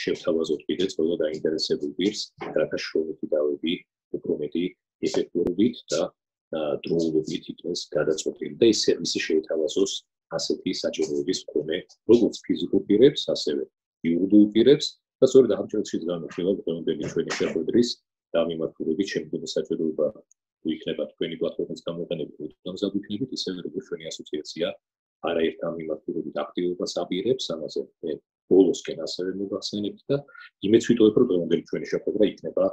შევთავაზოთ კიდეც ყველა დაინტერესებულ პირს, რათა შრომითი დავები უფრო მეტი ეფექტურობით და დროულობით იქნეს გადაწყვეტილი და ეს სერვისი შეეთავაზოს ასეთი საჭიროების მქონე როგორც ფიზიკურ პირებს, ასევე იურიდიულ პირებს და სწორედ ამ წელს განვიხილავთ დღევანდელი ჩვენი შეხვედრის დამიმართულებით შემდგომი საჭიროება თუ იქნება თქვენი პლატფორმის გამოყენებით უდამზად იქნებით, ისევე როგორც ჩვენი ასოციაცია არაერთ ამ მიმართულებით აქტივობას აპირებს, ამაზე მე ბოლოსკენ ასევე მოგახსენებთ და იმეც ვიტყოდეთ, რომ დღევანდელი ჩვენი შეხვედრა იქნება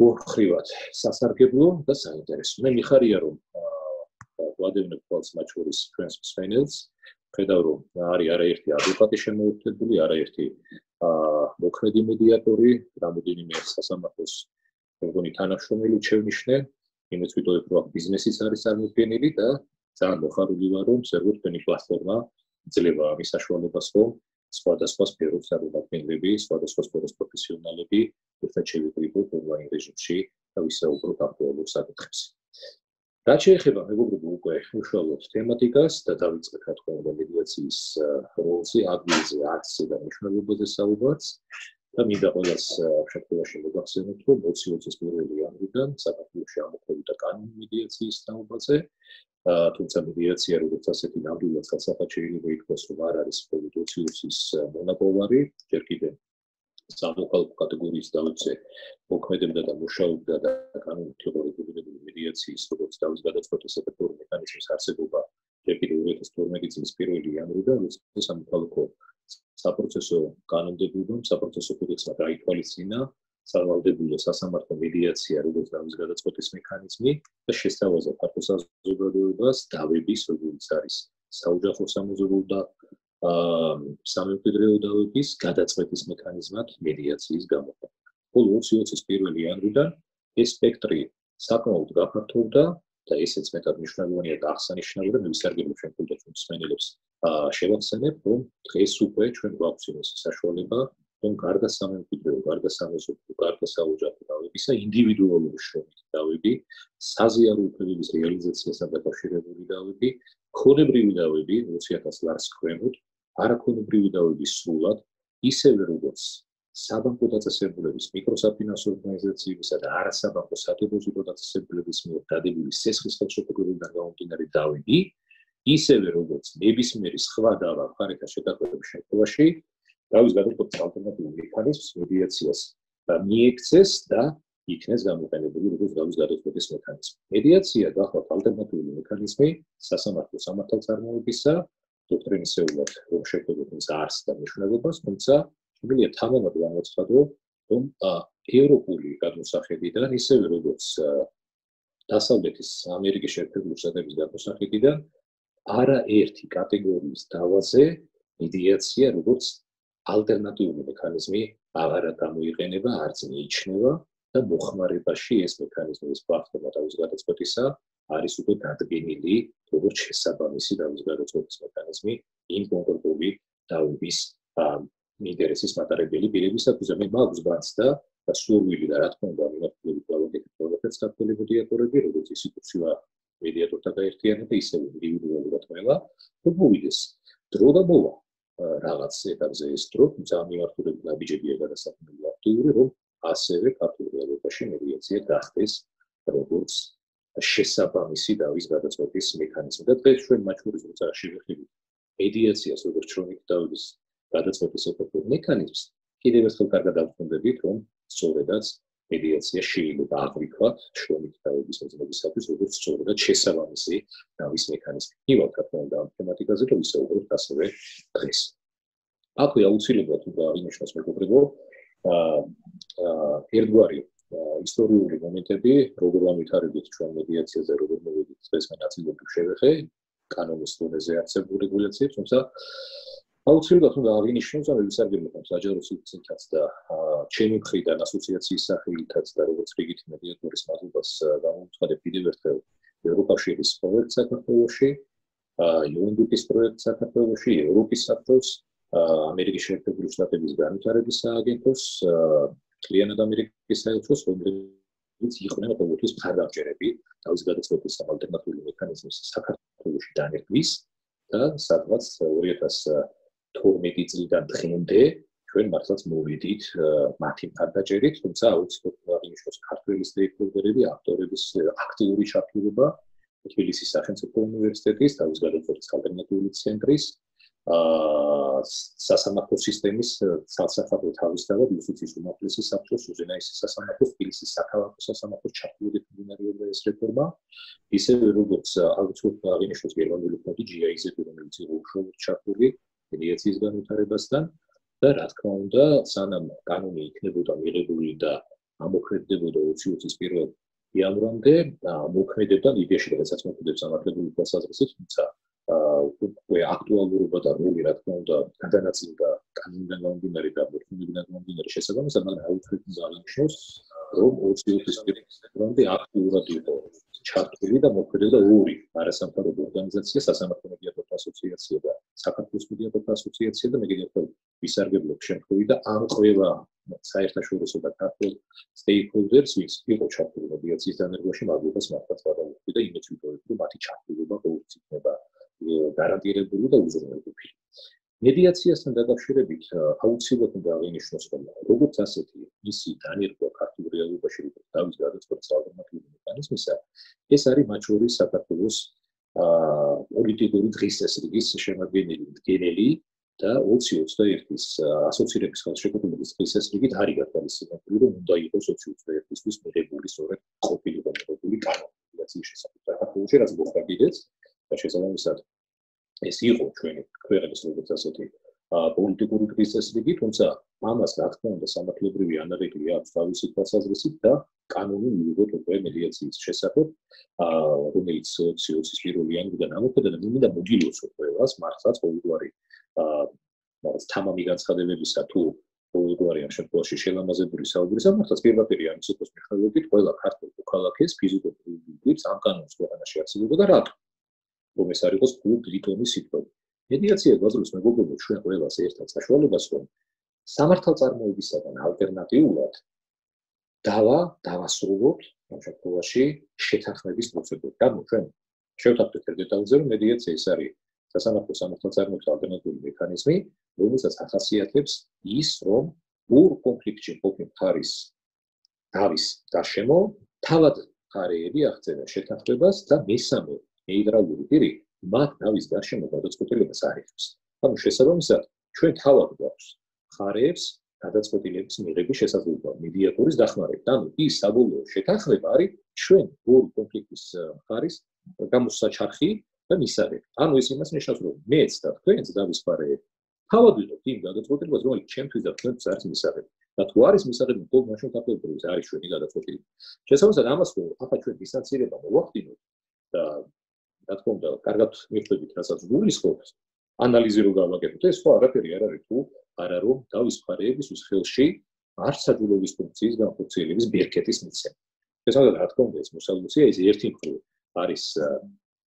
ოთხრივად სასარგებლო და საინტერესო. მე მიხარია რომ ვადევნებ თვალს მათ შორის ჩვენს მსმენელს, ხედავ რომ არის არაერთი ადვოკატი შემოერთებული, არაერთი მოქმედი მედიატორი, რამოდენიმე სასამართლოს მეგონი თანამშრომელი შევნიშნე, იმეც ვიტყოდეთ რომ ბიზნესიც არის წარმოდგენილი და ძალიან მოხარული ვარ რომ ზოგადად თქვენი პლატფორმა ძლევა ამის საშუალებას რომ სხვადასხვა სფეროს წარმომადგენლები, სხვადასხვა სფეროს პროფესიონალები ერთად შევიკრიბოთ ონლაინ რეჟიმში და ვისაუბროთ აქტუალურ საკითხებს. რაც შეეხება მეგობრებო უკვე უშუალოდ თემატიკას და დავიწყეთ რა თქმა უნდა მედიაციის როლზე, ადგილზე, არცზე და მნიშვნელობაზე საუბარს და მინდა ყველას შემთხვევაში მოგახსენოთ რომ 2020 წლის 1 იანვრიდან საქართველოში ამოქმედდა კანონი მედიაციის თაობაზე. თუმცა მედიაცია როგორც ასეთი ნამდვილად ხელსაყრად შეიძლება ითქვას რომ არ არის COVID-20-ის მონაპოვარი, ჯერ კიდევ სამოქალაქო კატეგორიის დავიცე მოქმედებდა და მუშაობდა და კანონით იყო რეგულირებული მედიაციის როგორც დავის გადაწყვეტის ეფექტური მექანიზმის არსებობა ჯერ კიდევ 2012 წლის 1 იანვრიდან როცა სამოქალაქო საპროცესო კანონმდებლობამ საპროცესო კოდექსმა გაითვალისწინა სავალდებულო სასამართლო მედიაცია როგორც დავის გადაწყვეტის მექანიზმი და შესთავაზა ფართო საზოგადოებას დავების როგორც არის საოჯახო სამოზობლო და სამემკვიდრეო დავების გადაწყვეტის მექანიზმად მედიაციის გამოყენება. ბოლო 2020 წლის 1 იანვრიდან ეს სპექტრი საკმაოდ გაფართოვდა და ესეც მეტად მნიშვნელოვანია და აღსანიშნავია და მე ვისარგებლობ შემდგომ მსმენელებს შევახსენებ რომ დღეს უკვე ჩვენ გვაქვს იმის საშუალება რომ გარდა სამემკვიდრეო, გარდა სამეზობლო, გარდა საოჯახო დავებისა ინდივიდუალური შრომითი დავები, საზიარო უფლებების რეალიზაციასთან დაკავშირებული დავები, ქონებრივი დავები 20.000 ლარს ქვემოთ, არაქონებრივი დავები სრულად, ისევე როგორც საბანკო დაწესებულების მიკროსაფინანსო ორგანიზაციებისა და არასაბანკო სადეპოზიტო დაწესებულების მიერ დადებული სესხის ხელშეკრულებიდან გამომდინარე დავები, ისევე როგორც ნებისმიერი სხვა დავა მხარეთან შეთანხმების შემთხვევაში დავის გადაწყვეტის ალტერნატიული მექანიზმს მედიაციას მიექცეს და იქნეს გამოყენებული როგორც დავის გადაწყვეტის მექანიზმი. მედიაცია გახლავთ ალტერნატიული მექანიზმი სასამართლო სამართალწარმოებისა, დოქტრინისეულად რომ შეგვიძლია არს და მნიშვნელობას, თუმცა შემიძლია თამამად გამოცხადო, რომ ევროპული გადმოსახედიდან, ისევე როგორც დასავლეთის ამერიკის შეერთებული შტატების გადმოსახედიდან, არაერთი კატეგორიის დავაზე მედიაცია როგორც ალტერნატიული მექანიზმი აღარ გამოიყენება, არც მიიჩნევა და მოხმარებაში ეს მექანიზმი ეს პლატფორმა დავის გადაწყვეტისა არის უკვე დადგენილი როგორც შესაბამისი დავის გადაწყვეტის მექანიზმი იმ კონკრეტული დავების ინტერესის მატარებელი პირებისათვის. მე მაქვს განცდა და სურვილი და რა თქმა უნდა მიმართულებით გავაკეთებ ყველაფერს ქართველი მედიატორები, როგორც ინსტიტუცია მედიატორთა გაერთიანება, ისევ ინდივიდუალურად ყველა, რომ მოვიდეს დრო და მოვა რაღაც ეტაპზე ეს დრო, თუმცა ამ მიმართულებით ნაბიჯებია გადასაქმებული აქტიური, რომ ასევე ქართულ რეალობაში მედიაცია გახდეს როგორც შესაბამისი დავის გადაწყვეტის მექანიზმი. და დღეს ჩვენ მათ შორის როცა შევეხებით მედიაციას როგორც შრომითი დავების გადაწყვეტის ეფექტურ მექანიზმს, კიდევ ერთხელ კარგად დავხვდებით, რომ სწორედაც მედიაცია შეიძლება აღვიქვათ შრომითი დავების მოძებნებისათვის როგორც სწორედად შესაბამისი დავის მექანიზმი. მივალთ რა თქმა უნდა ამ თემატიკაზე და ვისაუბრებთ ასევე დღეს. აქვე აუცილებლად უნდა აღინიშნოს მეგობრებო, ერთგვარი ისტორიული მომენტები, როგორ ამითარებით ჩვენ მედიაციაზე, როგორ მოვედით დღეს მე ნაწილობრივ შევეხე კანონის დონეზე არსებულ რეგულაციებს, თუმცა აუცილებლად უნდა აღინიშნოს და ვისარგებლობ საჯარო სივრცითაც და ჩემი მხრიდან ასოციაციის სახელითაც და როგორც რიგითი მედიატორის მადლობას გამოვცხადებ კიდევ ერთხელ ევროკავშირის პროექტ საქართველოში, UNDP-ის პროექტ საქართველოში, ევროპის საბჭოს, ამერიკის შეერთებული შტატების განვითარების სააგენტოს, მთლიანად ამერიკის საელჩოს, რომელიც იყვნენ ყოველთვის მხარდამჭერები დავის გადაწყვეტის ალტერნატიული მექანიზმის საქართველოში დანერგვის და სადღაც 2012 წლიდან დღემდე ჩვენ მართლაც მოვიდით მათი მხარდაჭერით, თუმცა აუცილებლად აღინიშნოს ქართველი სტეიკჰოლდერები, ავტორების აქტიური ჩართულობა თბილისის სახელმწიფო უნივერსიტეტის, თავის გადაწყვეტის ალტერნატიული ცენტრის, სასამართლო სისტემის სასახადო თავისთავად იუსტიციის უმაღლესი საბჭოს, უზენაესი სასამართლოს, თბილისის საქალაქო სასამართლოს ჩართულობით მიმდინარეობდა ეს რეფორმა, ისევე როგორც აუცილებლად აღინიშნოს გერმანული ფონდი GIZ-ი, რომელიც იყო უშუალოდ ჩართული მედიაციის განვითარებასთან და რა თქმა უნდა, სანამ კანონი იქნებოდა მიღებული და ამოქმედებოდა 20 წლის 1 იანვრამდე, მოქმედებდა მედიაში, როდესაც მოქმედებს სამართლებრივი თვალსაზრისით, თუმცა უკვე აქტუალურობა და როლი რა თქმა უნდა გადანაწილდა კანონიდან გამომდინარე და მოქმედებიდან გამომდინარე შესაბამისად, მაგრამ აუცილებლად აღინიშნოს, რომ 20 წლის 1 იანვრამდე აქტიურად იყო ჩართული და მოქმედებდა ორი არასამთავრობო ორგანიზაცია, სასამართლო მედიატორთა ასოციაცია და საქართველოს მედიატორთა ასოციაცია და მედიატორთა ვისარგებლობის შემთხვევით და ამ ყველა საერთაშორისო და ქართულ სტეიკჰოლდერს, ვინც იყო ჩართული მედიაციის დანერგვაში, მადლობას მართლაც ვადაუხდი და იმეც ვიტოვებ, რომ მათი ჩართულობა ყოველთვის იქნება გარანტირებული და უზრუნველყოფილი. მედიაციასთან დაკავშირებით აუცილებლად უნდა აღინიშნოს, რომ როგორც ასეთი მისი დანერგვა ქართულ რეალობაში თავის გადაწყვეტის ალტერნატიული მექანიზმისა, ეს არის მათ შორის საქართველოს პოლიტიკური დღესასრიგის შემადგენელი და 2021-ის ასოცირების ხელშეკრულების დღესასრიგით არის გათვალისწინებული, რომ უნდა იყოს 2021-ისთვის მიღებული სწორედ ყოფილიყო მიღებული კანონი მედიაციის შესახებ. საქართველოში რაც მოხდა კიდეც და შესაბამისად ეს იყო ჩვენი ქვეყნის როგორც ასეთი პოლიტიკური დღესასრიგი, თუმცა ამას რა თქმა უნდა სამართლებრივი ანალიტიკა აქვს თავისი თვალსაზრისით და კანონი მიიღოთ უკვე მედიაციის შესახებ, რომელიც 2020-ის 1 იანვრიდან ამოქმედა და მინდა მოგილოცო ყველას მართლაც ყოველგვარი თამამი განცხადებებისა თუ ყოველგვარი ამ შემთხვევაში შელამაზებული საუბრის მართლაც პირდაპირ ამის იყოს მიხედვით ყველა ქართულ მოქალაქეს ფიზიკურ პირს ამ კანონის ქვეყანაში არსებობდა და რატო რომ ეს არ იყოს ლიტონის სიტყვები. მედიაცია გვაძლევს მეგობრებო ჩვენ ყველას ერთად საშუალებას, რომ სამართალწარმოებისაგან ალტერნატიულად დავასრულოთ ამ შემთხვევაში შეთანხმების პროცედურა. ანუ ჩვენ შევთანხმდით დეტალზე, რომ მედიაცია ეს არის სასამართლო სამართალწარმოების ალტერნატიული მექანიზმი, რომელსაც ახასიათებს ის, რომ ორ კონფლიქტში მყოფი მხარის დავის გარშემო თავად მხარეები აღწევენ შეთანხმებას და მესამე ნეიტრალური პირი მათ დავის გარშემო გადაწყვეტილებას არ იღებს. ანუ შესაბამისად, ჩვენ თავად გვაქვს მხარეებს გადაწყვეტილების მიღების შესაძლებლობა მედიატორის დახმარებით. ანუ ის საბოლოო შეთანხმება არის ჩვენ ორი კონფლიქტის მხარის გამოსაჩარხი და მისაღები. ანუ ეს იმას ნიშნავს, რომ მეც და თქვენც დავის მხარეები თავად ვიღებთ იმ გადაწყვეტილებას, რომელიც ჩემთვის და თქვენთვის არის მისაღები. და თუ არის მისაღები, მხოლოდ მაშინ საქართველოს არის ჩვენი გადაწყვეტილება. შესაბამისად, ამას თუ ახლა ჩვენ დისტანცირება მოვახდინოთ და რა თქმა უნდა, კარგად მიხვდებით, რასაც გულისხმობთ, ანალიზი რო გავაკეთოთ, ეს ხო არაფერი არ არის თუ არა რომ დავის მხარეების ხელში არ საჯულების ფუნქციის განხორციელების ბერკეტის მიცემა. შესაბამისად, რა თქმა უნდა, ეს მოსალოდნელია, ეს ერთი მხრივ არის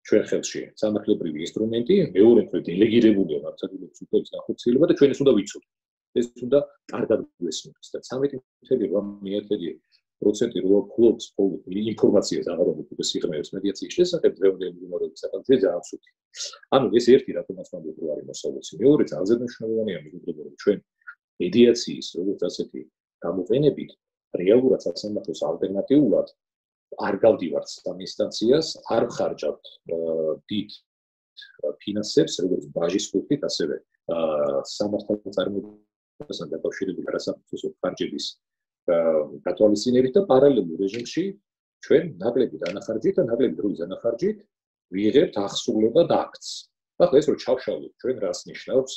ჩვენ ხელში სამართლებრივი ინსტრუმენტი, მეორე მხრივ დელეგირებულია საჯულების ფუნქციის განხორციელება და ჩვენ ეს უნდა ვიცოდეთ. ეს უნდა კარგად გვესმის და 13.1% რო ფლობს ინფორმაციას აღარობით და სიღრმეებს მედიაციის შესახებ დღევანდელი მდგომარეობის საკითხზე ძალიან სუფთი. ანუ ეს ერთი რატომაც მანდ რო არის მოსალოდნელი. მეორე ძალზე მნიშვნელოვანია მეგობრებო, რომ ჩვენ მედიაციის როგორც ასეთი გამოყენებით რეალურად სასამართლოს ალტერნატიულად არ გავდივართ სამ ინსტანციას, არ ხარჯავთ დიდ ფინანსებს, როგორც ბაჟის კუთხით, ასევე სამართალწარმოებასთან დაკავშირებული არასამართლოსო ხარჯების გათვალისწინებით და პარალელურ რეჟიმში ჩვენ ნაკლები დანახარჯით და ნაკლები დროის დანახარჯით ვიღებთ ახსულება და აქტს. ახლა ეს რო ჩავშალოთ, ჩვენ რას ნიშნავს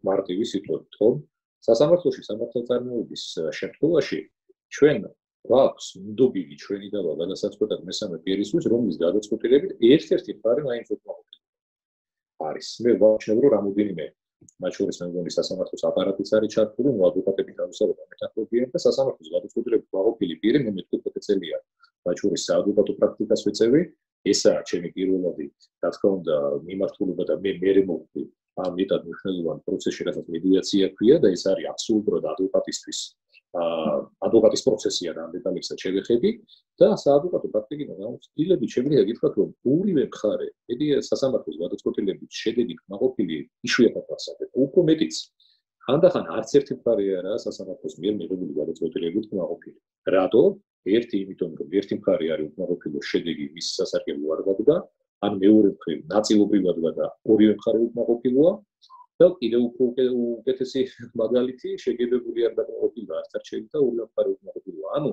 მარტივი სიტყვებით, ხო? სასამართლოში სამართალწარმოების შემთხვევაში ჩვენ გვაქვს ნდობილი ჩვენი დავა გადასაწყვეტად მესამე პირისთვის, რომლის გადაწყვეტილებით ერთ-ერთი მხარე მაინც არის. მე ვაჩნევ, რომ რამოდენიმე მათ შორის მე მგონი სასამართლოს აპარატიც არის ჩართული, ადვოკატები თავისუფლად მეთანხმებიან და სასამართლოს გადაწყვეტილებით გაყოფილი პირი მე მე-15 წელია მათ შორის საადვოკატო პრაქტიკას ვეწევი. ესაა ჩემი პირველადი, რა თქმა უნდა, მიმართულება და მე მოვხდი ამ მეტად მნიშვნელოვან პროცესში, რასაც მედიაცია ქვია და ეს არის აბსოლუტურად ადვოკატისთვის ადვოკატის პროცესია და ამ დეტალებსაც შევეხები და საადვოკატო პრაქტიკიდან გამოცდილებით შემიძლია გითხრათ, რომ ორივე მხარე სასამართლოს გადაწყვეტილებით შედეგი კმაყოფილი იშვიათად ასაკეთ. უფრო მეტიც, ხანდახან არც ერთი მხარე არაა სასამართლოს მიერ მიღებული გადაწყვეტილებით კმაყოფილი. რატო? ერთი იმიტომ, რომ ერთი მხარე არის უკმაყოფილო, შედეგი მის სასარგებლო არ გაგდა, ან მეორე მხრივ ნაწილობრივად და ორივე მხარე უკმაყოფილოა და კიდევ უფრო უკეთესი მაგალითი შეგებებული არ დაკმაყოფილება არც არჩევით და ორივე მხარე უკმაყოფილოა. ანუ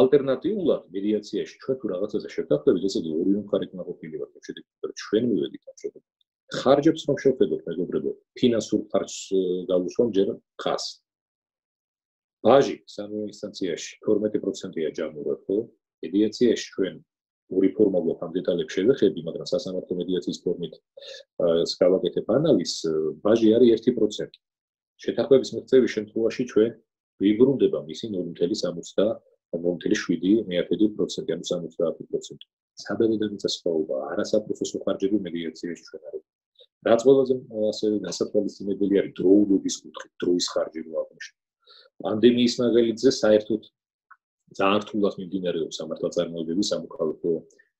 ალტერნატიულად მედიაციაში ჩვენ თუ რაღაცაზე შევთანხმდებით, ესე იგი ორივე მხარე უკმაყოფილი ვართ, შედეგი ჩვენ მივედით ამ შედეგად. ხარჯებს რომ შევხედოთ, მეგობრებო, ფინანსურ ხარჯს გავუსვამ ჯერ ხას. ბაჟი სამივე ინსტანციაში 12%-ია ჯამურად, ხო? მედიაციაში ჩვენ ორი ფორმა გვაქვს ამ დეტალებს შევეხები, მაგრამ სასამართლო მედიაციის ფორმით გავაკეთებ ანალიზს, ბაჟი არის 1%. შეთანხმების მიღწევის შემთხვევაში ჩვენ ვიბრუნდება მისი 0.7%, ანუ 70%. საბედედამიწა სხვაობა, არასაფრთხო ხარჯები მედიაციაში ჩვენ არ აქვს. რაც ყველაზე ასევე გასათვალისწინებელი არის დროულობის კუთხით, დროის ხარჯი რო აღნიშნე. პანდემიის მაგალითზე საერთოდ ძალიან რთულად მიმდინარეობს სამართალწარმოებების სამოქალაქო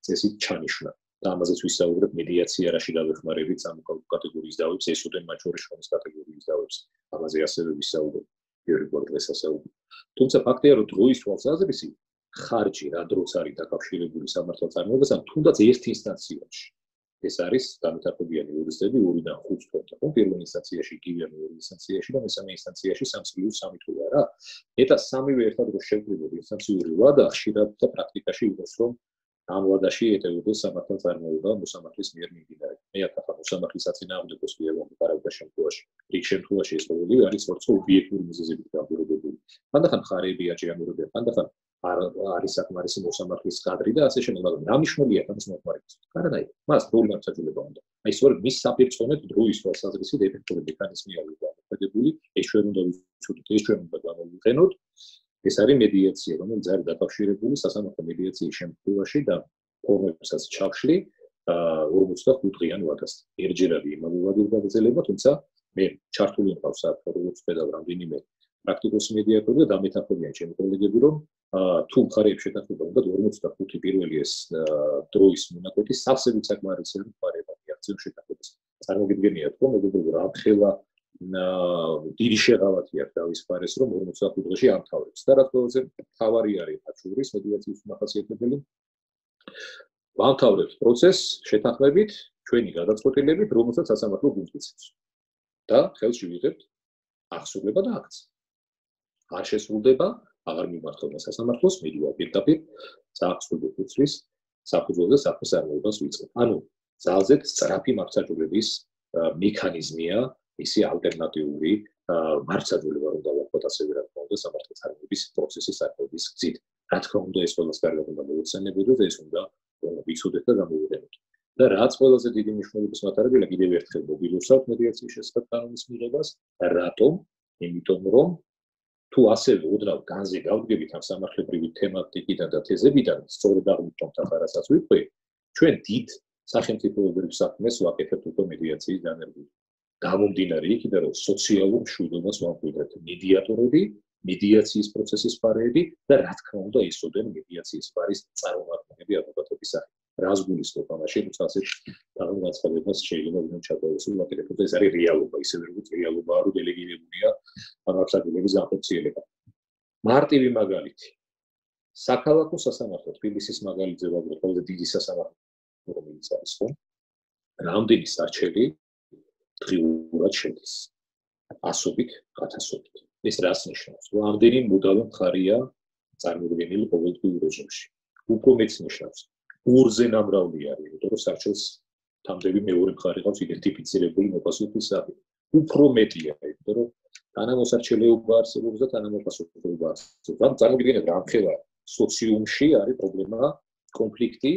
წესით ჩანიშვნა. და ამაზეც ვისაუბრებ მედიაცია რაში დავეხმარებით სამოქალაქო კატეგორიის დავებს, ესოდენ მათ შორის შრომის კატეგორიის დავებს. ამაზე ასევე ვისაუბრებ პირველ დღეს ასაუბრებ. თუმცა ფაქტია, რომ დროის თვალსაზრისით ხარჯი რა დროს არის დაკავშირებული სამართალწარმოებასთან, თუნდაც ერთ ინსტანციაში. ეს არის განვითარებიანი იურისტები 2-დან 5 თვეში. პირველ ინსტანციაში იგივე მეორე ინსტანციაში და მესამე ინსტანციაში 3+3 თვეა რა. მეტად სამივე ერთად რო შევკრიბოთ ინსტანციური ვადა, ხშირად და პრაქტიკაში იყოს რომ ამ ვადაში ეტევოდეს სამართალწარმოება მოსამართლის მიერ მიმდინარე. მე ახლა მოსამართლის საწინააღმდეგოს მიერ ვამყარავდა შემთხვევაში. რიგ შემთხვევაში ეს ყოველივე არის სწორედ ობიექტური მიზეზებით განპირობებული. ხანდახან მხარეები აჭიანურებენ, ხანდახან არის საკმარისი მოსამართლის კადრი და ასე შემდეგ, მაგრამ რა მნიშვნელია ამის მოხმარებას? არანაირი. მას დროული გამოსაჭრელობა უნდა. აი სწორედ მის საპირწონედ დროის თვალსაზრისით ეფექტური მექანიზმი არის გამოყენებული. ეს ჩვენ უნდა ვიცოდეთ, ეს ჩვენ უნდა გამოვიყენოთ. ეს არის მედიაცია, რომელიც არის დაკავშირებული სასამართლო მედიაციის შემთხვევაში და ფორმებსაც ჩავშლი 45 დღიან ვადასთან. ერთჯერ არის იმავე ვადის გაგრძელება, თუმცა მე ჩართული მყავს საერთოდ როგორც პედაგოგი რამდენიმე პრაქტიკოსი მედიატორი და დამეთანხმებიან ჩემი კოლეგები, რომ თუ მხარეებს შეთანხმება უნდა 45 პირველი ეს დროის მონაკვეთი სავსებით საკმარისია მხარეებმა მიაღწიონ შეთანხმებას. წარმოგიდგენიათ, რომ მეგობრებო, რა ხელა დიდი შეღავათი აქვს დავის მხარეს, რომ 45 დღეში ამთავრებს. და რაც ყველაზე მთავარი არის მათ შორის მედიაციის მახასიათებელი, ამთავრებს პროცესს შეთანხმებით, ჩვენი გადაწყვეტილებით, რომელსაც სასამართლო გულწრფელს და ხელში ვიღებთ აღსრულება და აქცია. არ შესრულდება, აღარ მიმართება სასამართლოს, მიდივა პირდაპირ საახსოვრო ხუთის საფუძველზე საქმის წარმოებას ვიწყებ. ანუ ძალზედ სწრაფი მართლმსაჯულების მექანიზმია, ისი ალტერნატიული მართლმსაჯულება რომ დავარქვათ ასევე რა თქმა უნდა სამართალწარმოების პროცესის საფუძვლის გზით. რა თქმა უნდა ეს ყველას კარგად უნდა მოუხსენებოდეთ, ეს უნდა ვიცოდეთ და გამოვიყენოთ. და რაც ყველაზე დიდი მნიშვნელობის მატარებელია, კიდევ ერთხელ მოგილოცავთ მედიაციის შესახებ კანონის მიღებას, რატომ? იმიტომ რომ თუ ასევე უდრავ განზე გავდგებით ამ სამართლებრივი თემატიკიდან და თეზებიდან, სწორედ აღმოჩნდა ხარასაც ვიყვე, ჩვენ დიდ სახელმწიფოებრივ საქმეს ვაკეთებთ უკვე მედიაციის დანერგებით. გამომდინარე იქიდან, რომ სოციალურ მშვიდობას ვამკვიდრებთ მედიატორები, მედიაციის პროცესის მხარეები და რა თქმა უნდა ისოდენ მედიაციის მხარის წარმომადგენლები ადვოკატების სახით. რას გულისხმობ ამაში, როცა ასეთ განცხადებას შეიძლება ვინმე ჩატოვოს ვაკეთებთ, ეს არის რეალობა, ისევე როგორც რეალობაა, რომ დელეგირებულია მართლმსაჯულების განხორციელება. მარტივი მაგალითი. საქალაქო სასამართლო თბილისის მაგალითზე ვაგროვ ყველაზე დიდი სასამართლო რომელიც არის, ხო? რამდენი სარჩელი დღიურად შედის? ასობით, 1000-ობით. ეს რას ნიშნავს? რომ ამდენი მუდავი მხარეა წარმოდგენილი ყოველდღიურ რეჟიმში. უფრო მეც ნიშნავს. ორზე ნამრავლი არის, იმიტომ რომ სარჩელს თამდები მეორე მხარე ყავს იდენტიფიცირებული მოპასუხის სახით. უფრო მეტია, იმიტომ რომ თანამოსარჩელეობა არსებობს და თანამოპასუხებლობა არსებობს. ამ წარმოგიდგენთ რა ამხელა სოციუმში არის პრობლემა, კონფლიქტი,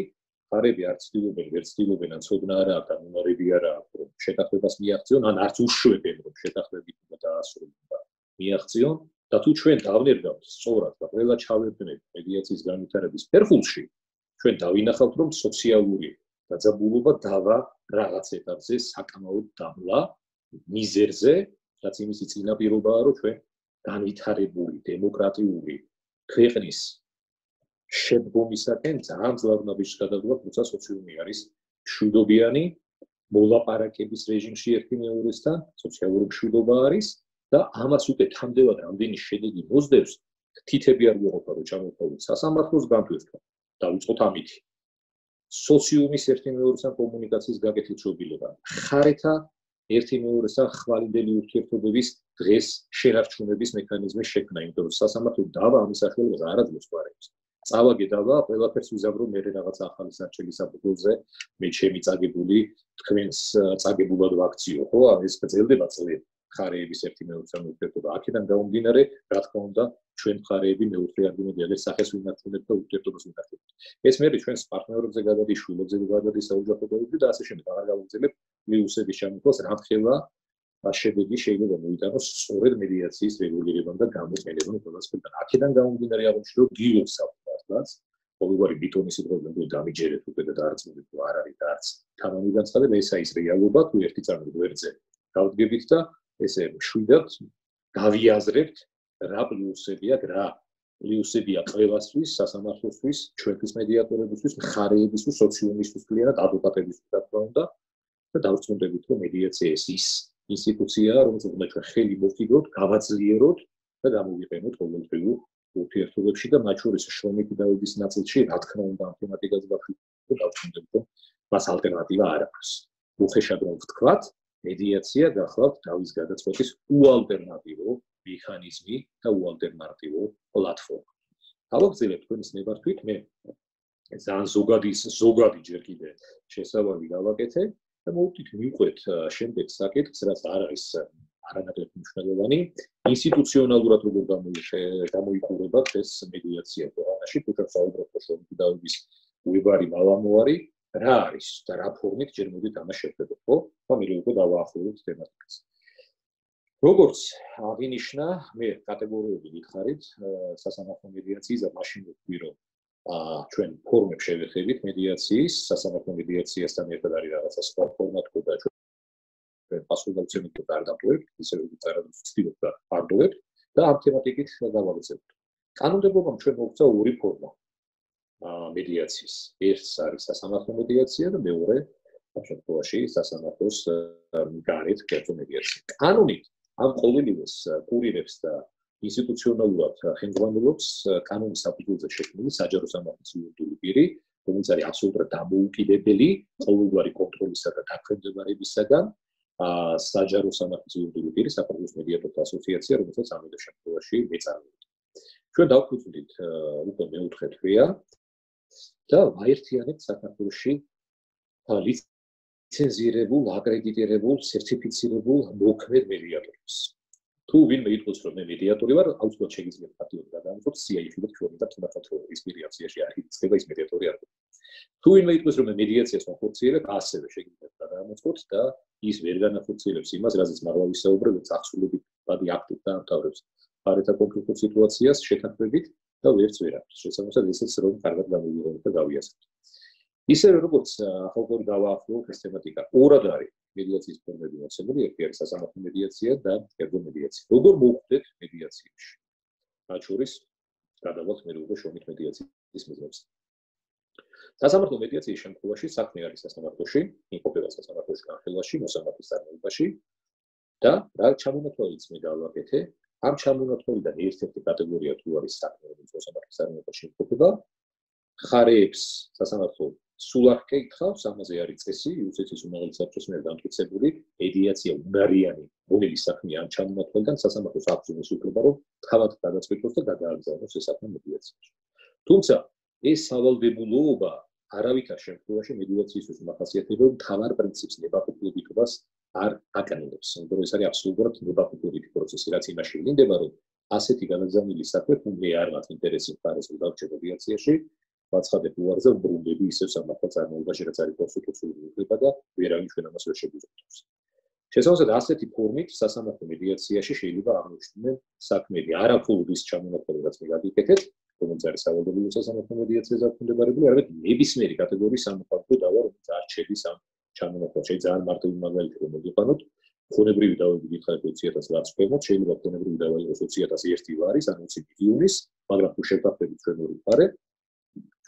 მხარეები არ ცდილობენ, ვერ ცდილობენ, ან ცოდნა არ აქვს, ან უნარები არ აქვს, რომ შეთანხმებას მიაღწიონ, ან არც უშვებენ, რომ შეთანხმებით უნდა დაასრულონ და მიაღწიონ. და თუ ჩვენ დავნერგავთ სწორად და ყველა ჩავერთმევთ მედიაციის განვითარების ფერხულში, ჩვენ დავინახავთ, რომ სოციალური დაძაბულობა დავა რაღაც ეტაპზე საკმაოდ დამლა მიზერზე, რაც იმისი წინაპირობაა, რომ ჩვენ განვითარებული დემოკრატიული ქვეყნის შედგომისაკენ ძალიან ძლავრ ნაბიჯს გადავდგავთ, როცა სოციუმი არის მშვიდობიანი, მოლაპარაკების რეჟიმში ერთი მეორესთან, სოციალური მშვიდობა არის და ამას უკვე თამდევად რამდენი შედეგი მოსდევს, თითები არ გვეყოფა, რომ ჩამოვყავთ სასამართლოს განთვისება. დავიწყოთ ამით. სოციუმის ერთი მეორესთან კომუნიკაციის გაკეთილ შობილება. ხარეთა ერთი მეორესთან ხვალინდელი ურთიერთობების დღეს შენარჩუნების მექანიზმის შექმნა, იმიტომ რომ სასამართლო დავა ამის საშუალებას არ აძლევს გვარებს. წავაგე დავა, ყველაფერს ვიზავრო მე რაღაც ახალი სარჩელი საფუძველზე, მე ჩემი წაგებული თქვენს წაგებულად ვაქციო, ხო? ეს გრძელდება წლები. ხარეების ერთი მეორესთან ურთიერთობა. აქედან გამომდინარე, რა თქმა უნდა, ჩვენ ხარეები მეოთხე ადგილზე სახეს ვინარჩუნებთ და ურთიერთობას ვინარჩუნებთ. ეს მე ჩვენს პარტნიორებზე გადადის, შვილებზე გადადის, საოჯახო დონეზე და ასე შემდეგ. აღარ გავუძლებთ პლუსების შემოქმნას, რამხელა შედეგი შეიძლება მოიტანოს სწორედ მედიაციის რეგულირებამ და გამოყენებამ ყველასკენ. აქედან გამომდინარე აღნიშნულ გილოს საფუძვლად, ყოველგვარი ბიტონის პრობლემა დამიჯერეთ უკვე და დაარწმუნეთ, რომ არ არის არც თანამი განცხადება, ესა ის რეალობა, თუ ერთი წარმოდგენით ვერზე გავდგებით და ესე მშვიდად გავიაზრებთ რა პლუსებია, რა პლუსებია ყველასთვის, სასამართლოსთვის, ჩვენთვის მედიატორებისთვის, მხარეებისთვის, სოციუმისთვის, კლიანად ადვოკატებისთვის რა თქმა უნდა და დავწუნდებით, რომ მედიაცია ის ინსტიტუციაა, რომელსაც უნდა ჩვენ ხელი მოვკიდოთ, გავაძლიეროთ და გამოვიყენოთ ყოველდღიურ ურთიერთობებში და მათ შორის შრომითი დაავადის ნაწილში, რა თქმა უნდა, ამ თემატიკაზე ვაფიქროთ და დავწუნდებით, რომ მას ალტერნატივა არ აქვს. უხეშად რომ ვთქვათ, მედიაცია გახლავთ დავის გადაწყვეტის უალტერნატივო მექანიზმი და უალტერნატივო პლატფორმა. გავაგრძელებ თქვენის ნებართვით, მე ძალიან ზოგადი ჯერ კიდე შესავალი გავაკეთე და მოვუწით მივყვეთ შემდეგ საკითხს, რაც არ არის არანაკლებ მნიშვნელოვანი, ინსტიტუციონალურად როგორ გამოიყურება ეს მედიაცია ქვეყანაში, თუ საუბრობთ შრომითი დაავადის უებარი მალამოარი, რა არის და რა ფორმით ჯერ მოდით ამას შევხედოთ, ხო? ამიტომ უკვე დავაახლოვოთ თემატიკას. როგორც აღინიშნა, მე კატეგორიები ვიხარით სასამართლო მედიაციის და მაშინ ვთქვი, რომ ჩვენ ფორმებს შევეხებით მედიაციის, სასამართლო მედიაციასთან ერთად არის რაღაცა სხვა ფორმა თქო და ჩვენ პასუხისმგებლობით არ დავტოვებთ, ისე როგორც არადროს ვცდილობ და არ დავტოვებთ და ამ თემატიკით გავაგრძელებთ. კანონმდებლობამ ჩვენ მოგცა ორი ფორმა მედიაციის. ერთს არის სასამართლო მედიაცია და მეორე ამ შემთხვევაში სასამართლოს გარეთ კერძო მედიაცია. კანონით ამ ყოველივეს კურირებს და ინსტიტუციონალურად ხელმძღვანელობს კანონის საფუძველზე შექმნილი საჯარო სამართლის იურიდიული პირი, რომელიც არის აბსოლუტურად დამოუკიდებელი ყოველგვარი კონტროლისა და დაქვემდებარებისაგან, საჯარო სამართლის იურიდიული პირი საქართველოს მედიატორთა ასოციაცია, რომელსაც ამ შემთხვევაში მეწარმეობთ. ჩვენ დავფუძნდით უკვე მეოთხე თვეა და ვაერთიანებთ საქართველოში ლიცენზირებულ, აკრედიტირებულ, სერტიფიცირებულ მოქმედ მედიატორებს. თუ ვინმე იტყვის, რომ მე მედიატორი ვარ, აუცილებლად შეგიძლიათ პატიორი გადაამოწმოთ CIA-ში ჩვენ და თუნდაც ის პირიაციაში არ იწდება ის მედიატორი არ არის. თუ ვინმე იტყვის, რომ მე მედიაციას ვახორციელებ, ასევე შეგიძლიათ გადაამოწმოთ და ის ვერ განახორციელებს იმას, რაზეც მაღლა ვისაუბრე, რომ წახსულებით ბადი აქტით დაამთავრებს ხარეთა კონფლიქტურ სიტუაციას შეთანხმებით და ვერც ვერ აქვს. შესაბამისად, ისიც რომ კარგად გამოვიყენოთ და გავიაზროთ. ისევე როგორც ახალგაზრდა დავაახლოვოთ ეს თემატიკა, ორად არის მედიაციის ფორმები მოცემული, ერთი არის სასამართლო მედიაცია და კერძო მედიაცია. როგორ მოვხვდეთ მედიაციაში? მათ შორის გადავალთ მე უკვე შრომით მედიაციის მიზნებზე. სასამართლო მედიაციის შემთხვევაში საქმე არის სასამართლოში, იმყოფება სასამართლოში განხილვაში, მოსამართლის წარმოებაში და რა ჩამონათვალიც მე გავაკეთე, ამ ჩამონათვალიდან ერთ-ერთი კატეგორია თუ არის საქმე, რომელიც მოსამართლის წარმოებაში იმყოფება, ხარეებს სასამართლო სულ არ ეკითხავს, ამაზე არის წესი, იუსტიციის უმაღლესი საბჭოს მიერ დამტკიცებული, მედიაცია უნარიანი, რომლის საქმეა ამ ჩამონათვალიდან სასამართლოს აქვს იმის უფლება, რომ თავად გადაწყვეტოს და გადააგზავნოს ეს საქმე მედიაციაში. თუმცა ეს სავალდებულოობა არავითარ შემთხვევაში მედიაციისთვის მახასიათებელ მთავარ პრინციპს ნებაყოფლობითობას არ აკანონებს. იმიტომ რომ ეს არის აბსოლუტურად ნებაყოფლობითი პროცესი, რაც იმაში ვლინდება, რომ ასეთი განაგზავნილი საქმე თუ მე არ მაქვს ინტერესი მხარეს დავჭერ მედიაციაში, ვაცხადებ უარზე ვბრუნდები ისევ სამართალ წარმოებაში, რაც არის კონსტიტუციური უფლება და ვერავინ ჩვენ ამას ვერ შეგვიძლია. შესაბამისად, ასეთი ფორმით სასამართლო მედიაციაში შეიძლება აღმოჩნდნენ საქმეები არამხოლოდ ის ჩამონათვალი, რაც მე გადიკეთეთ, რომელიც არის სავალდებულო სასამართლო მედიაციაზე დაქვემდებარებული, არამედ ნებისმიერი კატეგორიის სამოქალაქო დავა, რომელიც არ შედის ამ ჩამონათვალში. ძალიან მარტივი მაგალითი რომ მოგიყვანოთ, ქონებრივი დავები გითხარით 20.000 რაც ქვემოთ, შეიძლება ქონებრივი დავა იყოს 20.001 ლარის, ან 20 მილიონის, მაგრამ თუ შევდახდებით ჩვენ ორი მხარე,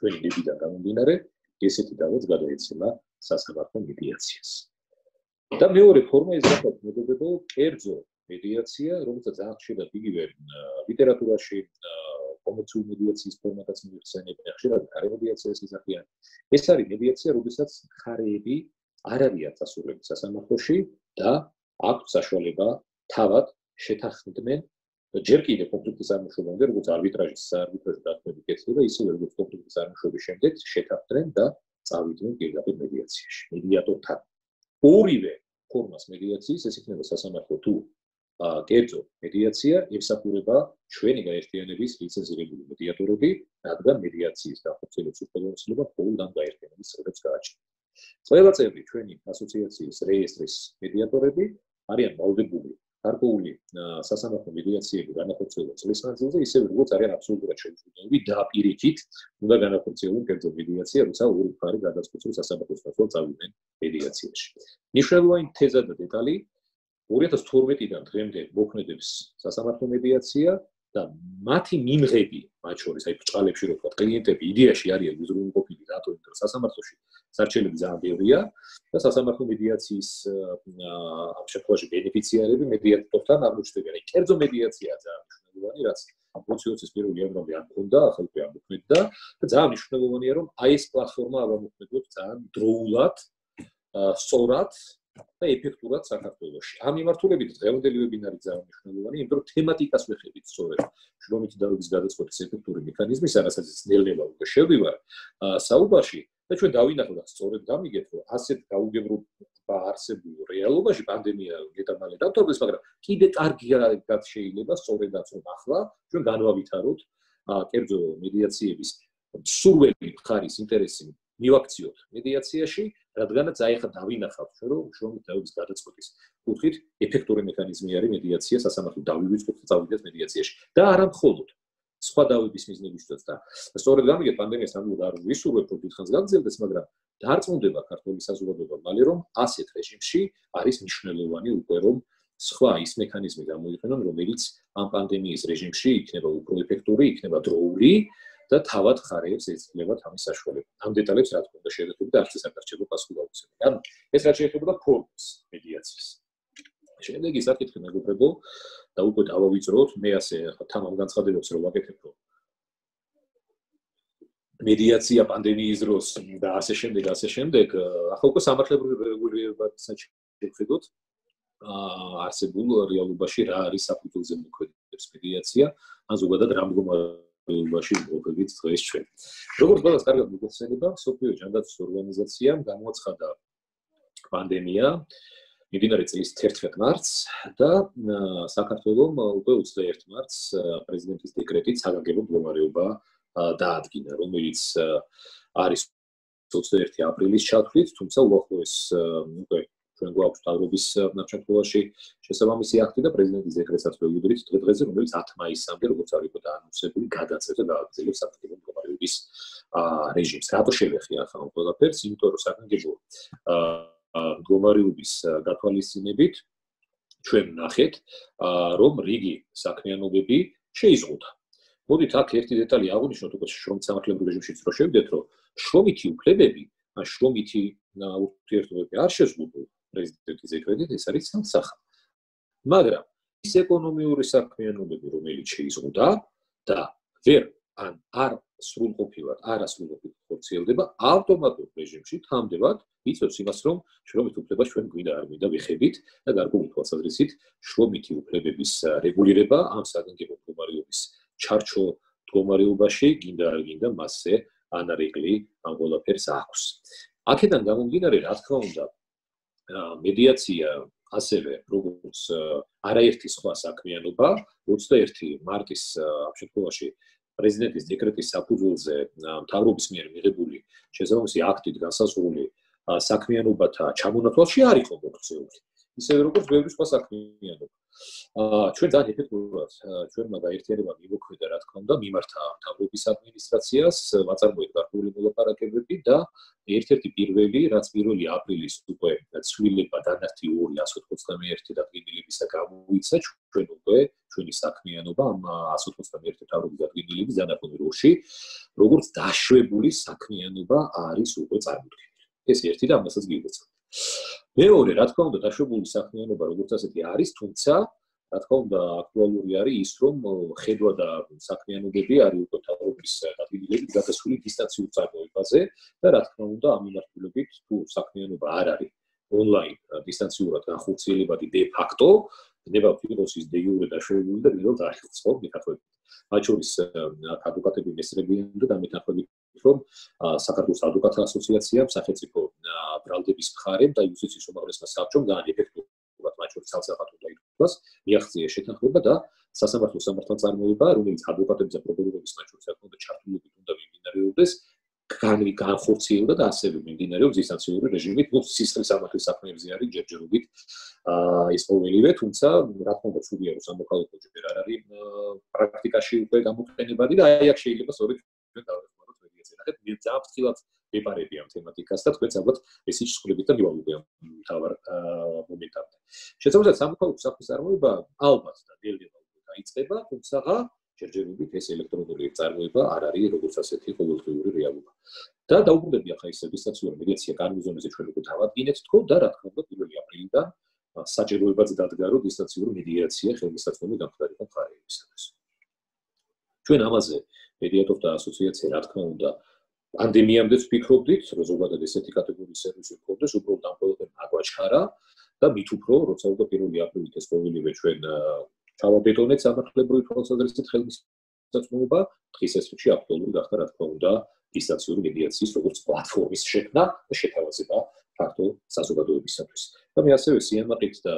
ჩვენი დებიდან გამომდინარე, ესეთი დავაც გადაეცემა სასამართლო მედიაციას. და მეორე ფორმა ის გახლავთ მეგობრებო, კერძო მედიაცია, რომელსაც ძალიან ხშირად იგივე ლიტერატურაში კომერციული მედიაციის ფორმატაც მოიხსენიებენ, ხშირად მხარე მედიაციას იზრდებიან. ეს არის მედიაცია, როდესაც მხარეები არ არიან დასასრულები სასამართლოში და აქვთ საშუალება თავად შეთანხმდნენ ჯერ კიდევ კონფლიქტის წარმოშობამდე, როგორც არბიტრაჟის საარბიტრაჟო დათმობები კეთდება, ისევე როგორც კონფლიქტის წარმოშობის შემდეგ შეთანხმდნენ და წავიდნენ პირდაპირ მედიაციაში, მედიატორთან. ორივე ფორმას მედიაციის, ეს იქნება სასამართლო თუ კერძო მედიაცია, ემსახურება ჩვენი გაერთიანების ლიცენზირებული მედიატორები, რადგან მედიაციის განხორციელების უფლებამოსილება მხოლოდ ამ გაერთიანების წევრებს გააჩნია. ყველა წევრი ჩვენი ასოციაციის რეესტრის მედიატორები არიან ვალდებული გარკვეული სასამართლო მედიაციები განახორციელონ წლის მანძილზე, ისევე როგორც არიან აბსოლუტურად შეუძლებელი და პირიქით უნდა განახორციელონ კერძო მედიაცია, როცა ორი მხარე გადაწყვეტს სასამართლოს ნაცვლად წავიდნენ მედიაციაში. მნიშვნელოვანი თეზა და დეტალი 2012-დან დღემდე მოქმედებს სასამართლო მედიაცია და მათი მიმღები, მათ შორის აი ბრჭყალებში რო ვთქვა, კლიენტები იდეაში არიან უზრუნველყოფილი რატო, იმიტომ რომ სასამართლოში სარჩელები ძალიან ბევრია და სასამართლო მედიაციის ამ შემთხვევაში ბენეფიციარები მედიატორთან აღმოჩნდებიან. აი კერძო მედიაციაა ძალიან მნიშვნელოვანი, რაც 2020-ის 1 იანვრამდე არ მქონდა, ახლა უკვე ამოქმედდა და ძალიან მნიშვნელოვანია, რომ აი ეს პლატფორმა ამოქმედებს ძალიან დროულად, სწორად და ეფექტურად საქართველოში. ამ მიმართულებით დღევანდელი ვებინარი ძალიან მნიშვნელოვანია, იმიტომ რომ თემატიკას ვეხებით სწორედ შრომითი დარგის გადაწყვეტის ეფექტური მექანიზმის, რასაც ნელ-ნელა უკვე შევდივარ საუბარში და ჩვენ დავინახოთ სწორედ გამიგეთ, რომ ასეთ გაუგებრობა არსებულ რეალობაში პანდემია გეტამალე დავთვალეს, მაგრამ კიდე კარგად შეიძლება სწორედაც რომ ახლა ჩვენ განვავითაროთ კერძო მედიაციების სურველი მხარის ინტერესი მივაქციოთ მედიაციაში, რადგანაც აი ახლა დავინახავთ, რომ შრომითი დარგის გადაწყვეტის კუთხით ეფექტური მექანიზმი არის მედიაცია, სასამართლო დავივიწყოთ და წავიდეთ მედიაციაში და არა მხოლოდ სხვა დავების მიზნებისთვისაც და სწორედ გამიგეთ პანდემიას ნამდვილად არ ვისურვებ, რომ დიდხანს გაგრძელდეს, მაგრამ დარწმუნდება ქართული საზოგადოება მალე, რომ ასეთ რეჟიმში არის მნიშვნელოვანი უკვე რომ სხვა ის მექანიზმი გამოიყენონ, რომელიც ამ პანდემიის რეჟიმში იქნება უფრო ეფექტური, იქნება დროული და თავად ხარებს ეცნებათ ამის საშუალება. ამ დეტალებს რა თქმა უნდა შევეხები და არც ეს არ გარჩება პასუხი გავუცემ. ანუ ეს რაც შეეხება ფორმას მედიაციის. შემდეგ ის საკითხი მეგობრებო და უკვე დავავიწროთ, მე ასე თამამ განცხადებს რომ ვაკეთებ რომ მედიაცია პანდემიის დროს და ასე შემდეგ, ახლა უკვე სამართლებრივ რეგულირებასაც შევხედოთ არსებულ რეალობაში რა არის საფუძველზე მოქმედებს მედიაცია, ან ზოგადად რა მდგომარეობაში იმყოფებით დღეს ჩვენ. როგორც ყველას კარგად მოგეხსენება, მსოფლიო ჯანდაცვის ორგანიზაციამ გამოაცხადა პანდემია მიმდინარე წლის 11 მარტს და საქართველოს უკვე 21 მარტს პრეზიდენტის დეკრეტით საგანგებო მდგომარეობა დაადგინა, რომელიც არის 21 აპრილის ჩათვლით, თუმცა უახლოეს უკვე ჩვენ გვაქვს თავრობის შემთხვევაში შესაბამისი აქტი და პრეზიდენტის დეკრეტსაც ვეუბნებით დღე-დღეზე, რომელიც 10 მაისამდე, როგორც არის უკვე დაანონსებული, გადაწყვეტა და გააგრძელებს საგანგებო მდგომარეობის რეჟიმს. რატო შევეხი ახლა ამ ყველაფერს? იმიტომ რომ საგანგებო მდგომარეობის გათვალისწინებით ჩვენ ვნახეთ, რომ რიგი საქმიანობები შეიზღუდა. მოდით აქ ერთი დეტალი აღვნიშნოთ, უკვე შრომით სამართლებრივ რეჟიმშიც რო შევიდეთ, რომ შრომითი უფლებები, ან შრომითი ურთიერთობები არ შეზღუდულ პრეზიდენტის დეკრეტით, ეს არის სამსახა. მაგრამ ის ეკონომიური საქმიანობები, რომელიც შეიზღუდა და ვერ ან არ სრულყოფილად ხორციელდება, ავტომატურ რეჟიმში თამდებად იწევს იმას, რომ შრომითი უფლება ჩვენ გვინდა არ გვინდა ვიხებით და გარკვეული თვალსაზრისით შრომითი უფლებების რეგულირება ამ საგანგებო მდგომარეობის ჩარჩო მდგომარეობაში გინდა არ გინდა მასზე ანარეკლი ამ ყველაფერს აქვს. აქედან გამომდინარე, რა თქმა უნდა, მედიაცია ასევე როგორც არაერთი სხვა საქმიანობა 21 მარტის ამ შემთხვევაში პრეზიდენტის დეკრეტის საფუძველზე მთავრობის მიერ მიღებული შესაბამისი აქტით განსაზღვრული საქმიანობათა ჩამონათვალში არ იყო მოქცეული. ისევე როგორც ბევრი სხვა საქმიანობა. ჩვენ ძალიან ეფექტურად ჩვენმა გაერთიანებამ იმოქმედა, რა თქმა უნდა, მიმართა მთავრობის ადმინისტრაციას, ვაწარმოეთ გარკვეული მოლაპარაკებები და ერთ-ერთი პირველი, რაც 1 აპრილის უკვე ცვლილება დანართი 291 დადგენილებისა გამოიცა, ჩვენ უკვე ჩვენი საქმიანობა ამ 191 მთავრობის დადგენილების დანარჩენ როში, როგორც დაშვებული საქმიანობა არის უკვე წარმოქმნილი. ეს ერთი და ამასაც გიგეცნობ. მეორე, რა თქმა უნდა, დაშვებული საქმიანობა როგორც ასეთი არის, თუმცა რა თქმა უნდა, აქტუალური არის ის, რომ ხედვა და საქმიანობები არის უკვე თავის ადგილებით გადასული დისტანციურ წარმოებაზე და რა თქმა უნდა, ამ მიმართულებით თუ საქმიანობა არ არის ონლაინ დისტანციურად განხორციელებადი de facto, ხდება ფიროსის de jure დაშვებული და პირველად არის ხო მეთახვებით. მათ შორის ადვოკატები მესრებიან და დამეთახვებით რომ საქართველოს ადვოკატთა ასოციაციამ, სახელმწიფო ბრალდების მხარემ და იუსტიციის უმაღლესმა საბჭომ ძალიან ეფექტურად მათ შორის სალსახატო დაითქვას, მიაღწია შეთანხმება და სასამართლო სამართალწარმოება, რომელიც ადვოკატების და პროკურორების მათ შორის ახლა ჩართულობით უნდა მიმდინარეობდეს, განხორციელდა და ასევე მიმდინარეობს დისტანციური რეჟიმით, ну სისხლის სამართლის საქმეებზე არის ჯერჯერობით ეს ყოველივე, თუმცა რა თქმა უნდა სულია რომ სამოქალაქო ჯერ არ არის პრაქტიკაში უკვე გამოყენებადი და აი აქ შეიძლება სწორედ ჩვენ დავეხმაროთ მედიაცია. ნახეთ, მე ძალიან ფრთხილად ვეპარები ამ თემატიკას და თქვენც ალბათ ეს ისწრებით და მივალოდე ამ თავარ მომენტამდე. შესაძლოა სამოქალაქო საქმის წარმოება ალბათ და დელდება უკვე დაიწყება, თუმცა ჯერჯერობით ეს ელექტრონული წარმოება არ არის როგორც ასეთი ყოველდღიური რეალობა. და დაუბრუნდები ახლა ეს დისტანციური მედიაცია განუზომეზე ჩვენ უკვე დავადგინეთ თქო და რა თქმა უნდა 1 აპრილიდან საჭიროებაც დადგა რომ დისტანციური მედიაცია ხელმისაწვდომი გამხდარიყო მხარეებისათვის. ჩვენ ამაზე მედიატორთა ასოციაცია რა თქმა უნდა პანდემიამდეც ვფიქრობდით, რომ ზოგადად ესეთი კატეგორიის სერვისი გქონდეს, უბრალოდ ამ ყველაფერს აგვაჩქარა და მით უფრო როცა უკვე 1 აპრილით ეს ყოველივე ჩვენ ჩავაბეტონეთ სამართლებრივი თვალსაზრისით ხელმისაწვდომობა, დღის ესრიგში აქტუალური გახდა რა თქმა უნდა დისტანციური მედიაციის როგორც პლატფორმის შექმნა და შეთავაზება ფაქტო საზოგადოებისათვის. და მე ასევე სიამაყით და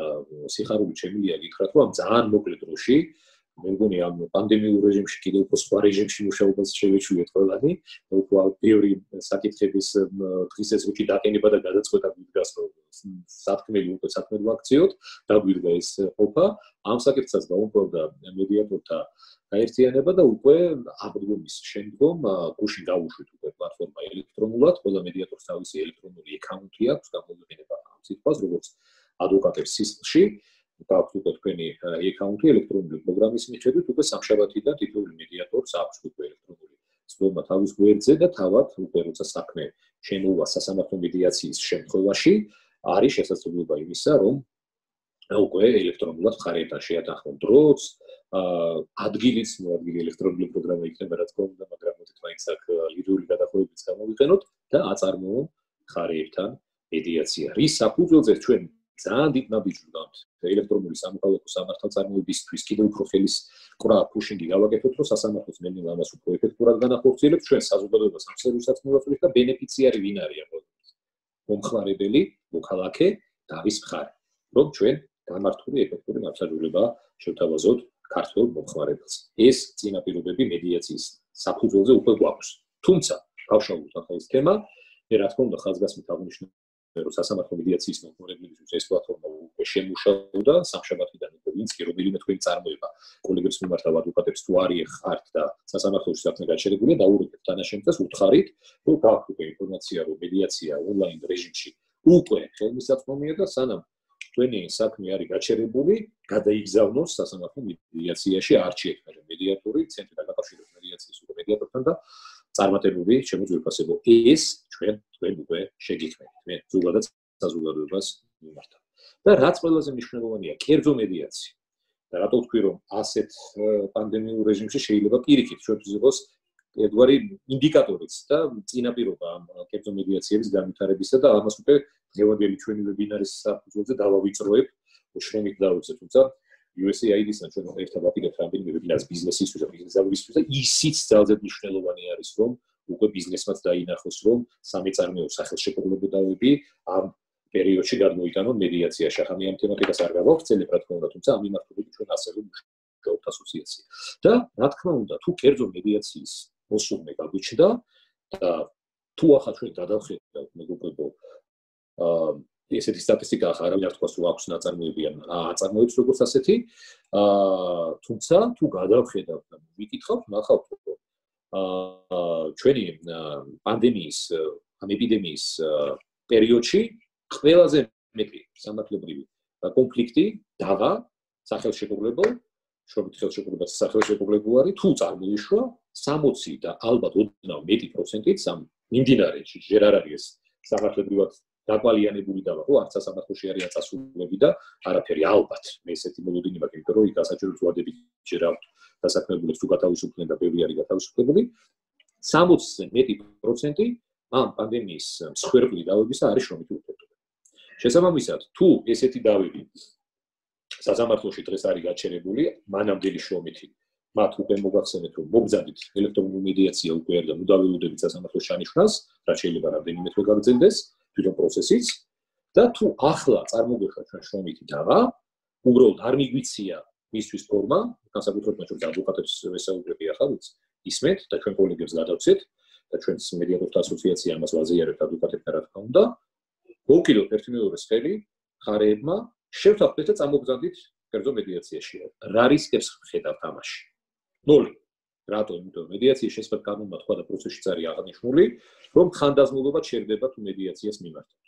სიხარულით შემიძლია გითხრათ, რომ ამ ძალიან მოკლე დროში მე მგონი ამ პანდემიურ რეჟიმში კიდევ უფრო სხვა რეჟიმში მუშაობას შევეჩვიეთ ყველანი, უფრო ბევრი საკითხების დღის ესრიგში დაყენება და გადაწყვეტა გვიდგას, რომ სათქმელი უკვე საქმედ ვაქციოთ, დაგვიდგა ეს ყოფა. ამ საკითხსაც დაუმკვიდრდა მედიატორთა გაერთიანება და უკვე აღდგომის შემდგომ გუშინ გავუშვით უკვე პლატფორმა ელექტრონულად, ყველა მედიატორს თავისი ელექტრონული აკაუნთი აქვს, გამოიყენება ამ სიტყვას, როგორც ადვოკატებს სისხლში. გაქვთ უკვე თქვენი აკაუნთი ელექტრონული პროგრამის მიხედვით, უკვე სამშაბათიდან თითოეული მედიატორს აქვს უკვე ელექტრონული ცდომა თავის გვერდზე და თავად უკვე როცა საქმე შემოვა სასამართლო მედიაციის შემთხვევაში, არის შესაძლებლობა იმისა, რომ უკვე ელექტრონულად მხარეებთან შეათანხმონ დროც, ადგილიც მოადგილი ელექტრონული პროგრამა იქნება რა თქმა უნდა, მაგრამ მოდით მაინც აქ ლიდური გადახოვებიც გამოვიყენოთ და აწარმოონ მხარეებთან მედიაცია. რის საფუძველზე ჩვენ ძალიან დიდ ნაბიჯს ვდგამთ ელექტრონული სამოქალაქო სამართალწარმოებისთვის კიდევ უფრო ხელის კვრა ფუშინგი გავაკეთოთ, რომ სასამართლოს მენელ ამას უფრო ეფექტურად განახორციელებთ, ჩვენ საზოგადოებას ამ სერვისსაც მივაწვდით და ბენეფიციარი ვინ არის ახლა? მომხმარებელი, მოქალაქე და ის მხარე, რომ ჩვენ გამართული ეფექტური მართლმსაჯულება შევთავაზოთ ქართველ მომხმარებელს. ეს წინაპირობები მედიაციის საფუძველზე უკვე გვაქვს. თუმცა, გავშალოთ ახლა ეს თემა, მე რა თქმა უნდა ხაზგასმით აღნიშნე რომ სასამართლო მედიაციის მომხმარებლებისთვის ეს პლატფორმა უკვე შემუშავდა სამშაბათიდან უკვე ვინც კი რომელიმე თქვენი წარმოება კოლეგებს მიმართავ ადვოკატებს თუ არიხართ და სასამართლოში საქმე გაჩერებულია დაურეკეთ თანაშემწეს უთხარით რომ გაქვთ უკვე ინფორმაცია რომ მედიაცია ონლაინ რეჟიმში უკვე ხელმისაწვდომია და სანამ თქვენი საქმე არის გაჩერებული გადაიგზავნოს სასამართლო მედიაციაში არჩიეთ მედიატორი ცენტრი დაკავშირების მედიაციის უკვე მედიატორთან და წარმატებული შემოძვირფასებო ეს ჩვენ უკვე შეგიქმნით მე ზოგადად საზოგადოებას მიმართავ და რაც ყველაზე მნიშვნელოვანია კერძო მედიაცია და რატო ვთქვი რომ ასეთ პანდემიურ რეჟიმში შეიძლება პირიქით ჩვენთვის იყოს ერთგვარი ინდიკატორიც და წინაპირობა ამ კერძო მედიაციების განვითარებისა და ამას უკვე დღევანდელი ჩვენი ვებინარის საფუძველზე დავავიწროებ შრომით დავუწევ თუმცა USAID-სთან ჩვენ ერთად ვაპირებთ რამდენიმე ვებინარს ბიზნესისთვის და ბიზნესის და ისიც ძალიან მნიშვნელოვანი არის რომ უკვე ბიზნესმაც დაინახოს რომ სამეწარმეო სახელშეკრულებები ამ პერიოდში გადმოიტანონ მედიაციაში. ახლა მე ამ თემატიკას არ გავავრცელებ რა თქმა უნდა, თუმცა ამ მიმართულებით ჩვენ ასევე მუშაობთ ასოციაცია. და რა თქმა უნდა, თუ კერძო მედიაციის მოსურვე გაგვიჩნდა და თუ ახლა ჩვენ გადავხედავთ მეგობრებო ესეთი სტატისტიკა ახლა არავინ არ თქვას რომ აქვს ნაწარმოები ან აწარმოებს როგორც ასეთი თუმცა თუ გადავხედავთ და ვიკითხავთ ნახავთ რომ ჩვენი პანდემიის ამ ეპიდემიის პერიოდში ყველაზე მეტი სამართლებრივი კონფლიქტი დავა სახელშეკრულებულ შრომით ხელშეკრულებას სახელშეკრულებულ არის თუ წარმოიშვა 60 და ალბათ ოდნავ მეტი პროცენტით სამ მიმდინარეში ჯერ არ არის სამართლებრივად დაკვალიანებული დავა, არც სასამართლოში არის აწასულები და არაფერი ალბათ. მე ესეთი მოლოდინი მაქვს, იმიტომ რომ იქ გასაჭირო ზვადები ჯერ აქვს დასაქმებულებს თუ გათავისუფლდნენ და ბევრი არის გათავისუფლებული. 60-ზე მეტი პროცენტი ამ პანდემიის მსხვერპლი დავებისა არის შრომითი ურთიერთობა. შესაბამისად, თუ ესეთი დავები სასამართლოში დღეს არის გაჩერებული, მანამდელი შრომითი მათ უკვე მოგახსენეთ, რომ მობრძანდით ელექტრონული მედიაცია უკვე არის და მუდაველუდებით სასამართლოს ჩანიშვნას, რაც შეიძლება რამდენიმე თვე გაგრძელდეს თვითონ პროცესიც და თუ ახლა წარმოგეშვა ჩვენ შრომითი დავა, უბრალოდ არ მიგვიცია მისთვის ფორმა, განსაკუთრებით ჩვენ ადვოკატებს ვესაუბრები ახლა ისმენთ და ჩვენ კოლეგებს გადავცეთ და ჩვენს მედიატორთა ასოციაცია ამას ვაზიარებთ ადვოკატებთან რა თქმა უნდა. მოვკიდოთ ერთი მეორეს ხელი ხარეებმა შევთანხმდეთ და წამოგზავნით კერძო მედიაციაში. რა რისკებს ხედავთ ამაში? 0. რატო? იმიტომ მედიაციის შესახებ კანონმა თქვა და პროცესშიც არის აღნიშნული, რომ ხანდაზმულობა ჩერდება თუ მედიაციას მიმართავთ.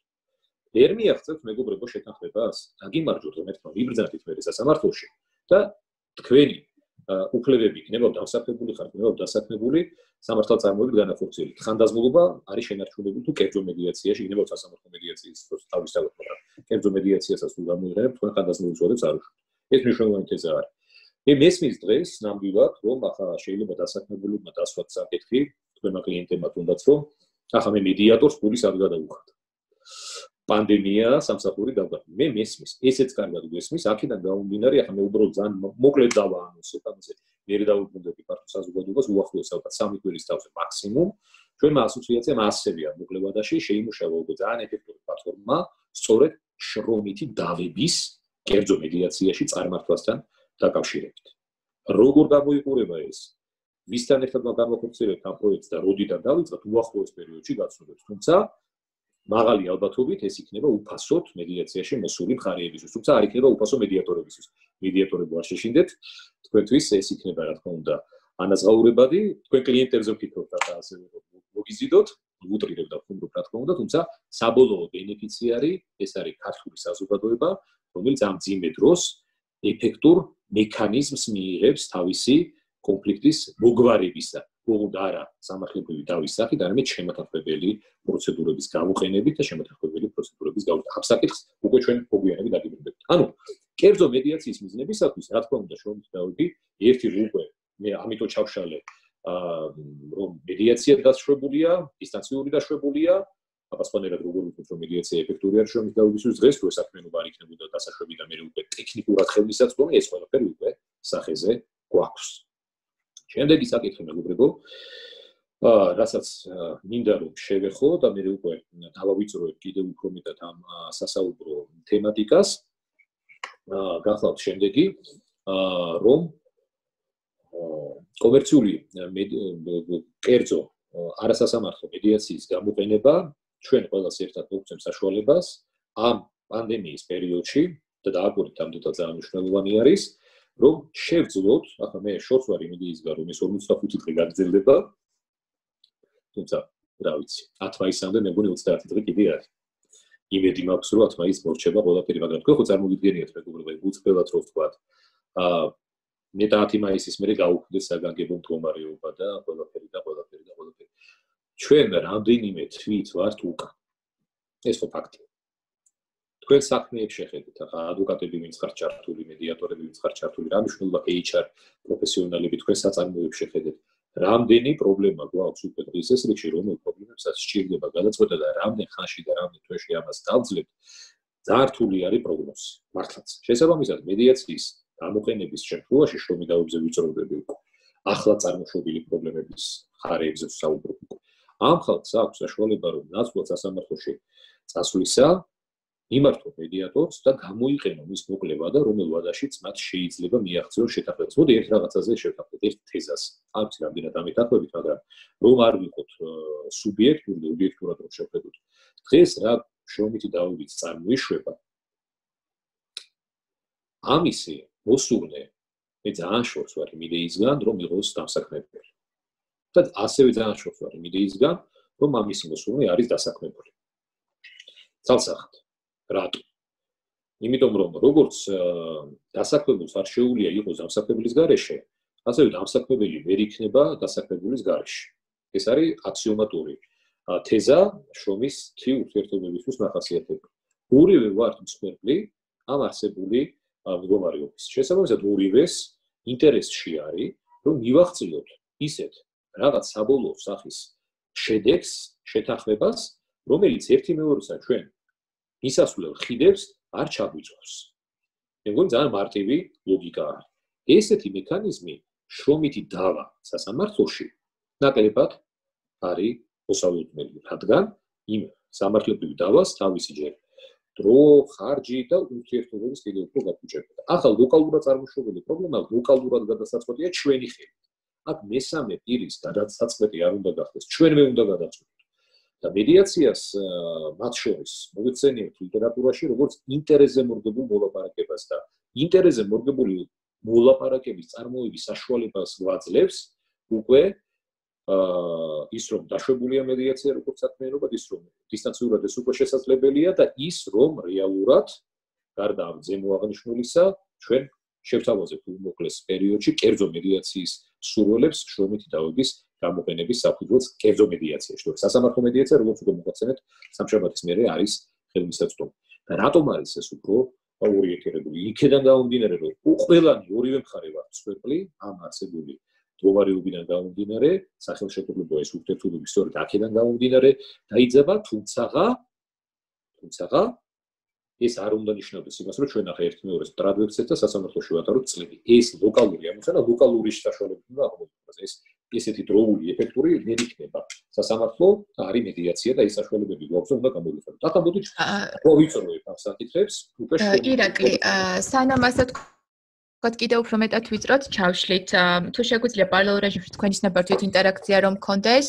ვერ მიაღწევთ მეგობრებო შეთანხმებას, დაგიმარჯვოთ რომ ერთმა მიბრძანდით მე სასამართლოში და თქვენი უფლებები იქნება დასაქმებული ხართ, იქნება დასაქმებული სამართალწარმოებით განახორციელებით. ხანდაზმულობა არის შენარჩუნებული თუ კერძო მედიაციაში, იქნება სასამართლო მედიაციის თავისთავად, მაგრამ კერძო მედიაციასაც თუ გამოიყენებთ, თქვენ ხანდაზმულობის უწოდებს არ უშვით. ეს მნიშვნელოვანი თეზა არის. მე მესმის დღეს ნამდვილად, რომ ახლა შეიძლება დასაქმებულებმა დასვათ საკითხი, თქვენმა კლიენტებმა თუნდაც რომ ახლა მე მედიატორს პულის არ გადავუხად. პანდემია სამსახური დავგა. მე მესმის, ესეც კარგად გვესმის, აქედან გამომდინარე, ახლა მე უბრალოდ ძალიან მოკლედ დავაანონსებ ამაზე. მე დავუბრუნდები ფართო საზოგადოებას უახლოეს ალბათ 3 კვირის თავზე მაქსიმუმ. ჩვენმა ასოციაციამ ასევე მოკლევადაში შეიმუშავა უკვე ძალიან ეფექტური პლატფორმა, სწორედ შრომითი დავების კერძო მედიაციაში წარმართვასთან დაკავშირებით. როგორ გამოიყურება ეს? ვისთან ერთად გამოვხორციელებთ ამ პროექტს და როდიდან დავიწყოთ უახლოეს პერიოდში გაცნობთ. თუმცა მაღალი ალბათობით ეს იქნება უფასოდ მედიაციაში მოსული მხარეებისთვის, თუმცა არ იქნება უფასო მედიატორებისთვის. მედიატორები არ შეშინდეთ, თქვენთვის ეს იქნება რა თქმა უნდა ანაზღაურებადი, თქვენ კლიენტებზე ვფიქრობთ და ასე მოგიზიდოთ, უტრირებ და ვხუმრობ რა თქმა უნდა, თუმცა საბოლოო ბენეფიციარი ეს არის ქართული საზოგადოება, რომელიც ამ ძიმე დროს ეფექტურ მექანიზმს მიიღებს თავისი კონფლიქტის მოგვარებისა. ოღონდ არა სამართლებრივი დავის სახით, არამედ შემოთანხმებელი პროცედურების გამოყენებით და შემოთანხმებელი პროცედურების გამოყენებით. ამ საკითხს უკვე ჩვენ მოგვიანებით დაგიბრუნდებთ. ანუ კერძო მედიაციის მიზნებისათვის, რა თქმა უნდა, შრომითი დავები ერთი უკვე მე ამიტომ ჩავშალე, რომ მედიაცია დაშვებულია, დისტანციური დაშვებულია, აპასუხებად როგორ ვთქვით, რომ მედიაცია ეფექტური არის შრომითი დავებისთვის დღეს, თუ ეს საქმიანობა არ იქნებოდა დასაშვები და მე უკვე ტექნიკურად ხელმისაწვდომი, ეს ყველაფერი უკვე სახეზე გვაქვს. შემდეგი საკითხი მეგობრებო, რასაც მინდა რომ შევეხო და მე უკვე დავავიწროებ კიდევ უფრო მეტად ამ სასაუბრო თემატიკას. გახლავთ შემდეგი, რომ კომერციული კერძო არასასამართლო მედიაციის გამოყენება ჩვენ ყველას ერთად მოგცემს საშუალებას ამ პანდემიის პერიოდში და დააკვირდით ამდენად ძალიან მნიშვნელოვანი არის, რომ შევძლოთ, ახლა მე შორს ვარ იმედიისგან, რომ ეს 45 დღე გაგრძელდება, თუმცა რა ვიცი, 10 მაისამდე მე მგონი 30 დღე კიდე არის. იმედი მაქვს, რომ 10 მაისს მორჩება ყველაფერი, მაგრამ თქვენ ხო წარმოგიდგენიათ მეგობრებო, უცხოელად რო ვთქვათ, მე 10 მაისის მერე გაუქმდეს საგანგებო მდგომარეობა და ყველაფერი. ჩვენ რამდენიმე თვით ვართ უკან. ეს ხო ფაქტია. თქვენ საქმეებს შეხედეთ, ახლა ადვოკატები ვინც ხართ ჩართული, მედიატორები ვინც ხართ ჩართული, რა მნიშვნელობა HR პროფესიონალები თქვენ საწარმოებს შეხედეთ. რამდენი პრობლემა გვაქვს უკვე დღის ეს რიგში, რომელ პრობლემებსაც სჭირდება გადაწყვეტა და რამდენ ხანში და რამდენ თვეში ამას დავძლებთ, ძალიან რთული არის პროგნოზი. მართლაც. შესაბამისად, მედიაციის გამოყენების შემთხვევაში შრომით დავებზე ვიწროვდები უკვე. ახლა წარმოშობილი პრობლემების ხარეებზე ვსაუბრობ უკვე. ამ ხალხს აქვს საშუალება, რომ ნაცვლად სასამართლოში წასვლისა მიმართო მედიატორს და გამოიყენო მის მოკლება და რომელ ვადაშიც მათ შეიძლება მიაღწიონ შეთანხმებას. მოდი ერთ რაღაცაზე შევთანხმდეთ, ერთ თეზას. არ ვიცი რამდენად ამეთანხმებით, მაგრამ რომ არ ვიყოთ სუბიექტური და ობიექტურად რომ შევხედოთ. დღეს რა შრომითი დავებით წარმოიშვება. ამისი მოსურნე მე ძალიან შორს ვარ იმ იდეისგან, რომ იყოს დასაქმებული. და ასევე ძალიან შორს ვარ იმ იდეისგან, რომ ამისი მოსურნე არის დასაქმებული. ცალსახად. რატო? იმიტომ რომ როგორც დასაქმებულს არ შეუძლია იყოს დამსაქმებლის გარეშე, ასევე დამსაქმებელი ვერ იქნება დასაქმებულის გარეშე. ეს არის აქსიომატური თეზა შრომის თვი ურთიერთობებისთვის მახასიათებელი. ორივე ვართ მსხვერპლი ამ არსებული მდგომარეობის. შესაბამისად, ორივეს ინტერესში არის, რომ მივახციოთ ისეთ რაღაც საბოლოო სახის შედეგს, შეთანხმებას, რომელიც ერთი მეორესთან ჩვენ მისასვლელ ხიდებს არ ჩაგვიწევს. მე მგონი ძალიან მარტივი ლოგიკა არის. ესეთი მექანიზმი შრომითი დავა სასამართლოში ნაკლებად არის მოსალოდნელი, რადგან იმ სამართლებრივ დავას თავისი ჯერ დრო, ხარჯი და ურთიერთობების კიდევ უფრო გაფუჭებდა. ახლა ლოკალურად წარმოშობილი პრობლემა ლოკალურად გადასაწყვეტია ჩვენი ხელით. აქ მესამე პირის გადასაწყვეტი არ უნდა გახდეს, ჩვენვე უნდა გადაწყვეტოთ. და მედიაციას მათ შორის მოიხსენიებთ ლიტერატურაში როგორც ინტერესზე მორგებულ მოლაპარაკებას და ინტერესზე მორგებული მოლაპარაკების წარმოების საშუალებას გვაძლევს უკვე ის რომ დაშვებულია მედიაცია როგორც საქმიანობა, ის რომ დისტანციურად ეს უკვე შესაძლებელია და ის რომ რეალურად გარდა ამ ზემო აღნიშნულისა ჩვენ შევთავაზებთ უმოკლეს პერიოდში კერძო მედიაციის სურვილებს შრომითი დავების გამოყენების საფუძველს კერძო მედიაციაში. თორე სასამართლო მედიაცია როგორც უკვე მოგაცემეთ სამშაბათის მერე არის ხელმისაწვდომი. და რატომ არის ეს უფრო ორიენტირებული? იქედან გამომდინარე რომ ყველანი ორივე მხარე ვართ მსხვერპლი ამ არსებული მდგომარეობიდან გამომდინარე, სახელშეკრულებაა ეს ურთიერთობები სწორედ აქედან გამომდინარე დაიძაბა, თუმცა ეს არ უნდა ნიშნავდეს იმას, რომ ჩვენ ახლა ერთ მეორეს ტრადვებცეთ და სასამართლოში ვატაროთ წლები. ეს ლოკალური ამოცანა, ლოკალური საშუალებით უნდა აღმოჩნდეს. ეს ესეთი დროული ეფექტური ვერ იქნება. სასამართლო არის მედიაცია და ეს საშუალებები გვაქვს, უნდა გამოვიყენოთ. ახლა მოდით ვიწროებთ ამ საკითხებს, უკვე ირაკლი, სანამ ასე ვთქვათ, კიდევ უფრო მეტად ვიწროთ, ჩავშლით. თუ შეგვიძლია პარალელურ რეჟიმში თქვენის ნებართვით ინტერაქცია რომ მქონდეს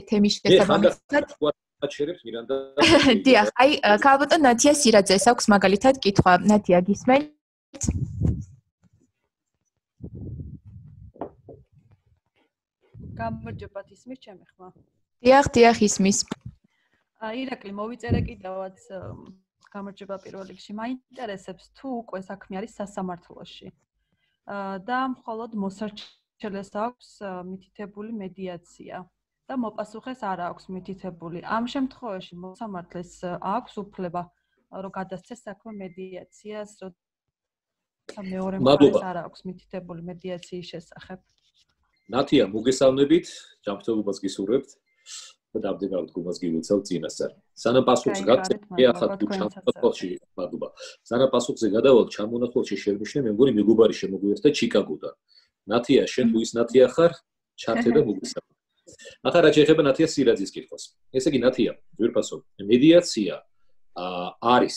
თემის შესაბამისად. აჩერებს მირანდა. დიახ, აი, ქალბატონ ნათია სირაძეს აქვს მაგალითად კითხვა. ნათია, გისმენთ? გამარჯობათ, ისმის ჩემი ხმა? დიახ, ისმის. ირაკლი, მოვიწერე კიდევაც გამარჯობა პირველ რიგში. მაინტერესებს თუ უკვე საქმე არის სასამართლოში. და მხოლოდ მოსარჩელეს აქვს მითითებული მედიაცია. და მოპასუხეს არ აქვს მითითებული. ამ შემთხვევაში მოსამართლეს აქვს უფლება რომ გადასცეს საქმე მედიაციას, როცა მეორე მხარეს არ აქვს მითითებული მედიაციის შესახებ. ნათია, მოგესალმებით, ჯანმრთელობას გისურვებთ და დამდგარ დგომას გივიცავთ წინასწარ. სანამ პასუხს გაგცემთ, ახლა თუ ჩამონათვალში, მადლობა. სანამ პასუხზე გადავალ, ჩამონათვალში შევნიშნე, მე მგონი მეგობარი შემოგვიერთდა ჩიკაგოდან. ნათია, შენ თუ ის ნათია ხარ, ჩართე და მოგესალმებით. ახლა რა შეიძლება ნათია სირაძის კითხვას. ესე იგი ნათია, ძვირფასო, მედიაცია არის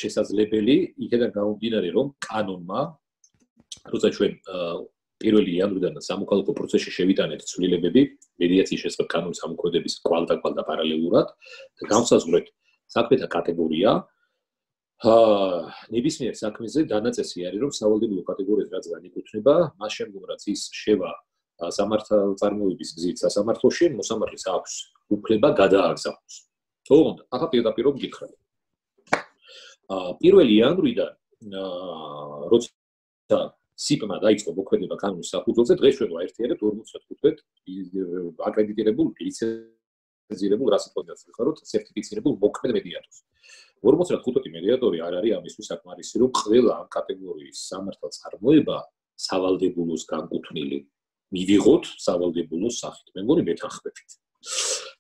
შესაძლებელი, იქიდან გამომდინარე, რომ კანონმა, როცა ჩვენ 1 იანვრიდან სამოქალაქო პროცესში შევიტანეთ ცვლილებები მედიაციის შესახებ კანონის ამოქმედების კვალდაკვალ და პარალელურად და განსაზღვრეთ საქმეთა კატეგორია, ნებისმიერ საქმეზე დანაწესი არის, რომ სავალდებულო კატეგორიას რაც განეკუთვნება, მას შემდგომ რაც ის შევა სამართალ წარმოების გზით სასამართლოში, მოსამართლეს აქვს უფლება გადააგზავნოს. თუმცა, ახლა პირდაპირ მგითხრათ. 1 იანვრიდან როცა სიპმა დაიწყო მოქმედება კანონის საფუძველზე, დღეს ჩვენ ვაერთიანებთ 45 აკრედიტირებულ ლიცენზირებულ რასიტონიას ვიხაროთ, სერტიფიცირებულ მოქმედ მედიატორს. 45 მედიატორი არ არის ამისთვის საკმარისი, რომ ყველა ამ კატეგორიის სამართალ წარმოება სავალდებულოს განკუთვნილი მივიღოთ სავალდებულოს სახით. მე მგონი მეთანხმებით.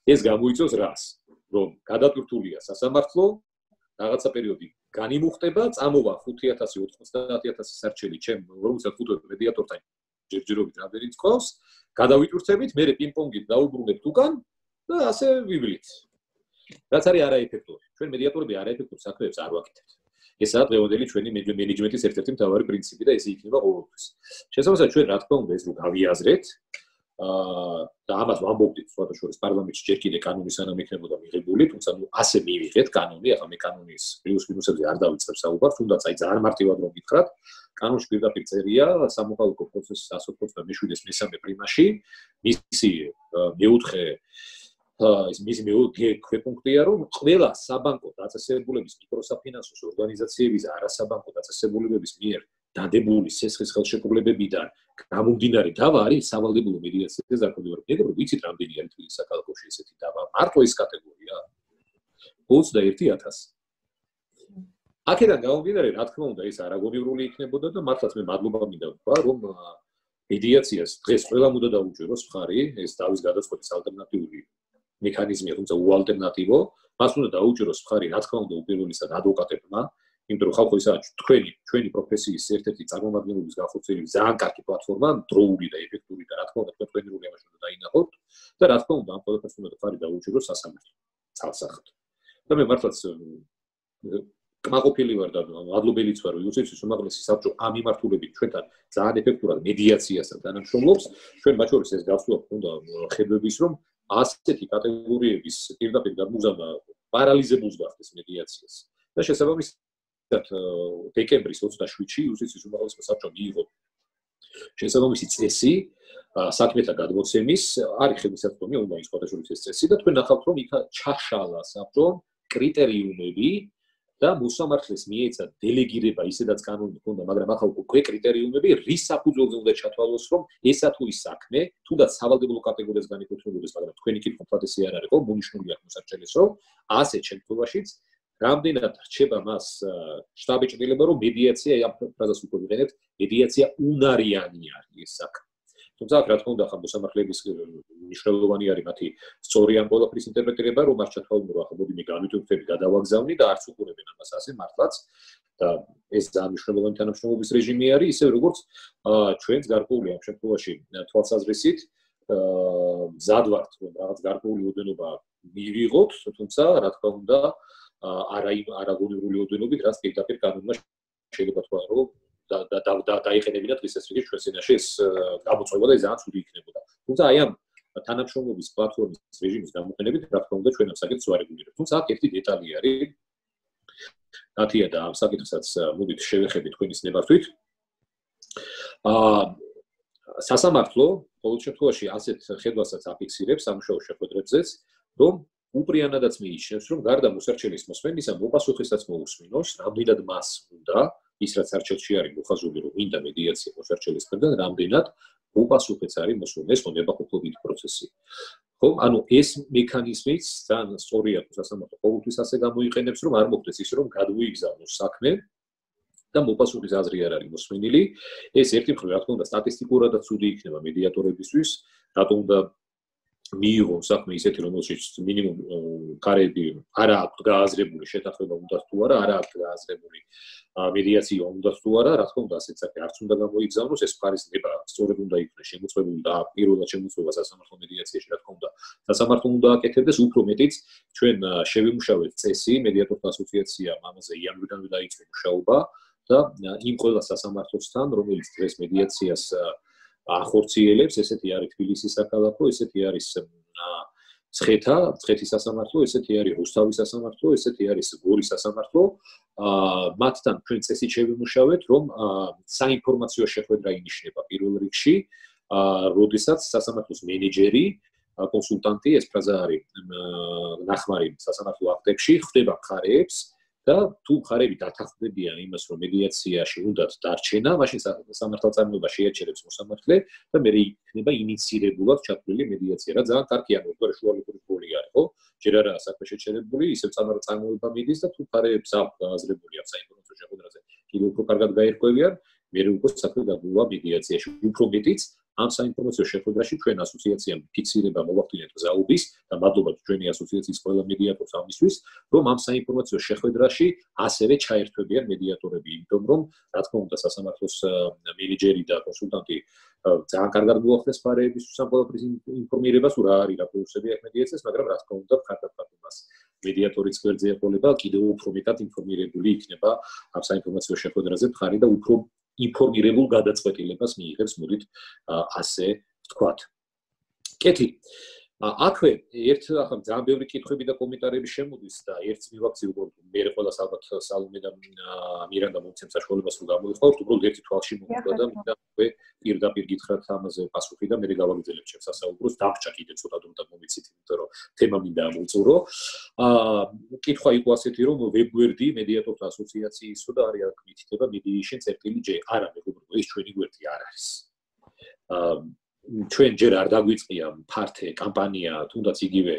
ეს გამოიწვევს რას? რომ გადატვირთულია სასამართლო, რაღაცა პერიოდი განიმუხტება, წამოვა 5000-900000 სარჩელი ჩემ 45 მედიატორთან ჯერჯერობით რამდენიც ყავს, გადავიტვირთებით, მე პინგ-პონგით დაუბრუნებთ უკან და ასე ვიბლით. რაც არის არაეფექტური. ჩვენ მედიატორები არაეფექტურ საქმეებს არ ვაკეთებთ. ესაა დღევანდელი ჩვენი მენეჯმენტის ერთ-ერთი მთავარი პრინციპი და ესე იქნება ყოველთვის. შესაბამისად, ჩვენ რა თქმა უნდა ეს რო გავიაზრეთ, და ამას ვამბობდით სხვათა შორის პარლამენტში ჯერ კიდე კანონის სანამ იქნებოდა მიღებული, თუმცა ნუ ასე მივიღეთ კანონი, ახლა მე კანონის პლუს-მინუსებზე არ დავიწყებ საუბარს, თუნდაც აი ძალიან მარტივად რომ გითხრათ, კანონში პირდაპირ წერია სამოქალაქო პროცესის 127-ის მესამე პრიმაში, მისი მეოთხე მისი ქვეპუნქტია, რომ ყველა საბანკო დაწესებულების მიკროსაფინანსო ორგანიზაციების და არასაბანკო დაწესებულებების მიერ დადებული სესხის ხელშეკრულებებიდან გამომდინარე დავა არის სავალდებულო მედიაციაზე законодательно. მეგობრებო, ვიცით რამდენი არის თბილისის საქალაქოში ესეთი დავა? მარტო ეს კატეგორია 21000. აქედან გამომდინარე, რა თქმა უნდა, ეს არაგონივრული იქნებოდა და მართლაც მე მადლობა მინდა ვთქვა, რომ მედიაციას დღეს ყველა უნდა დაუჭიროს მხარი, ეს დავის გადაწყვეტის ალტერნატიული მექანიზმია, თუმცა უალტერნატივო, მას უნდა დაუჭიროს მხარი, რა თქმა უნდა, უპირველესად ადვოკატებმა, იმიტომ რომ ხალხო ისა ჩვენი პროფესიის ერთ-ერთი წარმომადგენლობის განხორციელების ძალიან კარგი პლატფორმა, დროული და ეფექტური და რა თქმა უნდა, თქვენი როლი ამაში უნდა დაინახოთ და რა თქმა უნდა, ამ ყველაფერს უნდა მხარი დაუჭიროს სასამართლო ცალსახად. და მე მართლაც კმაყოფილი ვარ და მადლობელიც ვარ იუსტიციის უმაღლესი საბჭო ამ მიმართულებით ჩვენთან ძალიან ეფექტურად მედიაციასთან თანამშრომლობს. ჩვენ მათ შორის ეს გასულობ უნდა ხედვების, რომ ასეთი კატეგორიების პირდაპირ გადმოგზავნა პარალიზებულს გახდეს მედიაციას. და შესაბამისად დეკემბრის 27-ში იუსტიციის უმაღლესი საბჭო მიიღო შესაბამისი წესი საქმეთა გადმოცემის, არის ხელმისაწვდომი ონლაინ სხვადასხვა წესი და თქვენ ნახავთ, რომ იქ ჩაშალა საბჭომ კრიტერიუმები და მოსამართლეს მიეცა დელეგირება ისედაც კანონით ჰქონდა, მაგრამ ახლა უკვე კრიტერიუმები რის საფუძველზე უნდა ჩათვალოს, რომ ესა თუ ის საქმე, თუნდაც სავალდებულო კატეგორიას განეკუთვნებოდეს, მაგრამ თქვენი კითხვა მთლად ესე არ არის, მონიშნული აქვს მოსარჩელის, რომ ასეთ შემთხვევაშიც რამდენად რჩება მას შტაბეჭდილება, რომ მედიაცია ამ ფრაზას უკვე ვიყენებთ, მედიაცია უნარიანი არის ეს საქმე. თუმცა რა თქმა უნდა, ახლა მოსამართლეების მნიშვნელოვანი არის მათი სწორი ამ ყველაფრის ინტერპრეტირება, რომ მას ჩათვალონ, რომ ახლა მოდი მე გამიტვირთები, გადავაგზავნი და არც უყურებენ ამას ასე მართლაც და ეს ძალიან მნიშვნელოვანი თანამშრომლობის რეჟიმი არის, ისე როგორც ჩვენს გარკვეული ამ შემთხვევაში თვალსაზრისით მზად ვართ, რომ რაღაც გარკვეული ოდენობა მივიღოთ, თუმცა რა თქმა უნდა არაგონივრული ოდენობით, რაც პირდაპირ კანონმა შეიძლება თქვა, რომ დაიყენებინა დღეს ეს რიგი ჩვენს ენაში ეს გამოწვევა და ძალიან ცუდი იქნებოდა. თუმცა აი ამ თანამშრომლობის პლატფორმის რეჟიმის გამოყენებით, რა თქმა უნდა, ჩვენ ამ საკითხს ვარეგულირებთ. თუმცა აქ ერთი დეტალი არის. ნათია და ამ საკითხსაც მოდით შევეხებით თქვენის ნებართვით. სასამართლო ყოველ შემთხვევაში ასეთ ხედვასაც აფიქსირებს სამუშაო შეხვედრებზეც, რომ უპრიანადაც მიიჩნევს, რომ გარდა მოსარჩელის მოსმენისა, მოპასუხისას მოусმინოს, რამდენად მას უნდა ის რაც არჩევში არის მოხაზული, რომ მინდა მედიაცია მოსარჩელის მხრიდან, რამდენად მოპასუხეც არის მოსული, ეს ნებაყოფლობითი პროცესი. ხო, ანუ ეს მექანიზმიც ძალიან სწორია, თუ სასამართლო ყოველთვის ასე გამოიყენებს, რომ არ მოხდეს ის, რომ გადმოიგზავნოს საქმე და მოპასუხის აზრი არ არის მოსმენილი. ეს ერთი მხრივ, რა თქმა უნდა, სტატისტიკურადაც ცუდი იქნება მედიატორებისთვის, რატომ უნდა მიიღონ საქმე ისეთი, რომელშიც მინიმუმ ქარები არა აქვს გააზრებული შეთანხმება უნდა თუ არა, არა აქვს გააზრებული მედიაცია უნდა თუ არა, რა თქმა უნდა, ასეთ საქმე არც უნდა გამოიგზავნოს, ეს მხარის ნება სწორედ უნდა იქნას შემოწმებული და პირველად შემოწმება სასამართლო მედიაციაში, რა თქმა უნდა, სასამართლო უნდა აკეთებდეს, უფრო მეტიც ჩვენ შევიმუშავეთ წესი, მედიატორთა ასოციაციამ ამაზე იანვრიდანვე დაიწყო მუშაობა და იმ ყველა სასამართლოსთან, რომელიც დღეს მედიაციას ახორციელებს, ესეთი არის თბილისის საქალაქო, ესეთი არის ცხეთის სასამართლო, ესეთი არის რუსთავის სასამართლო, ესეთი არის გორის სასამართლო. მათთან ჩვენ წესით შევიმუშავეთ, რომ საინფორმაციო შეხვედრა ინიშნება პირველ რიგში, როდესაც სასამართლოს მენეჯერი, კონსულტანტი, ეს ფრაზა არის ნახმარი სასამართლო აქტებში, ხვდება მხარეებს და თუ მხარეები დათანხმდებიან იმას, რომ მედიაციაში უნდათ დარჩენა, მაშინ სამართალწარმოება შეაჩერებს მოსამართლე და მე იქნება ინიცირებულად ჩათვლილი მედიაცია. რა ძალიან კარგი არის, უბრალოდ შუალედური როლი არის, ხო? ჯერ არა საქმე შეჩერებული, ისევ სამართალწარმოება მიდის და თუ მხარეებს აქვს გააზრებული ამ საინფორმაციო შეხვედრაზე, კიდევ უფრო კარგად გაერკვევიან, მე უკვე საქმე გადმოვა მედიაციაში. უფრო მეტიც ამ საინფორმაციო შეხვედრაში ჩვენ ასოციაციამ ფიქსირება მოვახდინეთ გზაობის და მადლობა ჩვენი ასოციაციის ყველა მედიატორს ამისთვის, რომ ამ საინფორმაციო შეხვედრაში ასევე ჩაერთვებიან მედიატორები, იმიტომ რომ რა თქმა უნდა სასამართლოს მენეჯერი და კონსულტანტი ძალიან კარგად მოახდენს მხარეების ამ ყველაფრის ინფორმირებას, რა არის რა პლუსები აქვს მედიაციას, მაგრამ რა თქმა უნდა მხარდამხარდებას მედიატორის გვერდზე ეყოლება კიდევ უფრო მეტად ინფორმირებული იქნება ამ საინფორმაციო შეხვედრაზე მხარი და უფრო ინფორმირებულ გადაწყვეტილებას მიიღებს, მოდით ასე ვთქვათ. კეთი, აქვე ახლა ძალიან ბევრი კითხვები და კომენტარები შემოდის და ერთს მივაქცი უბრალოდ მე ყველას ალბათ სალომე და მირანდა მომცემ საშუალებას რომ გამოვიხვალოთ უბრალოდ ერთი თვალში მოვიდა და მინდა უკვე პირდაპირ გითხრათ ამაზე პასუხი და მე გავაგრძელებ ჩემს სასაუბროს დაგჭა კიდე ცოტა დრო და მომიცით იმიტომ რომ თემა მინდა ამოვწურო კითხვა იყო ასეთი რომ ვებგვერდი მედიატორთა ასოციაციისო და არის აქ მითითება mediation.j არა მეგობრებო ეს ჩვენი გვერდი არ არის ჩვენ ჯერ არ დაგვიწყია ფართე კამპანია თუნდაც იგივე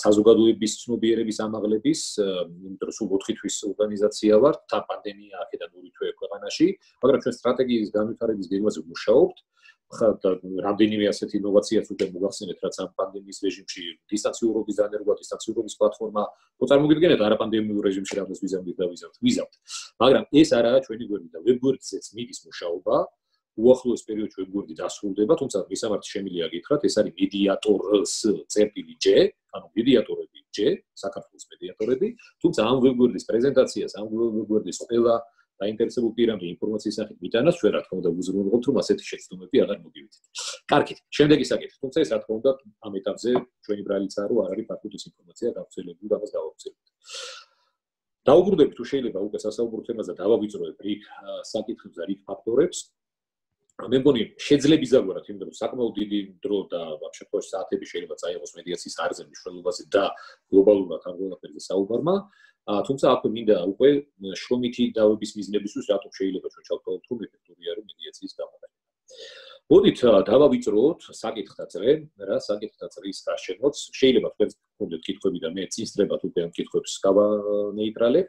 საზოგადოების ცნობიერების ამაღლების იმიტომ რომ სულ 4 თვის ორგანიზაცია ვართ და პანდემია აქედან 2 თვე ქვეყანაში მაგრამ ჩვენ სტრატეგიის განვითარების გეგმაზე ვმუშაობთ რამდენიმე ასეთი ინოვაციაც უკვე მოგახსენეთ რაც ამ პანდემიის რეჟიმში დისტანციურობის დანერგვა დისტანციურობის პლატფორმა მოწარმოგვიდგენთ არაპანდემიურ რეჟიმში რამდენს ვიზავთ მაგრამ ეს არაა ჩვენი გვერდი და ვებგვერდზეც მიდის მუშაობა უახლოეს პერიოდში ვებგვერდი დასრულდება, თუმცა მისამართი შემიძლია გითხრათ, ეს არის mediators.j, ანუ მედიატორები J, საქართველოს მედიატორები, თუმცა ამ ვებგვერდის პრეზენტაციას, ამ ვებგვერდის ყველა დაინტერესებულ პირამდე ინფორმაციის სახით მიტანას ჩვენ რა თქმა უნდა ვუზრუნველყოფთ, რომ ასეთი შეცდომები აღარ მოგივიდეთ. კარგით, შემდეგი საკითხი, თუმცა ეს რა თქმა უნდა ამ ეტაპზე ჩვენი ბრალიცაა, რომ არ არის ფაქტობრივი ინფორმაცია გავრცელებული და ამას დავავრცელებთ. დაუბრუნდებით თუ შეიძლება უკვე სასაუბრო თემაზე დავავიწროებ რიგ საკითხებს და რიგ ფაქტორებს. მე მგონი შეძლებს დაგვარათ იმიტომ რომ საკმაოდ დიდი დრო და შემთხვევაში საათები შეიძლება წაიღოს მედიაციის არზე მნიშვნელობაზე და გლობალურად ამ ყველაფერზე საუბარმა თუმცა აქვე მინდა უკვე შრომითი დავების მიზნებისთვის რატომ შეიძლება ჩვენ ჩავთვალოთ რომ ეფექტური არის მედიაციის გამოყენება მოდით დავავიწროთ საკითხთა წრე რა საკითხთა წრის გარშემოც შეიძლება თქვენ გქონდეთ კითხვები და მე წინსწრებად უკვე ამ კითხვებს გავანეიტრალებ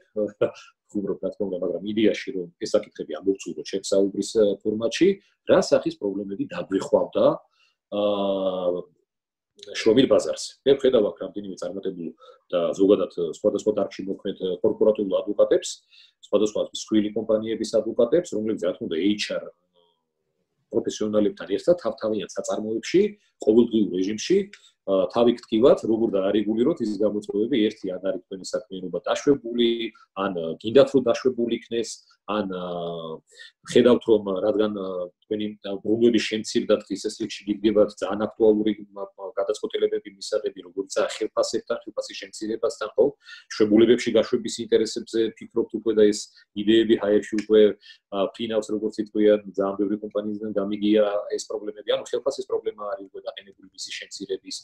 უბრალოდ რა თქმა უნდა, მაგრამ იდეაში რომ ეს საკითხები ამოვწუროთ ჩემს საუბრის ფორმატში, რა სახის პრობლემები დაგვიხვავდა შრომით ბაზარზე. მე ვხედავ აქ რამდენიმე წარმატებულ და ზოგადად სხვადასხვა დარგში მოქმედ კორპორატიულ ადვოკატებს, სხვადასხვა მსხვილი კომპანიების ადვოკატებს, რომლებიც რა თქმა უნდა HR პროფესიონალებთან ერთად თავთავიან საწარმოებში, ყოველდღიურ რეჟიმში თავი გტკივათ, როგორ დაარეგულიროთ ის გამოწვევები, ერთი ან არის თქვენი საქმიანობა დაშვებული, ან გინდათ რომ დაშვებული იქნეს, ან ხედავთ რომ რადგან თქვენი ბრუნვების შემცირდა დღის ეს რიგში გიგდებათ ძალიან აქტუალური გადაწყვეტილებები მისაღები, როგორიცაა ხელფასებთან, ხელფასის შემცირებასთან, ხო? შვებულებებში გაშვების ინტერესებზე ფიქრობთ უკვე და ეს იდეები ჰაერში უკვე ფინავს როგორც იტყვიან, ძალიან ბევრი კომპანიისგან გამიგია ეს პრობლემები, ანუ ხელფასის პრობლემა არის უკვე დაყენებული მისის შემცირების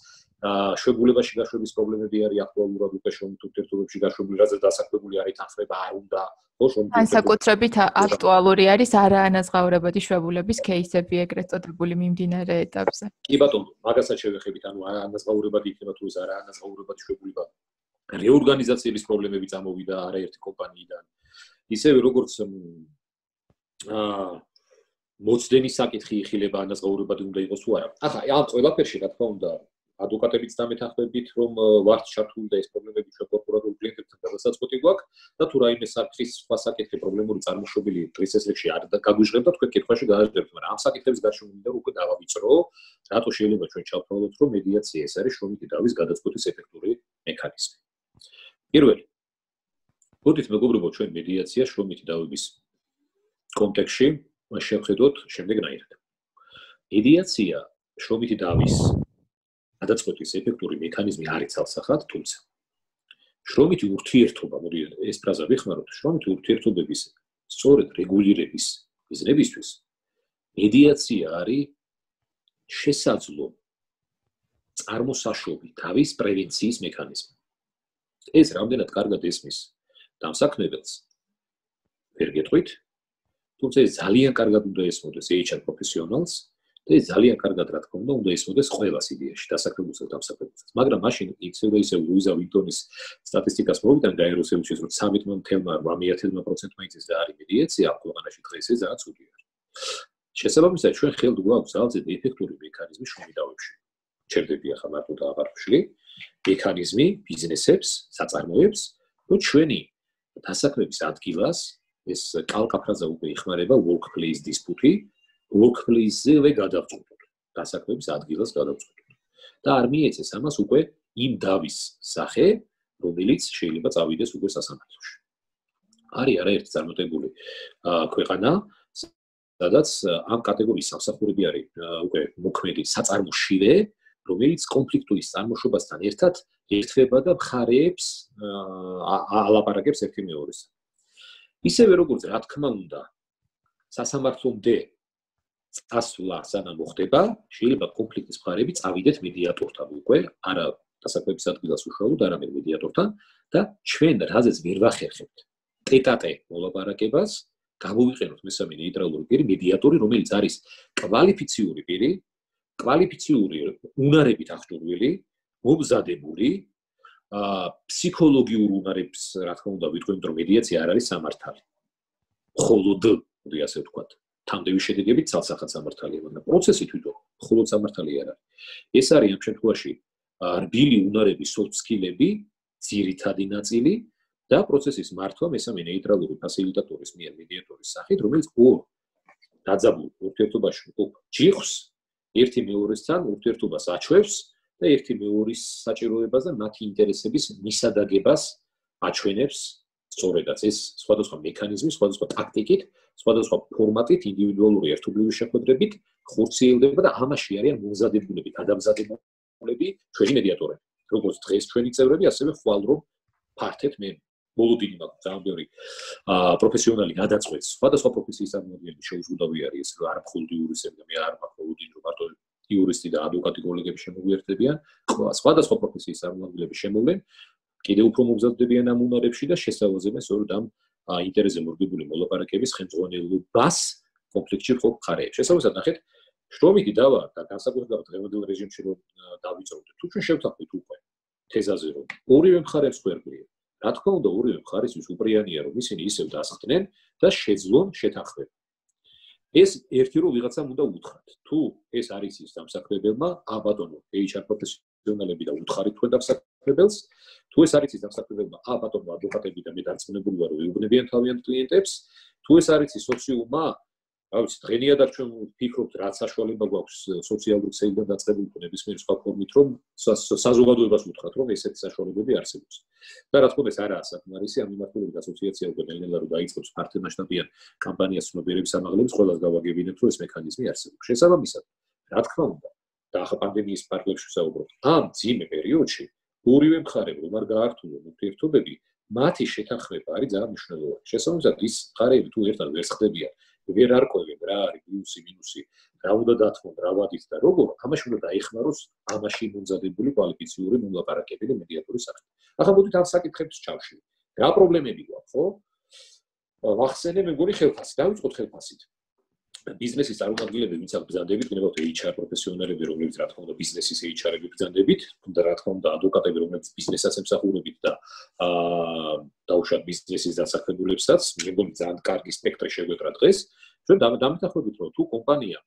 შვებულებაში გაშვების პრობლემები არის აქტუალურად უკვე შრომით ურთიერთობებში გაშვებული, რადგან დასაქმებული არის თანხმება არ უნდა განსაკუთრებით აქტუალური არის არაანაზღაურებადი შვებულების кейსები ეგრეთ წოდებული მიმდინარე ეტაპზე. კი ბატონო, მაგასაც შევეხებით, ანუ არაანაზღაურებადი იქნება თუ ეს არაანაზღაურებადი შვებულება. რეორგანიზაციების პრობლემები წამოვიდა არაერთი კომპანიიდან. ისევე როგორც მოცდენის საკითხი იხილება ანაზღაურებადი უნდა იყოს თუ არა. ახლა ამ ყველაფერში რა თქმა უნდა ადვოკატებიც დამეთანხმებით, რომ ვართ ჩართული და ეს პრობლემები ჩვენ კორპორატულ კლიენტებთან გადასაწყვეტი გვაქვს და თუ რაიმე საკითხის სხვა საკითხი პრობლემური წარმოშობილი დღის ეს რიგში არ გაგვიჟღებთ, თქვენ კითხვაში გააჟღერებთ, მაგრამ ამ საკითხების გარშემო მინდა უკვე დავავიწრო, რატო შეიძლება ჩვენ ჩავთვალოთ, რომ მედიაცია ეს არის შრომითი დავის გადაწყვეტის ეფექტური მექანიზმი. პირველი. მოდით მეგობრებო, ჩვენ მედიაცია შრომითი დავების კონტექსტში შევხედოთ შემდეგნაირად. მედიაცია შრომითი დავის გადაწყვეტის ეფექტური მექანიზმი არის ცალსახად, თუმცა შრომითი ურთიერთობა, მოდი ეს ფრაზა ვიხმაროთ, შრომითი ურთიერთობების სწორედ რეგულირების მიზნებისთვის მედიაცია არის შესაძლო წარმოსაშვები დავის პრევენციის მექანიზმი. ეს რამდენად კარგად ესმის დამსაქმებელს ვერ გეტყვით, თუმცა ეს ძალიან კარგად უნდა ესმოდეს HR პროფესიონალს და ეს ძალიან კარგად რა თქმა უნდა ესმოდეს ყველას იდეაში დასაქმებულსაც და დამსაქმებელსაც. მაგრამ მაშინ ისევ და ისევ ლუიზა ვინტონის სტატისტიკას მოვიდა გაეროსელჩის რომ 13.8%-მა იწეს და არის მედიაცია ამ ქვეყანაში დღეს ეს ძალიან ცუდი არის. შესაბამისად ჩვენ ხელთ გვაქვს ძალზედ ეფექტური მექანიზმი შრომით დავებში. ჩერდები ახლა მარტო და აღარ ვშლი მექანიზმი ბიზნესებს, საწარმოებს, რომ ჩვენი დასაქმების ადგილას ეს კალკაფრაზა უკვე იხმარება workplace dispute workplace-ზე გადავწყვეტოთ, დასაქმების ადგილას გადავწყვეტოთ. და არ მიეცეს ამას უკვე იმ დავის სახე, რომელიც შეიძლება წავიდეს უკვე სასამართლოში. არის არაერთი წარმატებული ქვეყანა, სადაც ამ კატეგორიის სამსახურები არის უკვე მოქმედი საწარმოშივე, რომელიც კონფლიქტურის წარმოშობასთან ერთად ერთვება და მხარეებს ალაპარაკებს ერთი მეორესთან. ისევე როგორც რა თქმა უნდა, სასამართლომდე წასვლა სანამ მოხდება, შეიძლება კონფლიქტის მხარეები წავიდეთ მედიატორთან უკვე, არა დასაქმების ადგილას უშუალოდ, არამედ მედიატორთან და ჩვენ რაზეც ვერ ვახერხებთ ტეტ-ატე მოლაპარაკებას, გამოვიყენოთ მესამე ნეიტრალური პირი, მედიატორი, რომელიც არის კვალიფიციური პირი, კვალიფიციური უნარებით აღჭურვილი, მომზადებული, ფსიქოლოგიურ უნარებს, რა თქმა უნდა, ვიტყვი, რომ მედიაცია არ არის სამართალი. მხოლოდ, მოდი ასე ვთქვათ, თამდევის შედეგებით ცალსახად სამართალია, მაგრამ პროცესი თვითონ მხოლოდ სამართალი არ არის. ეს არის ამ შემთხვევაში რბილი უნარების soft skill-ები, ძირითადი ნაწილი და პროცესის მართვა მესამე ნეიტრალური ფასილიტატორის მიერ მედიატორის სახით, რომელიც ორ დაძაბულ ურთიერთობაში მყოფ ჯიხს ერთი მეორესთან ურთიერთობას აჩვევს და ერთი მეორის საჭიროებას და მათი ინტერესების მისადაგებას აჩვენებს. სწორედაც ეს სხვადასხვა მექანიზმი, სხვადასხვა ტაქტიკით, სხვადასხვა ფორმატით, ინდივიდუალური ერთობლივი შეხვედრებით ხორციელდება და ამაში არიან მომზადებულები, გადამზადებულები ჩვენი მედიატორები. როგორც დღეს ჩვენი წევრები, ასევე ხვალ რომ ფართეთ მე ბოლო დიდი მაქვს ძალიან ბევრი პროფესიონალი გადაწყვეტს. სხვადასხვა პროფესიის წარმომადგენლები შეუძლებელი არის ეს არ მხოლოდ იურისტები და მე არ მაქვს რომ მარტო იურისტი და ადვოკატი კოლეგები შემოგვიერთდებიან, სხვადასხვა პროფესიის წარმომადგენლები შემოვლენ. კიდევ უფრო მომზადდებიან ამ უნარებში და შესთავაზებენ სწორედ ამ ინტერესზე მორგებული მოლაპარაკების ხელმძღვანელობას კონფლიქტში მყოფ მხარეებს. შესაბამისად, ნახეთ, შრომითი დავა და განსაკუთრებულად დღევანდელ რეჟიმში რომ დავიწროვდეთ. თუ ჩვენ შევთანხმდით უკვე თეზაზე რომ ორივე მხარეს გვერდია. რა თქმა უნდა, ორივე მხარისთვის უპრიანია რომ ისინი ისევ დასხდნენ და შეძლონ შეთანხმება. ეს ერთი რომ ვიღაცამ უნდა უთხრათ. თუ ეს არის ის დამსახურებელმა, ბატონო, HR პროფესიონალები და უთხარით თქვენ დამსახურებელს, თუ ეს არის ის დამსახურებელმა, ბატონო, ადვოკატები და მე დარწმუნებული ვარ, რომ ეუბნებიან თავიანთ კლიენტებს, თუ ეს არის ის სოციუმმა, რა ვიცი, დღენიადად ჩვენ ვფიქრობთ, რაც საშუალება გვაქვს სოციალური ქსელიდან დაწყებული ნებისმიერ სხვა ფორმით, რომ საზოგადოებას უთხრათ, რომ ესეთი საშუალებები არსებობს. და რა თქმა უნდა, ეს არაა საკმარისი, ამ მიმართულებით ასოციაცია უკვე ნელ-ნელა რომ დაიწყებს ფართომასშტაბიან კამპანიას ცნობიერების ამაღლების, ყველას გავაგებინებთ, რომ ეს მექანიზმი არსებობს. შესაბამისად, რა თქმა უნდა, და ახლა პანდემიის პარკლებში ვსაუბრობთ, ამ ძიმე პერიოდში ორივე მხარემ რომ არ გაართულონ ურთიერთობები, მათი შეთანხმება არის ძალიან მნიშვნელოვანი. შესაბამისად, ის მხარეები თუ ერთად ვერ ხდებიან, ვერ არკვევენ რა არის პლუსი, მინუსი, რა უნდა დათმონ, რა ვადით და როგორ, ამაში უნდა დაიხმაროს ამაში მომზადებული კვალიფიციური მოლაპარაკები და მედიატორის სახით. ახლა მოდით ამ საკითხებს ჩავშლით. რა პრობლემები გვაქვს, ხო? ვახსენე მე მგონი ხელფასი, დავიწყოთ ხელფასით. ბიზნესის წარმომადგენლები, ვინც აქ ბრძანდებით, გნებავთ HR პროფესიონალები, რომლებიც რა თქმა უნდა ბიზნესის HR-ები ბრძანდებით, და რა თქმა უნდა ადვოკატები, რომლებიც ბიზნესსაც ემსახურებით და დაუშვათ ბიზნესის დასაქმებულებსაც, მე მგონი ძალიან კარგი სპექტრი შეგვეტრა დღეს. ჩვენ დამეთანხმებით, რომ თუ კომპანია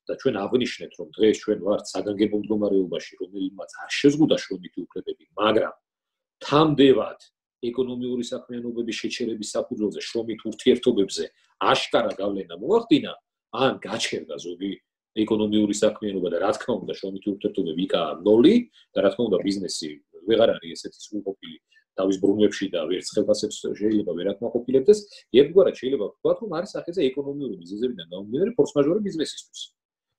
და ჩვენ აღნიშნეთ, რომ დღეს ჩვენ ვართ საგანგებო მდგომარეობაში, რომელმაც არ შეზღუდა შრომითი უფლებები, მაგრამ თამდევად ეკონომიური საქმიანობების შეჩერების საფუძველზე შრომით ურთიერთობებზე აშკარა გავლენა მოახდინა, ან გაჩერდა ზოგი ეკონომიური საქმიანობა და რა თქმა უნდა შრომითი ურთიერთობები იქაა ნოლი და რა თქმა უნდა ბიზნესი ვეღარ არის ესეთი სრულყოფილი თავის ბრუნვებში და ვერც ხელფასებს შეიძლება ვერ აკმაყოფილებდეს, ერთგვარად შეიძლება ვთქვათ, რომ არის სახეზე ეკონომიური მიზეზებიდან გამომდინარე ფორს-მაჟორი ბიზნესისთვის.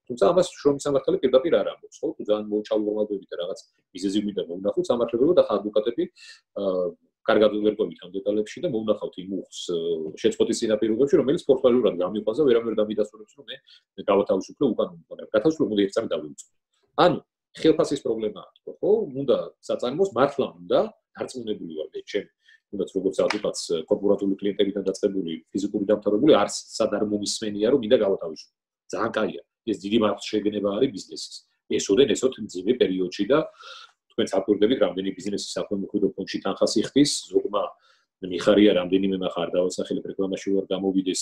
თუმცა ამას შრომის სამართალი პირდაპირ არ ამბობს, ხო? თუ ძალიან მოუჩალვორმალდებით და რაღაც მიზეზი მინდა მომნახოთ სამართლებრივად და ადვოკატები კარგად ვერ ყვებით ამ დეტალებში და მომნახავთ იმ უხს შეწყვეტის წინაპირობებში, რომელიც ფორს-მაჟორად გამიყვანს და ვერავინ დამიდასტურებს, რომ მე გავათავისუფლე უკანონოდ, მაგრამ გათავისუფლება უნდა ერთსამე დავიწყო. ანუ ხელფასის პრობლემაა, ხო? უნდა საწარმოს მართლა უნდა დარწმუნებული ვარ მე ჩემ თუნდაც როგორც ადვოკატს კორპორატული კლიენტებიდან დაწყებული ფიზიკური დამთავრებული არც სად არ მომისმენია რომ მინდა გავათავისუფლო. ძალიან კაია. ეს დიდი მარხვის შეგნება არის ბიზნესის. ესოდენ ესოთ მძიმე პერიოდში და თქვენ საკვირდებით რამდენი ბიზნესის საფრთხემოქმედო ფონდში თანხას იხდის, ზოგმა მიხარია რამდენიმე მახარ დავასახელებ რეკლამაში ვარ გამოვიდეს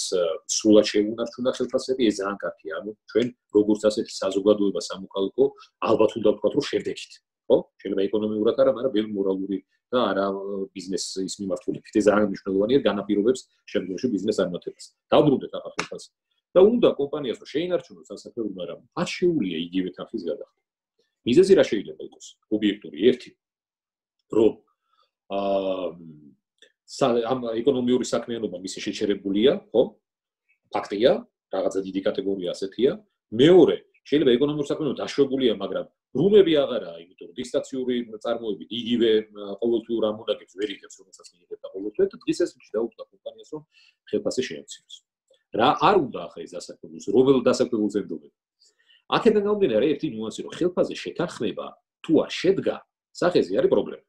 სრულად შეუნარჩუნა ხელფასები, ეს ძალიან კარგია. ანუ ჩვენ როგორც ასეთი საზოგადოება სამოქალაქო ალბათ უნდა ვთქვათ რომ შევდექით. ხო? შეიძლება ეკონომიურად არა, მაგრამ ბევრი მორალური და არა ბიზნესის მიმართულებით. ეს ძალიან მნიშვნელოვანია, განაპირობებს შემდგომში ბიზნეს წარმატებას. დავბრუნდეთ ახლა ხელფასს. და უნდა კომპანიას რომ შეინარჩუნოს სასაფერო, მაგრამ არ შეუძლია იგივე თანხის გადახდა. მიზეზი რა შეიძლება იყოს? ობიექტური ერთი, რომ ამ ეკონომიური საქმიანობა მისი შეჩერებულია, ხო? ფაქტია, რაღაცა დიდი კატეგორია ასეთია. მეორე, შეიძლება ეკონომიური საქმიანობა დაშვებულია, მაგრამ ბრუნები აღარაა, იმიტომ რომ დისტანციური წარმოებით იგივე ყოველთვიურ ამონაგებს ვერ იღებს, რომელსაც მიიღებდა ყოველთვიურად და დღეს ეს დაუწყდა კომპანიას, რომ ხელფასი შეამციროს. რა არ უნდა ახლა ეს დასაქმებულს, რომელ დასაქმებულს ემდობენ. აქედან გამომდინარე ერთი ნიუანსი, რომ ხელფასზე შეთანხმება თუ არ შედგა, სახეზე არის პრობლემა.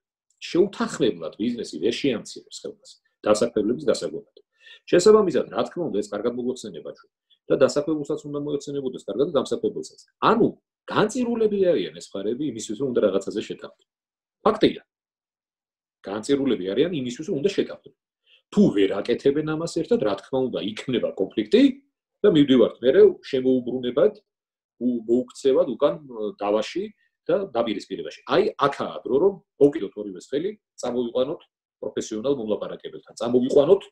შეუთანხმებლად ბიზნესი ვერ შეამცირებს ხელფასს დასაქმებლების დასაგვარად. შესაბამისად, რა თქმა უნდა, ეს კარგად მოგეხსენება ჩვენ და დასაქმებულსაც უნდა მოეხსენებოდეს კარგად და დამსაქმებელსაც. ანუ განწირულები არიან ეს მხარეები იმისთვის, რომ უნდა რაღაცაზე შეთანხმდეთ. ფაქტია. განწირულები არიან იმისთვის, რომ უნდა შეთანხმდეთ. თუ ვერ აკეთებენ ამას ერთად, რა თქმა უნდა, იქნება კონფლიქტი და მივდივართ მერე შემოუბრუნებად, მოუქცევად უკან დავაში და დაპირისპირებაში. აი, აქაა დრო, რომ მოვკიდოთ ორივეს ხელი, წამოვიყვანოთ პროფესიონალ მომლაპარაკებელთან, წამოვიყვანოთ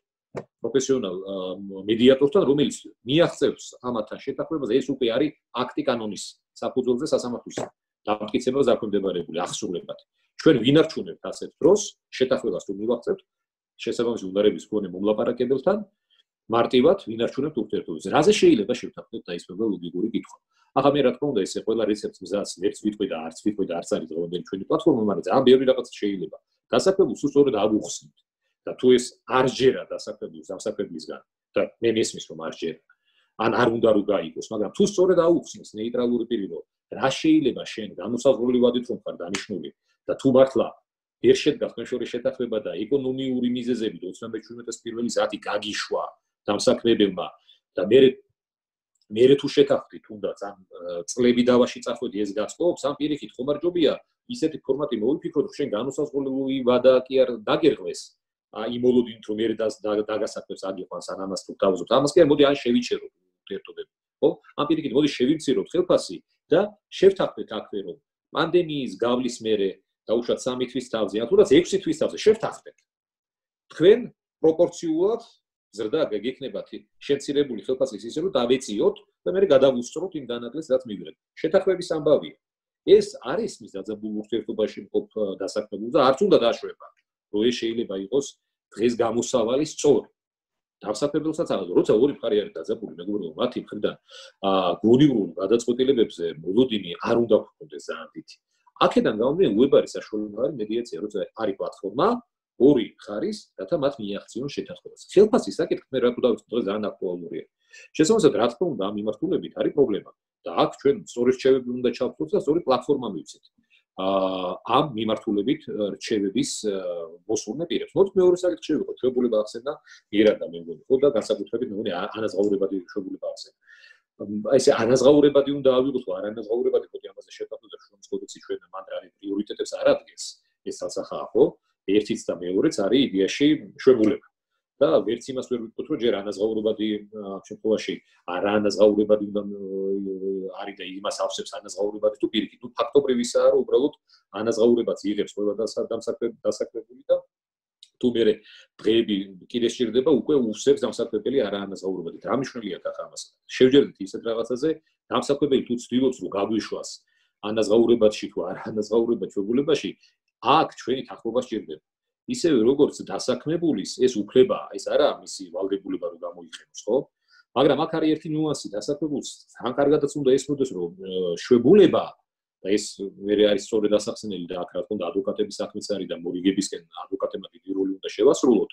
პროფესიონალ მედიატორთან, რომელიც მიაღწევს ამათთან შეთანხმებას, ეს უკვე არის აქტი კანონის საფუძველზე სასამართლოს დამტკიცება დაქვემდებარებული ახსულებად. ჩვენ ვინარჩუნებთ ასეთ დროს შეთანხმებას თუ მივაღწევთ შესაბამისი უნარების მქონე მომლაპარაკებელთან მარტივად ვინარჩუნებთ ურთიერთობებს. რაზე შეიძლება შევთანხმდეთ დაისმება ლოგიკური კითხვა. ახლა მე რა თქმა უნდა ესე ყველა რეცეპტს მზადს ვერც ვიტყვი და არც ვიტყვი და არც არის დღევანდელი ჩვენი პლატფორმა, მაგრამ ძალიან ბევრი რაღაც შეიძლება. დასაქმებულს სწორედ აღუხსნით. და თუ ეს არ ჯერა დასაქმებულს დამსაქმებლისგან და მე მესმის რომ არ ჯერა ან არ უნდა რომ გაიგოს, მაგრამ თუ სწორედ აუხსნის ნეიტრალური პირი რომ რა შეიძლება შენ განუსაზღვრელი ვადით რომ ხარ დანიშნული და თუ მართლა ვერ შედგა თქვენ შორის შეთანხმება და ეკონომიური მიზეზებით 27-ის პირველი საათი გაგიშვა დამსაქმებელმა და მე თუ შეთანხმდით თუნდაც ამ წლები დავაში წახვედი ეს გაწყობს ამ პირიქით ხომარჯობია ისეთი ფორმატი მოვიფიქროთ რომ შენ განუსაზღვრელი ვადა კი არ დაგერღვეს იმოლოდინით რომ მე დაგასაქმებს აგიყვანს ან ამას თუ დავზობთ ამას კი არ მოდი ან შევიჩეროთ ურთიერთობები ხო ამ პირიქით მოდი შევიმციროთ ხელფასი და შევთანხმდეთ აქვე რომ პანდემიის გავლის მერე დაუშვათ 3 თვის თავზე ან თუნდაც 6 თვის თავზე შევთანხმდეთ თქვენ პროპორციულად ზრდა გეკნებათ შემცირებული ხელფასის ისე რომ დავეციოთ და მე გადავუსწროთ იმ დანაკლეს რაც მივიღეთ შეთანხმების ამბავია ეს არის მის დაძაბულ ურთიერთობაში მყოფ დასაქმებულ და არც უნდა დაშვება რომ ეს შეიძლება იყოს დღეს გამოსავალი სწორი დამსაქმებელსაც აღარ როცა ორი მხარე არის დაძაბული მეგობრებო მათი მხრიდან გონივრულ გადაწყვეტილებებზე მოლოდინი არ უნდა გქონდეს ძალიან დიდი აქედან გამომდინარე უებარი საშუალება არის მედიაცია როცა არის პლატფორმა ორი ხარის რათა მათ მიაღწიონ შეთანხმებას ხელფასის საკითხი მე რა თქმა უნდა დღეს ძალიან აქტუალურია შესაბამისად რა თქმა უნდა ამ მიმართულებით არის პრობლემა და აქ ჩვენ სწორი რჩევები უნდა ჩავთვალოთ და სწორი პლატფორმა მივცეთ ამ მიმართულებით რჩევების მოსურნე პირებს. მოდით მეორე საკითხი შევიღოთ. შეგულება ახსენდა იერა და მე მგონი ხო და განსაკუთრებით მე მგონი ანაზღაურებადი შეგულება ახსენდა. აი ესე ანაზღაურებადი უნდა ავიღოთ ხო არანაზღაურებადი ხო ამაზე შევთანხმდეთ და შრომის კოდექსი ჩვენ მანდრალი პრიორიტეტებს არ ადგენს. ეს თალსახაა ხო? ერთიც და მეორეც არის იდეაში შეგულება. და ვერც იმას ვერ ვიტყვით რომ ჯერ ანაზღაურებადი შემთხვევაში არაანაზღაურებადი უნდა არის და იმას ავსებს ანაზღაურებადი თუ პირიქით თუ ფაქტობრივისაა რომ უბრალოდ ანაზღაურებაც იღებს ყველა დასაქმებული და თუ მე დღეები კიდე სჭირდება უკვე უსებს დამსაქმებელი არაანაზღაურებადით რა მნიშვნელია ახლა ამას შევჯერდით ისეთ რაღაცაზე დამსაქმებელი თუ ცდილობს რომ გაგვიშვას ანაზღაურებაში თუ არაანაზღაურებად შეგულებაში აქ ჩვენი თანხმობა სჭირდება ისევე როგორც დასაქმებულის ეს უფლება ეს არა მისი ვალდებულება რომ გამოიყენოს ხო მაგრამ აქ არის ერთი ნიუანსი დასაქმებულს თან კარგადაც უნდა ესმოდეს რომ შვებულება და ეს მე არის სწორედ დასახსენელი და აქ რა თქმა უნდა ადვოკატების საქმეც არის და მორიგებისკენ ადვოკატებმა დიდი როლი უნდა შევასრულოთ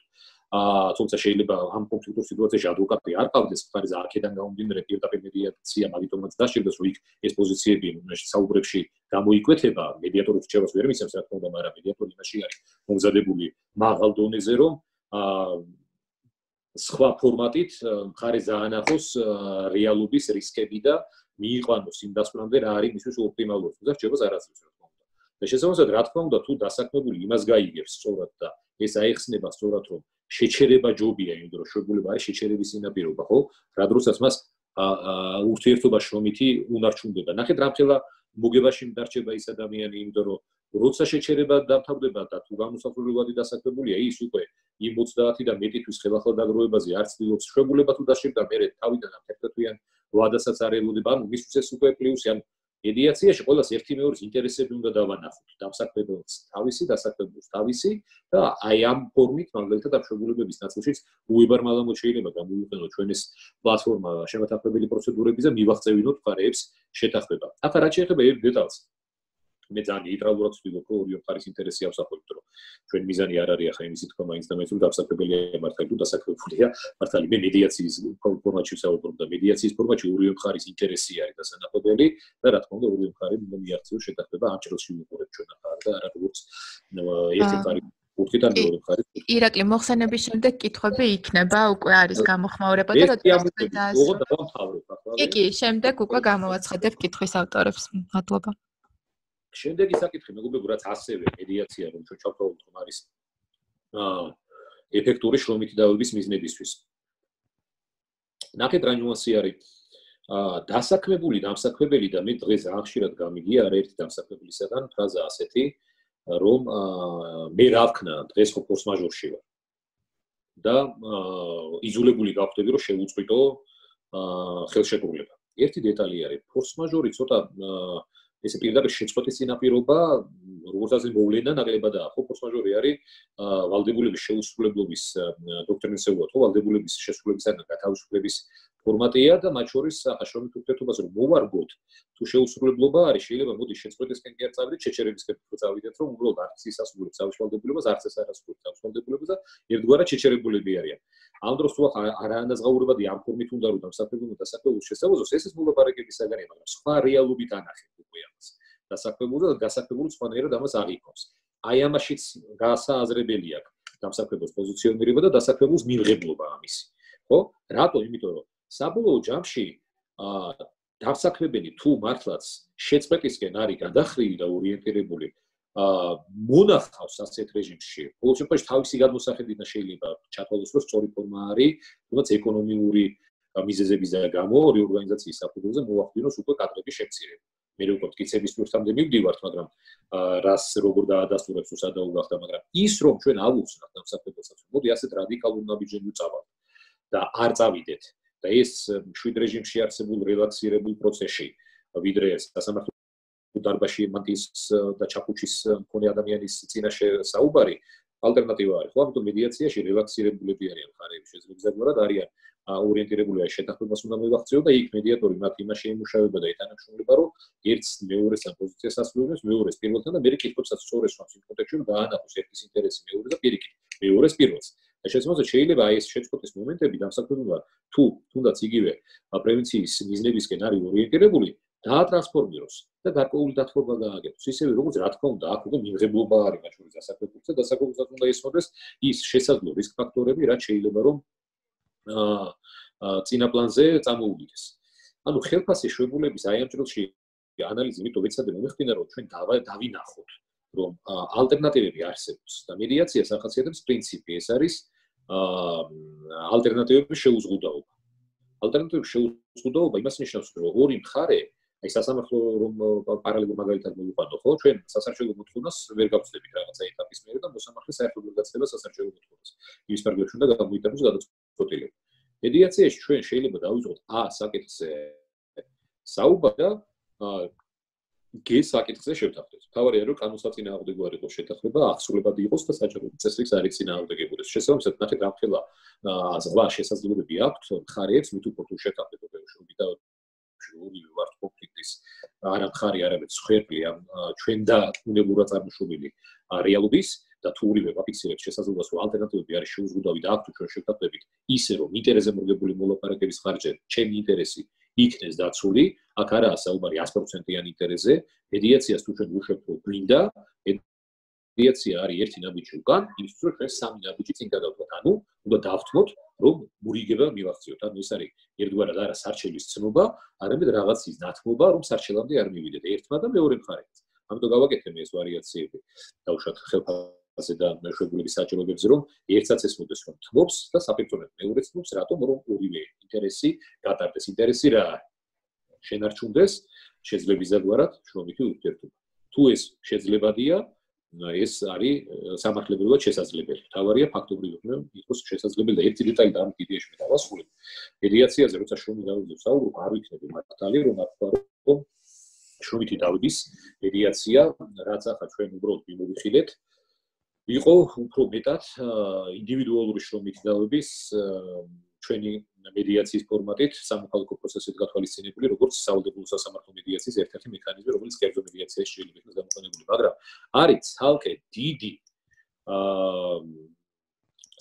თუმცა შეიძლება ამ კონფლიქტურ სიტუაციაში ადვოკატი არ ყავდეს მხარის აქედან გამომდინარე პირდაპირ მედიაცია მაგიტომაც დასჭირდეს რომ იქ ეს პოზიციები საუბრებში გამოიკვეთება მედიატორი რჩევას ვერ მისცემს რა თქმა უნდა მაგრამ მედიატორი იმაში არის მომზადებული მაღალ დონეზე რომ სხვა ფორმატით მხარი ზაანახოს რეალობის რისკები და მიიყვანოს იმ დასკვნამდე რა არის მისთვის ოპტიმალური და რჩევას არ აწევს რა თქმა უნდა და შესაბამისად რა თქმა უნდა თუ დასაქმებული იმას გაიგებს სწორად და ეს აიხსნება სწორად რომ შეჩერება ჯობია იმ დროს შეგულება არის შეჩერების სინაპირობა ხო რა დროსაც მას ურთიერთობა შრომითი უნარჩუნდება ნახეთ რამხელა მოგებაში დარჩება ის ადამიანი იმიტომ რომ როცა შეჩერება დამთავრდება და თუ განუსაზღვრელი დასაქმებულია ის უკვე იმ 30 და მეტი თვის ხელახლა დაგროვებაზე არ ცდილობს შეგულება თუ დასჭირდა მე თავიდან ამ 11 თვიან ვადასაც არ ელოდება ანუ მისთვის ეს უკვე პლუსი ან მედიაციაში ყველას ერთი მეორის ინტერესები უნდა დავანახოთ დამსაქმებელს თავისი დასაქმებულს თავისი და აი ამ ფორმით მაგალითად ამ შეგულებების ნაწილშიც უებარმალამოდ შეიძლება გამოიყენოთ ჩვენ ეს პლატფორმა შემოთანხმებელი პროცედურების და მივაღწევინოთ მხარეებს შეთანხმება ახლა რაც შეეხება ერთ დეტალს მე ძალიან ნეიტრალურად ვთქვი, რომ ორივე მხარის ინტერესი ავსახურებთ, რომ ჩვენ მიზანი არ არის ახლა იმისი თქვა მაინც და მაინც რომ დასაქმებელია მართალი თუ დასაქმებულია მართალი. მე მედიაციის ფორმატში ვსაუბრობ და მედიაციის ფორმატში ორივე მხარის ინტერესი არის დასანახებელი და რა თქმა უნდა ორივე მხარე მიაღწიოს შეთანხმება ამ ჭრილში ვიყურებთ ჩვენ ახლა და არა როგორც ერთი მხარი უთხიდან მეორე მხარი. ირაკლი, მოხსენების შემდეგ კითხვები იქნება, უკვე არის გამოხმაურება და როდესაც კი, შემდეგ უკვე გამოვაცხადებ კითხვის ავტორებს. მადლობა. შემდეგი საკითხი მეგობრებო, რაც ასევე მედიაცია რომ ჩვენ ჩავთვალოთ რომ არის ეფექტური შრომითი დავების მიზნებისთვის. ნახეთ რა ნიუანსი არის დასაქმებული დამსაქმებელი და მე დღეს ძალიან ხშირად გამიგია არაერთი დამსაქმებელისგან ფრაზა ასეთი რომ მე რა ვქნა დღეს ხო ფორს მაჟორში ვარ და იზოლებული გავხდები რომ შევუწყვიტო ხელშეკრულება. ერთი დეტალი არის ფორს მაჟორი ცოტა ესე პირდაპირ შეწყვეტის წინაპირობა როგორც ასე მოვლენა ნაკლებადაა ხო ფორს მაჟორი არის ვალდებულების შეუსრულებლობის დოქტრინის ეუათ ხო ვალდებულების შესრულებისგან გათავისუფლების ფორმატია და მათ შორის აშრომით ურთიერთობას რომ მოვარგოთ თუ შეუსრულებლობა არის შეიძლება მოდი შეწყვეტისკენ კი არ წავიდეთ შეჩერებისკენ უფრო წავიდეთ რომ უბრალოდ არც ის ასრულებს თავის ვალდებულებას არც ეს არ ასრულებს თავის ვალდებულებას და ერთგვარად შეჩერებულები არიან. ამ დროს თუ არაანაზღაურებადი ამ ფორმით უნდა რომ დამსაქმებელმა დასაქმებულს შესაძლოა ეს მოლაპარაკების საგანია მაგრამ სხვა რეალობით ანახეთ უკვე ამას დასაქმებულს და გასაქმებულს სხვანაირად ამას აღიქოს. აი ამაშიც გაასააზრებელი აქვს დამსაქმებელს პოზიციონირება და დასაქმებულს მიღებლობა ამისი. ხო? რატო? იმიტომ რომ საბოლოო ჯამში დამსაქმებელი თუ მართლაც შეწყვეტისკენ არის გადახრილი და ორიენტირებული მონახავს ასეთ რეჟიმში. ყოველ შემთხვევაში თავისი გადმოსახედით შეიძლება ჩათვალოს რომ სწორი ფორმა არის, თუმცა ეკონომიური მიზეზების გამო ორი ორგანიზაციის საფუძველზე მოახდინოს უკვე კადრების შემცირება. მე უკვე მტკიცების პირთამდე მივდივართ, მაგრამ რას როგორ დაადასტურებს თუ სადაუ გახდა, მაგრამ ის რომ ჩვენ ავუხსნათ დამსაქმებელსაც, მოდი ასეთ რადიკალურ ნაბიჯებში წავალთ და არ წავიდეთ და ეს მშვიდ რეჟიმში არსებულ რელაქსირებულ პროცესში ვიდრე სასამართლო დარბაზში მანტის და ჩაფუჩის მქონე ადამიანის წინაშე საუბარი ალტერნატივა არის. ხო, ამიტომ მედიაციაში რელაქსირებულები არიან მხარეები, შესაძლებლად არიან ორიენტირებული აი შეთანხმებას უნდა მივახციო და იქ მედიატორი მათ იმაში ემუშავება და ეთანხმება რომ ერთს მეორეს ამ პოზიციას ასრულებს, მეორეს პირველთან და მე კითხვებსაც სწორეს ვამს იმ კონტექსტში რომ დაანახოს ერთის ინტერესი მეორე და პირიქით მეორეს პირველს. და შეიძლება აი ეს შეწყვეტის მომენტები დამსაქმებელმა თუ თუნდაც იგივე პრევენციის მიზნებისკენ არის ორიენტირებული დაატრანსფორმიროს და გარკვეული დათბობა გააკეთოს. ისევე როგორც რა თქმა უნდა აქ უკვე მიღებლობა არის მათ შორის დასაქმებულს და დასაქმებულსაც უნდა ესწროს ის შესაძლო რისკ ფაქტორები რაც შეიძლება რომ წინა პლანზე წამოუვიდეს. ანუ ხელფასის შვებულების აი ამ ჭრილში ანალიზი მითო ვეცადე მომეხდინა რომ ჩვენ დავინახოთ რომ ალტერნატივები არსებობს და მედიაციას ახასიათებს პრინციპი ეს არის ალტერნატივების შეუზღუდაობა. ალტერნატივების შეუზღუდაობა იმას ნიშნავს რომ ორი მხარე აი სასამართლო რომ პარალელურ მაგალითად მოვიყვანო ხო ჩვენ სასარჩელო მოთხოვნას ვერ გავწდებით რაღაცა ეტაპის მიერ და მოსამართლე საერთოდ ვერ გაცდება სასარჩელო მოთხოვნას. იმის პარალელში უნდა გამოიტანოს გადაწყვეტილება. მედიაციაში ჩვენ შეიძლება დავიწყოთ საკითხზე საუბარი და საკითხზე შევთანხმდეთ. თავარია რომ კანონსაწინააღმდეგო არ იყოს შეთანხმება, აღსრულებადი იყოს და საჯარო წესრიგს არ იწინააღმდეგებოდეს. შესაბამისად, ნახეთ რა ხელა ზღვა შესაძლებლობები აქვს მხარეებს მით უფრო თუ შეთანხმებაში და ორივე ვართ კონფლიქტის არა მხარი არამედ მსხვერპლი ამ ჩვენ და უნებურად წარმოშობილი რეალობის და თუ ორივე ვაფიქსირებს შესაძლებლობას რომ ალტერნატივები არის შეუზღუდავი და აქ თუ ჩვენ შევთანხმდებით ისე რომ ინტერესზე მორგებული მოლაპარაკების ხარჯზე ჩემი ინტერესი იქნეს დაცული, აქ არაა საუბარი 100%-იან ინტერესზე, მედიაციას თუ ჩვენ ვუშვებთ რომ გვინდა, მედიაცია არის ერთი ნაბიჯი უკან, იმისთვის რომ ჩვენ სამი ნაბიჯი წინ გადავთვალოთ. ანუ უნდა დავთმოთ, რომ მურიგება მივახციოთ. ანუ ეს არის ერთგვარად არა სარჩელის ცნობა, არამედ რაღაცის დათმობა, რომ სარჩელამდე არ მივიდეთ ერთმა და მეორე მხარეს. ამიტომ გავაკეთე ეს ვარიაციები. დავუშვათ ხელფასზე და მეშვებულების საჭიროებებზე, რომ ერთსაც ესმოდეს რომ თმობს და საფერწონად მეორეც თმობს, რატომ რომ ორივე ინტერესი გატარდეს. ინტერესი რა არის? შენარჩუნდეს შეძლებისდაგვარად შრომითი ურთიერთობა. თუ ეს შეძლებადია, ეს არის სამართლებრივად შესაძლებელი. თავარია ფაქტობრივად იყოს შესაძლებელი და ერთი დეტალი და ამ იდეაში მე დავასრულებ. მედიაციაზე როცა შრომი დავიწყო საუბრობ, არ ვიქნები მართალი, რომ თქვა რომ შრომითი დავების მედიაცია, რაც ახლა ჩვენ უბრალოდ მიმოვიხილეთ, იყო უფრო მეტად ინდივიდუალური შრომითი დავების ჩვენი მედიაციის ფორმატით სამოქალაქო პროცესით გათვალისწინებული, როგორც სავალდებულო სასამართლო მედიაციის ერთ-ერთი მექანიზმი, რომელიც კერძო მედიაციაში შეიძლება იქნას გამოყენებული, მაგრამ არის ცალკე დიდი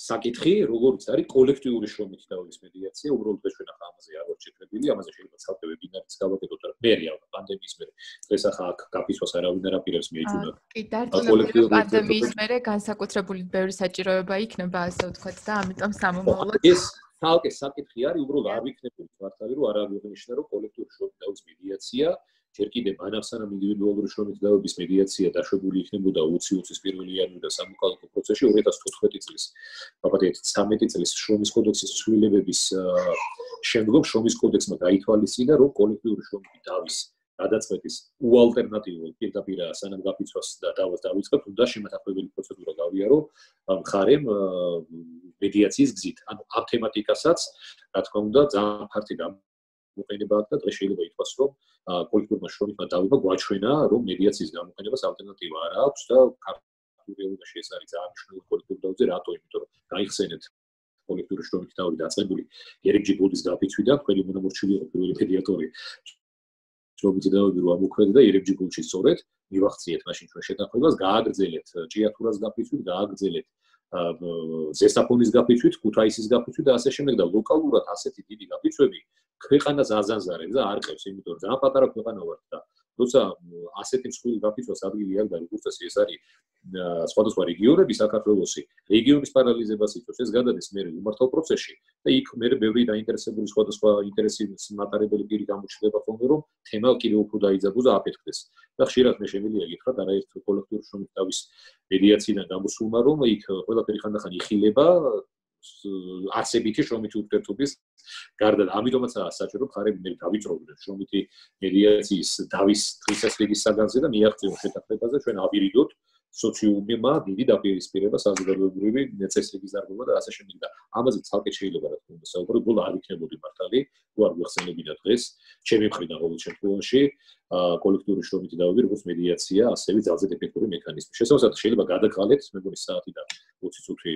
საკითხი, როგორც არის კოლექტიური შრომით დავლის მედიაცია, უბრალოდ ჩვენ ახლა ამაზე არ ვართ შეფრებილი, ამაზე შეიძლება ცალკე ვებინარიც გავაკეთოთ, მაგრამ მე პანდემიის მერე დღეს ახლა აქ გაფიცვას არავინ არ აპირებს მეიჩუნა. კი, დარწმუნებული პანდემიის მერე განსაკუთრებული ბევრი საჭიროება იქნება, ასე ვთქვათ და ამიტომ სამომავლოდ ეს ცალკე საკითხი არის, უბრალოდ არ ვიქნებოდი მართალი, რომ არ აღნიშნა, რომ კოლექტიური შრომით დავლის მედიაცია ჯერ კიდე მანავსანამ ინდივიდუალური შრომით დავების მედიაცია დაშვებული იქნებოდა 2020-ის 1 იანვრიდან სამოქალაქო პროცესში 2014 წლის, ვაბადეთ 13 წლის შრომის კოდექსის ცვლილებების შემდგომ შრომის კოდექსმა გაითვალისწინა, რომ კოლექტიური შრომით დავის გადაწყვეტის უალტერნატივო პირდაპირ სანამ გაფიცვას და დავას დავიწყებთ, უნდა შემათახვეველი პროცედურა გავიარო მხარემ მედიაციის გზით. ანუ ამ თემატიკასაც, რა თქმა უნდა, ძალიან ფართი გამოყენება აქვს და დღეს შეიძლება ითქვას, რომ კოლექტურმა შრომითმა დავება გვაჩვენა, რომ მედიაციის გამოყენებას ალტერნატივა არ აქვს და ქართულ რეალობაში ეს არის ძალიან მნიშვნელოვანი კოლექტურ დავზე, რატო? იმიტომ რომ გაიხსენეთ კოლექტური შრომით დავი დაწყებული ერიგჯი გულდის გაფიცვიდან, თქვენი მონამორჩილი იყო პირველი მედიატორი შრომითი დავები რო ამოქმედა და ერიგჯი გულში სწორედ მივახციეთ მაშინ ჩვენ შეთანხმებას, გააგრძელეთ ჭიათურას გაფიცვით, გააგრძელეთ ზესაფონის გაფიცვით, ქუთაისის გაფიცვით და ასე შემდეგ და ლოკალურად ასეთი დიდი გაფიცვები ქვეყანას აზანზარებს და არ ყევს, იმიტომ რომ ძალიან პატარა ქვეყანა ვართ და როცა ასეთი მსხვილი გაფიცვას ადგილი არ და როგორც წესი ეს არის სხვადასხვა რეგიონები საქართველოსი, რეგიონის პარალიზებას იწვევს, ეს გადადის მე უმართალ პროცესში და იქ მე ბევრი დაინტერესებული სხვადასხვა ინტერესის მატარებელი პირი გამოჩნდება ხოლმე, რომ თემა კიდევ უფრო დაიძაბოს და აფეთქდეს. და ხშირად მე შემიძლია გითხრათ, არაერთ კოლექტიური შრომით დავის მედიაციიდან გამოსულმა, რომ იქ ყველაფერი ხანდახან იხილება არსებითი შრომითი ურთიერთობის გარდა და ამიტომაცაა საჭირო მხარები მე დავიწრობდნენ შრომითი მედიაციის დავის დღესასრიგის საგანზე და მიაღწიონ შეთანხმებაზე ჩვენ ავირიდოთ სოციუმმა დიდი დაპირისპირება საზოგადოებრივი წესრიგის დარღვევა და ასე შემდეგ და ამაზე ცალკე შეიძლება რა თქმა უნდა საუბარი უბრალოდ არ იქნებოდი მართალი თუ არ გვეხსენებინა დღეს ჩემი მხრიდან ყოველ შემთხვევაში კოლექტიური შრომითი დავები როგორც მედიაცია ასევე ძალზე ეფექტური მექანიზმი შესაძლოა შეიძლება გადაგყალეთ მე მგონი საათი და 20 წუთი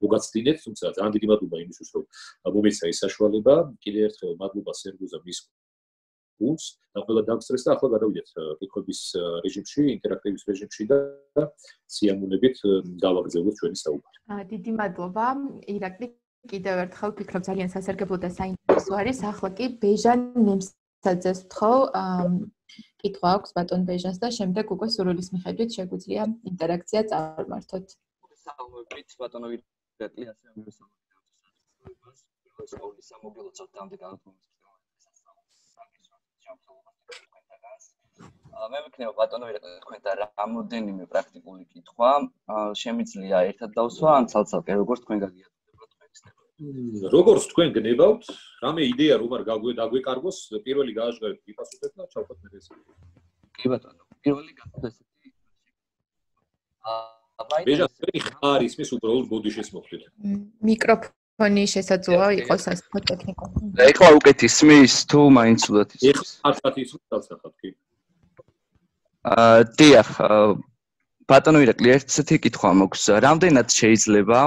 მოგაცდინეთ თუმცა ძალიან დიდი მადლობა იმისთვის რომ მომეცა ეს საშუალება კიდევ ერთხელ მადლობა სერგუზა მის გუნდს და ყველა დაგსტრეს და ახლა გადავიდეთ კითხვების რეჟიმში ინტერაქტივის რეჟიმში და სიამოვნებით გავაგრძელოთ ჩვენი საუბარი დიდი მადლობა ირაკლი კიდევ ერთხელ ვფიქრობ ძალიან სასარგებლო და საინტერესო არის ახლა კი ბეჟან ნემსაძეს ვთხოვ კითხვა აქვს ბატონ ბეჟანს და შემდეგ უკვე სურვილის მიხედვით შეგვიძლია ინტერაქცია წარმართოთ საუბრით ბატონო ირაკლი ასე ამბობს სამოგილო წავდამდე განათლების მე მეკნება ბატონო ირაკლი თქვენთან რამოდენიმე პრაქტიკული კითხვა შემიძლია ერთად დავსვა ან ცალ-ცალკე როგორც თქვენ გაგიაზრდებათ თქვენის თემას როგორც თქვენ გნებავთ რამე იდეა რომ არ დაგვეკარგოს პირველი გააჟღერეთ ვიპასუხეთ და ჩავხოთ მე ეს კი ბატონო პირველი გახდა ესეთი ბეჟანი ხარ ისმის უბრალოდ ბოდიშეს მოხდით მიკროფონი შესაძლოა იყოს ასე ტექნიკურ და ეხლა უკეთ ისმის თუ მაინც უდათ ისმის ეხლა ისმის დავსახათ კი დიახ ბატონო ირაკლი ერთი კითხვა მაქვს რამდენად შეიძლება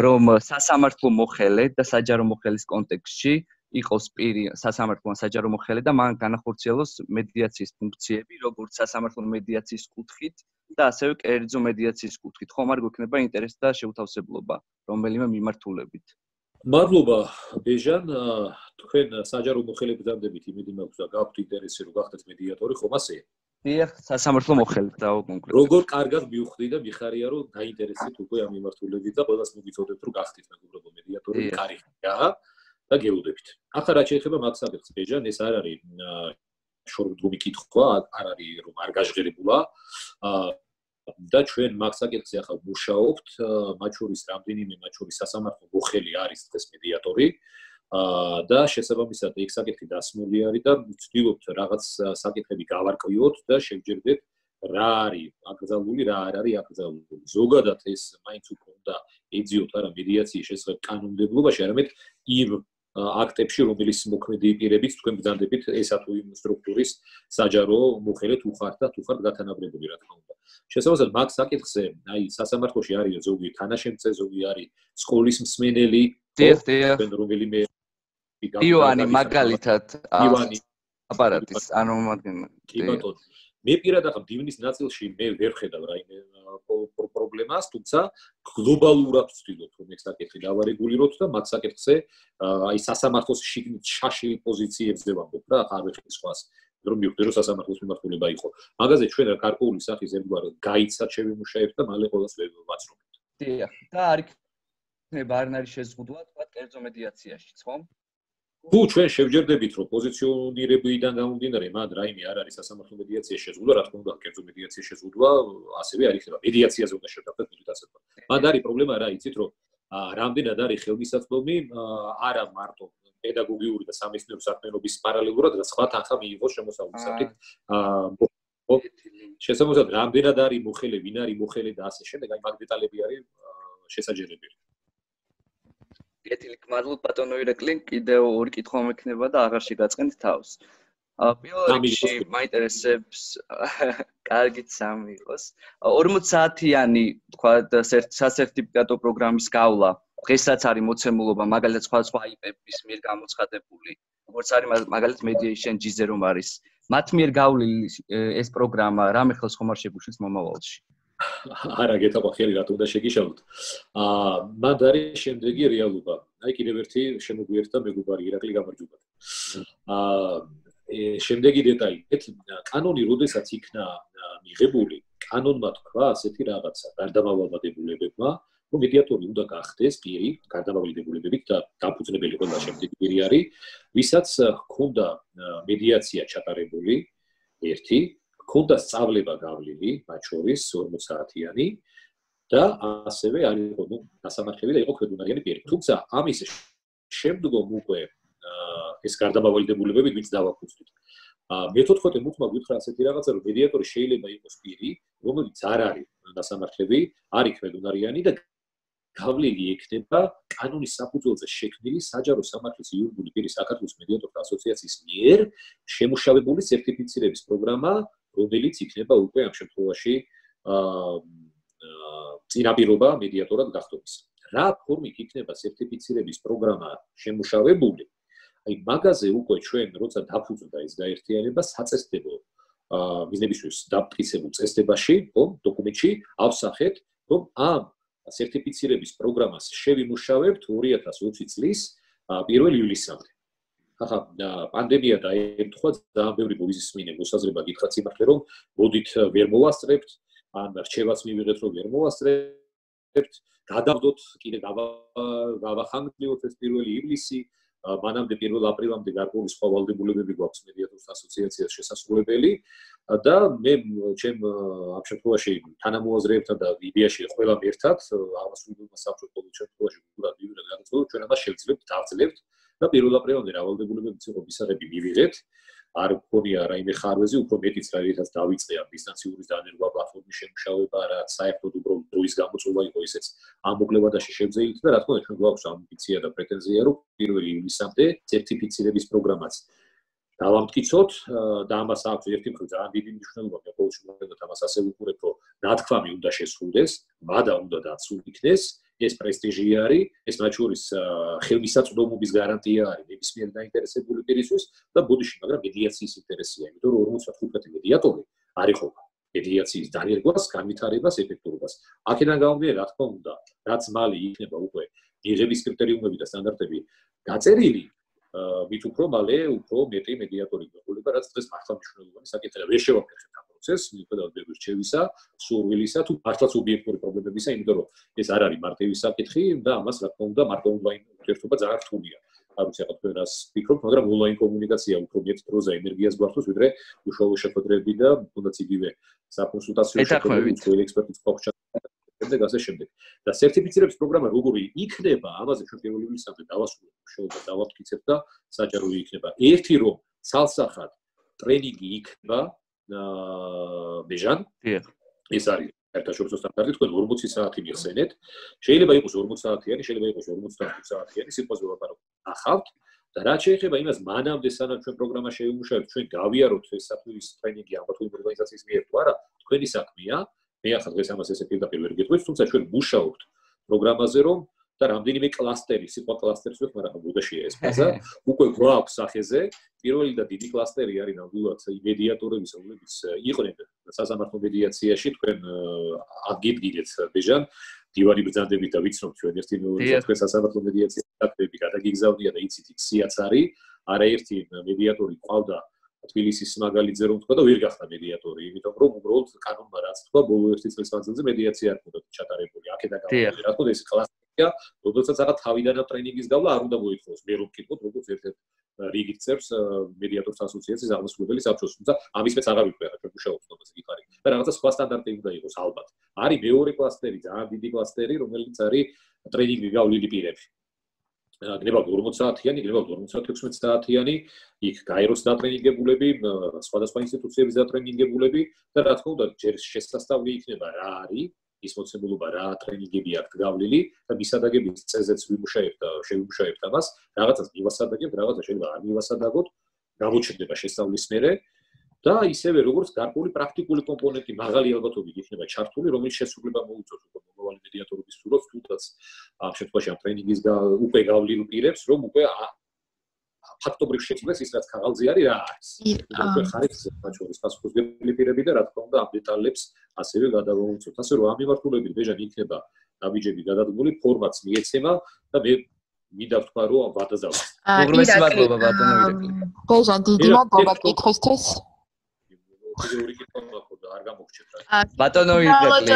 რომ სასამართლო მოხელე და საჯარო მოხელის კონტექსტში იყოს პირი სასამართლო საჯარო მოხელე და მან განახორციელოს მედიაციის ფუნქციები როგორც სასამართლო მედიაციის კუთხით და ასევე კერძო მედიაციის კუთხით ხომ არ გვექნება ინტერესი და შეუთავსებლობა რომელიმე მიმართულებით მადლობა ბეჟან თქვენ საჯარო მოხელებს დამდებით იმედი მაქვს და გაქვთ ინტერესი რომ გახდეთ მედიატორი ხომ ასეა დიახ სასამართლო მოხელე და კონკრეტულად როგორ კარგად მივხვდი და მიხარია რომ დაინტერესეთ უკვე ამ მიმართულებით და ყველას მოგიწოდებთ რომ გახდით მეგობრებო მედიატორი კარგია და გეუბნებით ახლა რაც შეეხება მაგ საკითხს ბეჟან ეს არ არის შორომდგომი კითხვა არ არის რომ არ გაჟღერებულა და ჩვენ მაგ საკითხზე ახლა მუშაობთ მათ შორის რამდენიმე მათ შორის სასამართლო მოხელი არის დღეს მედიატორი და შესაბამისად ეს საკითხი დასმული არის და ვცდილობთ რაღაც საკითხები გავარკვიოთ და შევჯერდეთ რა არის აკრძალული რა არ არის აკრძალული ზოგადად ეს მაინც უფრო უნდა ეძიოთ არა მედიაციის შესახებ კანონმდებლობაში არამედ იმ აქტებში რომელიც მოქმედი პირებით თქვენ ბრძანდებით ესა თუ იმ სტრუქტურის საჯარო მოხელე თუ ხართ და თუ ხართ გათანაბრებული რა თქმა უნდა შესაბამისად მაგ საკითხზე აი სასამართლოში არის ზოგი თანაშემწე ზოგი არის სკოლის მსმენელი დიახ. რომელიმე ივანი მაგალითად აპარატის ანუ კი ბატონო მე პირადად დივნის ნაწილში მე ვერ ხედავ რაიმე პრობლემას, თუმცა გლობალურად ვცდილობ რომ ეს საკითხი დავარეგულიროთ და მათ საკითხზე აი სასამართლოს შიგნით შაშილი პოზიციებზე ვამბობ რა, არ ვეხი სხვას, რომ მივხვდი რომ სასამართლოს მიმართულება იყო. მაგაზე ჩვენ რა გარკვეული სახის ერთგვარ გაიცად შევიმუშაებთ და მალე ყველას ვაცნობთ. დიახ, და არ იქნება არ არის შეზღუდვა თქვა კერძო მედიაციაშიც, ხო? თუ ჩვენ შევჯერდებით რომ პოზიციონირებიდან გამომდინარე მან რაიმე არ არის სასამართლო მედიაციის შეზღუდვა, რა თქმა უნდა, კერძო მედიაციის შეზღუდვა ასევე არ იქნება. მედიაციაზე უნდა შევდარდეთ მოდით ასე ვთქვა. მან არის პრობლემა რა იცით რომ რამდენად არის ხელმისაწვდომი არა მარტო პედაგოგიური და სამეცნიერო საქმიანობის პარალელურად და სხვა თანხა მიიღოს შემოსავლის სახით. შესაბამისად რამდენად არის მოხელე, ვინ არის მოხელე და ასე შემდეგ, აი მაგ დეტალები არის შესაძლებელი. გეტილი გმადლობ ბატონო ირაკლი, კიდევ ორი კითხვა მექნება და აღარ შეგაწყენთ თავს. პირველ რიგში მაინტერესებს კარგით სამი იყოს. 40 საათიანი თქვა სასერტიფიკატო პროგრამის გავლა. დღესაც არის მოცემულობა მაგალითად სხვა IP-ების მიერ გამოცხადებული. როგორც არის მაგალითად Mediation G-ზე რომ არის. მათ მიერ გავლილი ეს პროგრამა რამე ხელს ხომ არ შეგუშლის მომავალში? არა გეტყვი ხელი რა თუნდა შეგიშალოთ. მან არის შემდეგი რეალობა. აი კიდევ ერთი შემოგვიერთდა მეგობარი ირაკლი გამარჯობა. შემდეგი დეტალი, კანონი როდესაც იქნა მიღებული, კანონმა თქვა ასეთი რაღაცა, გარდამავალ დებულებებმა, რომ მედიატორი უნდა გახდეს პირი, გარდამავალი დებულებებით და დაფუძნებელი ყველა შემდეგი პირი არის, ვისაც ჰქონდა მედიაცია ჩატარებული, ერთი ქონდა სწავლება გავლილი, მათ შორის 40 საათიანი და ასევე არ იყო დასამართლებელი და იყო ქვედუნარიანი პირი. თუმცა ამის შემდგომ უკვე ეს გარდამავალი დებულებები ვინც დავაფუძნით. მე-14 მუხმა გითხრა ასეთი რაღაცა, რომ მედიატორი შეიძლება იყოს პირი, რომელიც არ არის დასამართლებელი, არის ქვედუნარიანი და გავლილი ექნება კანონის საფუძველზე შექმნილი საჯარო სამართლის იურიდიული პირის საქართველოს მედიატორთა ასოციაციის მიერ შემუშავებული სერტიფიცირების პროგრამა, რომელიც იქნება უკვე ამ შემთხვევაში წინაპირობა მედიატორად გახდომის. რა ფორმით იქნება სერტიფიცირების პროგრამა შემუშავებული? აი მაგაზე უკვე ჩვენ როცა დაფუძნდა ეს გაერთიანება საწესდებო მიზნებისთვის დამტკიცებულ წესდებაში, ხო, დოკუმენტში ავსახეთ, რომ ამ სერტიფიცირების პროგრამას შევიმუშავებთ 2020 წლის 1 ივლისამდე. ახლა პანდემია დაემთხვა ძალიან ბევრი მოვიზისმინე მოსაზრება გითხრათ იმართლე რომ მოდით ვერ მოვასწრებთ ან რჩევაც მივიღეთ რომ ვერ მოვასწრებთ გადავდოთ კიდე გავახანგრდიოთ ეს 1 ივლისი მანამდე 1 აპრილამდე გარკვეული სხვა ვალდებულებები გვაქვს მედიატორთა ასოციაციას შესასრულებელი და მე ჩემ ამ შემთხვევაში თანამოაზრეებთან და იდეაში ყველამ ერთად აღმასრულებელმა საბჭომ შემთხვევაში უნდა მივიღეთ გადაწყვეტილება ჩვენ ამას შევძლებთ დავძლებთ და 1 აპრილამდე რავალდებულებებიც იყო მისაღები მივიღეთ არ გქონია რაიმე ხარვეზე უფრო მეტიც რაითაც დავიწყე ამ დისტანციური დანერგვა პლატფორმის შემუშავება რაც საერთოდ უბრალოდ დროის გამოწვევა იყო ისეც ამ მოკლევადაში შევძელით და რა თქმა უნდა ჩვენ გვაქვს ამბიცია და პრეტენზია რომ 1 ივლისამდე სერტიფიცირების პროგრამაც დავამტკიცოთ და ამას აქვს ერთი მხრივ ძალიან დიდი მნიშვნელობა მე ყოველ შემთხვევაში ამას ასე ვუყურებ რომ ნათქვამი უნდა შესრულდეს მადა უნდა დაცულ იქნეს ეს პრესტიჟი არის, ეს მათ შორის ხელმისაწვდომობის გარანტია არის ნებისმიერ დაინტერესებული პირისთვის და ბოდიში, მაგრამ მედიაციის ინტერესია, იმიტომ რომ 55 მედიატორი არ იხობა მედიაციის დანერგვას, განვითარებას, ეფექტურობას. აქედან გამომდინარე, რა თქმა უნდა, რაც მალე იქნება უკვე მიღების კრიტერიუმები და სტანდარტები დაწერილი, მით უფრო მალე უფრო მეტი მედიატორი გვეყოლება, რაც დღეს მართლა მნიშვნელოვანი საკითხია. ვერ შევაფერხებთ ამ პროცესს, მიუხედავად ბევრი რჩევისა, სურვილისა თუ მართლაც ობიექტური პრობლემებისა, იმიტომ რომ ეს არ არის მარტივი საკითხი და ამას რა თქმა უნდა მარტო ონლაინ ურთიერთობა ძალიან რთულია. არ ვიცი ახლა თქვენ რას ფიქრობთ, მაგრამ ონლაინ კომუნიკაცია უფრო მეტ დროზე ენერგიას გვართოს, ვიდრე უშუალო შეხვედრები და თუნდაც იგივე საკონსულტაციო შეხვედრები უცხოელი ექსპერტის ფაქტორ შემდეგ ასე შემდეგ. და სერტიფიცირების პროგრამა როგორი იქნება, ამაზე ჩვენ 1 ივლისამდე დავასრულებთ, შეუძლია დავამტკიცებთ და საჯაროი იქნება. ერთი რომ ცალსახად ტრენინგი იქნება ბეჟან. ეს არის საერთაშორისო სტანდარტი, თქვენ 40 საათი მიხსენეთ. შეიძლება იყოს 40 საათიანი, შეიძლება იყოს 55 საათიანი, სიტყვაზე ვაპარაკობ. ახავთ და რაც შეეხება იმას, მანამდე სანამ ჩვენ პროგრამა შევიმუშავებთ, ჩვენ გავიაროთ ეს საფუძვლის ტრენინგი ამ თუ იმ ორგანიზაციის მიერ თუ არა, თქვენი საქმეა. მე ახლა დღეს ამას ესე პირდაპირ ვერ გეტყვით, თუმცა ჩვენ მუშაობთ პროგრამაზე, რომ და რამდენიმე კლასტერი, სიტყვა კლასტერს ვიხმარ, ახლა ბუდაშია ეს ფაზა, უკვე გვაქვს სახეზე, პირველი და დიდი კლასტერი არის ნამდვილად მედიატორების, რომლებიც იყვნენ სასამართლო მედიაციაში, თქვენ აგიდგინეთ ბეჟან, დივანი ბრძანდებით და ვიცნობთ ჩვენ ერთი მეორე თქვენ სასამართლო მედიაციის აქტები გადაგიგზავნია და იცით იქციაც არის, არაერთი მედიატორი ყავდა თბილისის მაგალითზე რომ თქვა და ვერ გახდა მედიატორი, იმიტომ რომ უბრალოდ კანონმა რაც თქვა, ბოლო ერთი წლის მანძილზე მედიაცია არ ქონდა ჩატარებული, აქედან გამომდინარე, რა თქმა უნდა ეს კლასიკია, როდესაც ახლა თავიდანაც ტრენინგის გავლა არ უნდა მოითხოვოს, მე რომ ვკითხოთ, როგორც ერთ-ერთ რიგით წერს მედიატორთა ასოციაციის აღმასრულებელი საბჭოს, თუმცა ამის მეც აღარ ვიყვე, რა ჩვენ მუშაობთ თომაზე გიხარი. და რაღაცა სხვა სტანდარტი უნდა იყოს ალბათ. არის მეორე კლასტერი, ძალიან დიდი კლასტერი, რომელიც არის ტრენინგი გავლილი პირები. გნებავთ 40 საათიანი, გნებავთ 56 საათიანი, იქ გაეროს დატრენინგებულები, სხვადასხვა ინსტიტუციების დატრენინგებულები და რა თქმა უნდა, ჯერ შესასწავლი იქნება რა არის, ის მოცემულობა რა ტრენინგები აქვს გავლილი და მისადაგების წესზეც შევიმუშავებთ ამას, რაღაცას მივასადაგებთ, რაღაცა შეიძლება არ მივასადაგოთ, გამოჩნდება შესწავლის მერე და ისევე როგორც გარკვეული პრაქტიკული კომპონენტი მაღალი ალბათობით იქნება ჩართული, რომელიც შესრულება მოუწევს უკვე მომავალი მედიატორობის სურათს, თუნდაც ამ შემთხვევაში ამ ტრენინგის უკვე გავლილ პირებს, რომ უკვე ფაქტობრივ შეცვლეს ის რაც ქაღალდზე არის რა არის. უკვე ხარით საჩურის პასუხისმგებელი პირები და რა თქმა უნდა ამ დეტალებს ასევე გადავაუწევთ. ასე რომ ამ მიმართულებით ბეჟან იქნება ნაბიჯები გადადგმული, ფორმატს მიეცემა და მე მინდა ვთქვა რომ ვადაზავთ. უღრმესი მადლობა ბატონო ირაკლი. ბეჟან დიდი მადლობა კითხვისთვის. ორი კითხვა მაქვს და არ გამოგჩეთ რა. ბატონო ირაკლი,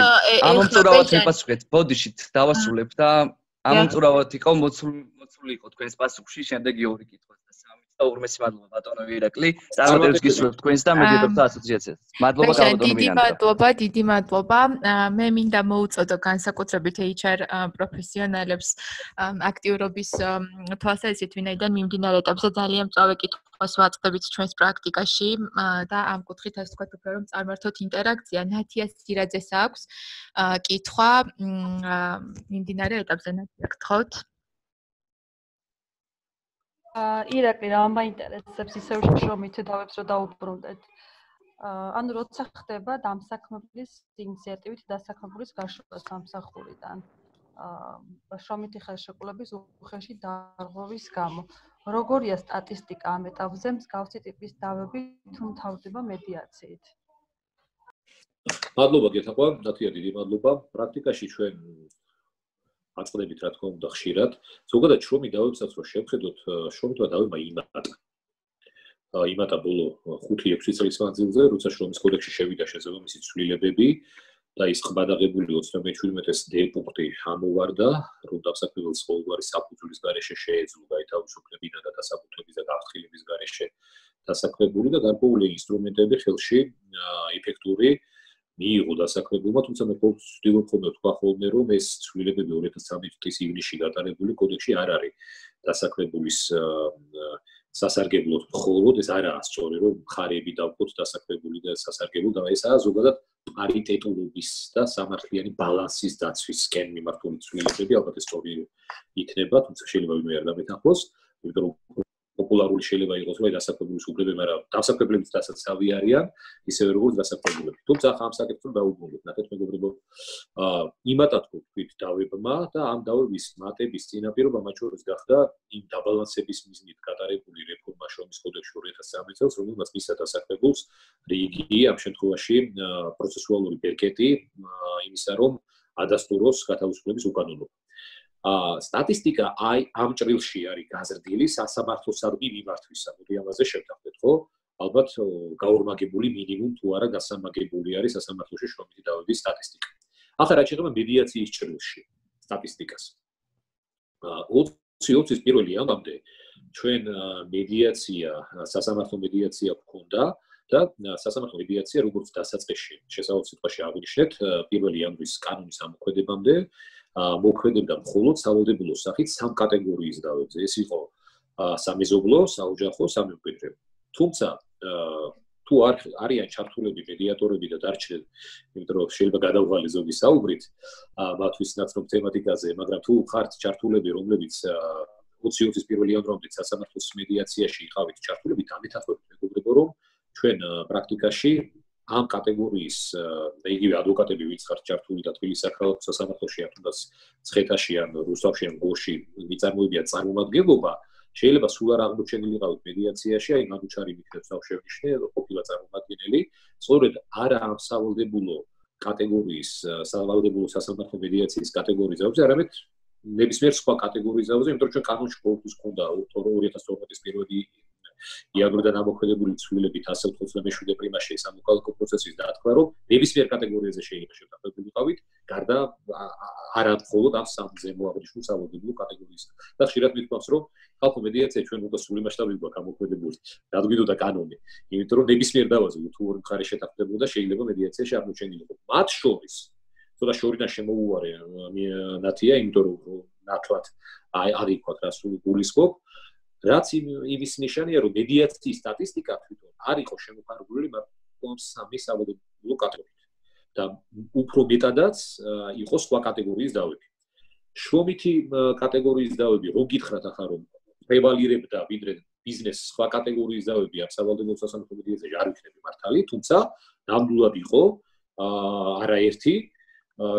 ამომწურავად მიპასუხეთ, ბოდიშით დავასრულებ და ამომწურავად იყო მოცული იყო თქვენს პასუხში, შემდეგი ორი კითხვა და სამი და უღრმესი მადლობა ბატონო ირაკლი. წარმატებებს გისურვებთ თქვენს და მედიატორთა ასოციაციას. მადლობა ბატონო მირანდა. დიდი მადლობა. მე მინდა მოუწოდო განსაკუთრებით HR პროფესიონალებს აქტიურობის თვალსაზრისით, ვინაიდან მიმდინარე ეტაპზე ძალიან მწვავე კითხვას ვაწყდებით ჩვენს პრაქტიკაში და ამ კუთხით ასე ვთქვათ უფრო რომ წარმართოთ ინტერაქცია. ნათია სირაძეს აქვს კითხვა მიმდინარე ეტაპზე, ნათია, გთხოვთ. ირაკლი, რა მაინტერესებს ისევ შრომით დავებს რომ დაუბრუნდეთ. ანუ როცა ხდება დამსაქმებლის ინიციატივით დასაქმებულის გაშრობა სამსახურიდან. შრომითი ხელშეკრულების უხეში დარღვევის გამო. როგორია სტატისტიკა ამ ეტაპზე მსგავსი ტიპის დავები თუ მთავრდება მედიაციით? მადლობა გეთაყვა, ნათია, დიდი მადლობა. პრაქტიკაში ჩვენ აწყდებით რა თქმა უნდა ხშირად. ზოგადად შრომი დავებსაც რო შევხედოთ, შრომითმა დავება იმატა ბოლო 5-6 წლის მანძილზე, როცა შრომის კოდექსში შევიდა შესაბამისი ცვლილებები და ის ხმადაღებული 37-ის D პუნქტი ამოვარდა, რომ დასაქმებელს ყოველგვარი საფუძვლის გარეშე შეეძლო გაითავისუფლებინა და დასაბუთების და გაფრთხილების გარეშე დასაქმებული და გარკვეული ინსტრუმენტები ხელში ეფექტური მიიღო დასაქმებულმა, თუმცა მე ვცდილობ ხოლმე ვთქვა ხოლმე, რომ ეს ცვლილებები 2013 წლის ივნისში გატარებული კოდექსში არ არის დასაქმებულის სასარგებლოდ მხოლოდ, ეს არაა სწორი, რომ მხარეები დავყოთ დასაქმებული და სასარგებლო და ესაა ზოგადად პარიტეტულობის და სამართლიანი ბალანსის დაცვისკენ მიმართული ცვლილებები, ალბათ ეს სწორი იქნება, თუმცა შეიძლება ვინმე არ გამეთანხმოს, იმიტომ რომ პოპულარული შეიძლება იყოს, რომ დასაქმებულის უფლებები, მაგრამ დასაქმებლებიც დასაცავი არიან, ისევე როგორც დასაქმებულები. თუმცა ახლა ამ საკითხს დავუბრუნდეთ, ნახეთ მეგობრებო, იმატად გვქვით დავებმა და ამ დავების მატების წინაპირობა მათ შორის გახდა იმ დაბალანსების მიზნით გატარებული რეფორმა შრომის კოდექსში 2013 წელს, რომელმაც მისცა დასაქმებულს რიგი ამ შემთხვევაში პროცესუალური ბერკეტი იმისა, რომ ადასტუროს გათავისუფლების უკანონობა. სტატისტიკა ამ ჭრილში არის გაზრდილი სასამართლოსადმი მიმართვისა. მოდი ამაზე შევთანხმდეთ, ხო? ალბათ გაორმაგებული მინიმუმ თუ არა გასამაგებული არის სასამართლოში შრომითი დავების სტატისტიკა. ახლა რაც შეეხება მედიაციის ჭრილში სტატისტიკას. 2020-ის 1 იანვრამდე ჩვენ მედიაცია, სასამართლო მედიაცია გვქონდა და სასამართლო მედიაცია როგორც დასაწყისში, შესაძლოა სიტყვაში აღნიშნეთ, 1 იანვრის კანონის ამოქმედებამდე მოქმედებდა მხოლოდ სავალდებულო სახით 3 კატეგორიის დავებზე. ეს იყო სამეზობლო, საოჯახო, სამემკვიდრეო. თუმცა თუ არიან ჩართულები მედიატორები და დარჩნენ, იმიტომ რომ შეიძლება გადავღალე ზოგი საუბრით მათთვის ნაცნობ თემატიკაზე, მაგრამ თუ ხართ ჩართულები, რომლებიც 2020-ის 1 იანვრამდე სასამართლოს მედიაციაში იყავით ჩართულები, დამეთანხმებით მეგობრებო, რომ ჩვენ პრაქტიკაში ამ კატეგორიის იგივე ადვოკატები ვინც ხართ ჩართული და თბილისის საქალაქო სასამართლოში ან თუნდაც ცხეთაში ან რუსთავში ან გორში მიწარმოებია წარმომადგენლობა შეიძლება სულ არ აღმოჩენილიყავით მედიაციაში, აი მაგუჩარი მიქნებს აღშევნიშნე ყოფილა წარმომადგენელი, სწორედ არა ამ სავალდებულო კატეგორიის სავალდებულო სასამართლო მედიაციის კატეგორიის ზავზე, არამედ ნებისმიერ სხვა კატეგორიის ზავზე, იმიტომ რომ ჩვენ კანონში ყოველთვის გვქონდა 2012-ის 1 იანვრიდან ამოქმედებული ცვლილებით 197 პრიმაში სამოქალაქო პროცესის დათქმა, რომ ნებისმიერ კატეგორიაზე შეიძლება შევდახვეულიყავით, გარდა არა მხოლოდ ამ სამზე მოაღნიშნულ სავალდებულო კატეგორიის. და ხშირად მithქვამს, რომ ხალხო მედიაცია ჩვენ უკვე სრული მასშტაბით გვაქვს ამოქმედებული, რადგან კანონი, იმიტომ რომ ნებისმიერ დავაზე თუ ორი მხარე შეთანხმდებოდა, შეიძლება მედიაციაში აღმოჩენილიყო. მათ შორის ცოტა შორიდან შემოუვარე ნათია, იმიტომ რომ ნათვად არ იქვათ რა სულ გულისხმობ. რაც იმის ნიშანია, რომ მედიაციის სტატისტიკა თვითონ არ იყო შემოფარგლული მაგრამ სამი სავალდებულო კატეგორიით და უფრო მეტადაც იყო სხვა კატეგორიის დავები. შრომითი კატეგორიის დავები, რო გითხრათ ახლა რომ პრევალირებდა ვიდრე ბიზნეს სხვა კატეგორიის დავები ამ სავალდებულო სასამართლო მედიაციაში არ იქნება მართალი, თუმცა ნამდვილად იყო არაერთი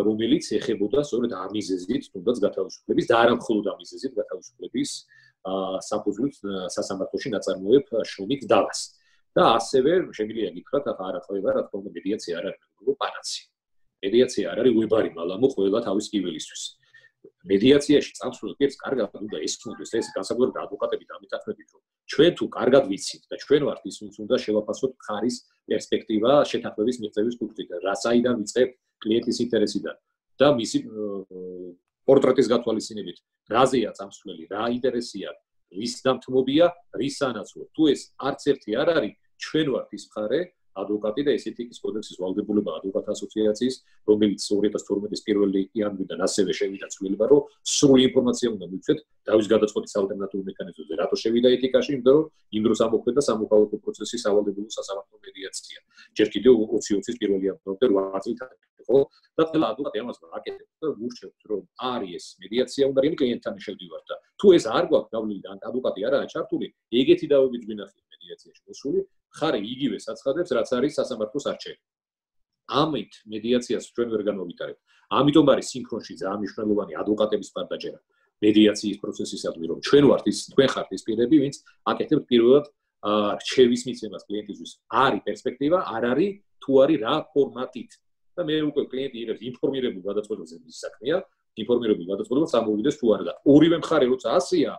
რომელიც ეხებოდა სწორედ ამ მიზეზით თუნდაც გათავისუფლების და არა მხოლოდ ამ მიზეზით გათავისუფლების საფუძვლით სასამართლოში ნაწარმოებ შრომით დავას. და ასევე შემიძლია გითხრათ, ახლა არა ხდება, რა თქმა უნდა, მედიაცია არ არის უბრალოდ პანაცი. მედიაცია არ არის ვებარი მალამო ყველა თავის კიველისთვის. მედიაციაში წამსვლელ პირს კარგად უნდა ესწროს ეს განსაკუთრებით ადვოკატები დამიტახებით, რომ ჩვენ თუ კარგად ვიცით და ჩვენ ვართ ის, ვინც უნდა შევაფასოთ მხარის პერსპექტივა შეთანხმების მიღწევის კუთხით, რა საიდან ვიწყებ კლიენტის ინტერესიდან და მისი პორტრეტის გათვალისწინებით, რაზეა წამსვლელი, რა ინტერესია, რის დამთმობია, რის სანაცვლოდ. თუ ეს არც ერთი არ არის, ჩვენ ვართ ის მხარე, ადვოკატი და ეს ეთიკის კოდექსის ვალდებულება ადვოკატთა ასოციაციის, რომელიც 2012-ის 1 იანვრიდან ასევე შევიდა ცვლილება, რომ სრული ინფორმაცია უნდა მივცეთ დავის გადაწყვეტის ალტერნატიულ მექანიზმებზე. რატო შევიდა ეთიკაში? იმიტომ რომ იმ დროს ამოქმედა სამოქალაქო პროცესის სავალდებულო სასამართლო მედიაცია. ჯერ კიდევ 2020-ის 1 იანვრამდე 8 წლით იყო და ყველა ადვოკატი ამას აკეთებს და გურჩევთ, რომ არის ეს მედიაცია უნდა იმ კლიენტთან შევდივართ და თუ ეს არ გვაქვს გავლილი და ადვოკატი არაა ჩართული, ეგეთი დავებით გვინახეთ მედიაციაში მოსული, ხარი იგივე საცხადებს, რაც არის სასამართლოს არჩევი. ამით მედიაციას ჩვენ ვერ განმოვითარებთ. ამიტომ არის სინქრონში ძალიან მნიშვნელოვანი ადვოკატების მხარდაჭერა მედიაციის პროცესისადმი, რომ ჩვენ ვართ ის, თქვენ ხართ ის პირები, ვინც აკეთებთ პირველად რჩევის მიცემას კლიენტისთვის. არის პერსპექტივა, არ არის, თუ არის რა ფორმატით. და მე უკვე კლიენტი იღებს ინფორმირებულ გადაწყვეტილებას ის საქმეა, ინფორმირებულ გადაწყვეტილებას ამოვიდეს თუ არა და ორივე მხარე როცა ასეა